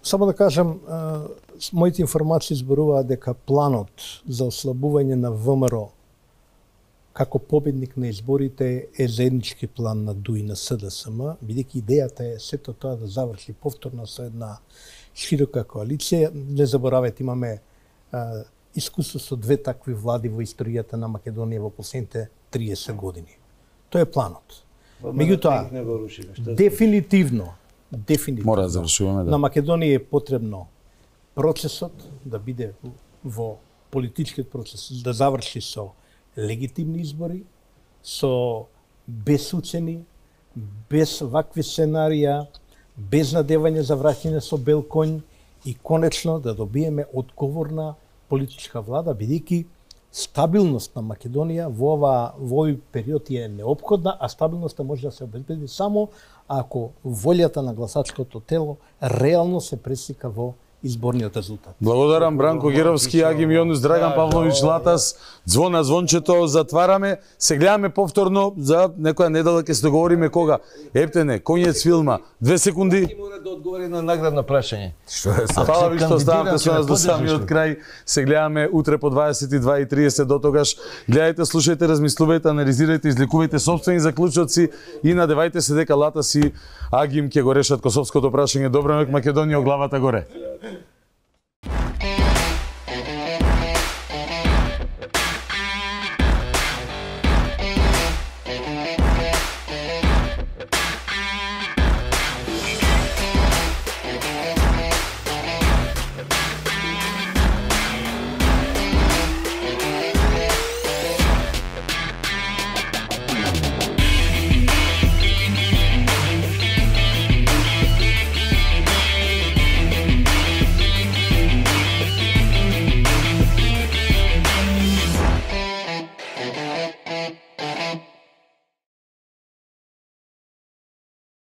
Само да кажам, моите информации зборуваат дека планот за ослабување на ВМРО како победник на изборите е заеднички план на ДУИ на СДСМ, бидејќи идејата е сето тоа да заврши повторно со една широка коалиција. Не заборавајте, имаме искуство со две такви влади во историјата на Македонија во последните 30 години. Тоа е планот. Меѓутоа, дефинитивно, мора да завршуваме, на Македонија е потребно процесот да биде во политичкиот процес, да заврши со легитимни избори, со без уцени, без вакви сценарија, без надевање за враќање со бел конј и конечно да добиеме одговорна политичка влада, бидејќи стабилност на Македонија во овој период е неопходна, а стабилноста може да се обезбеди само ако волјата на гласачкото тело реално се преслика во изборниот резултат. Благодарам Бранко Геровски, Агим Јонус, Драган Павлович Латас. Звона звончето, затвараме. Се гледаме повторно за некоја недела, ќе се договориме кога. Ептене, конец филма. 2 секунди. Мора да одговори на наградно прашање. Фала ви што оставате со нас до самиот крај. Се гледаме утре по 22:30. До тогаш гледајте, слушајте, размислувајте, анализирајте, излекувајте сопствени заклучоци и надевајте се дека Латас и Агим ќе го решат косовското прашање. Добро ноќ Македонија, главата горе.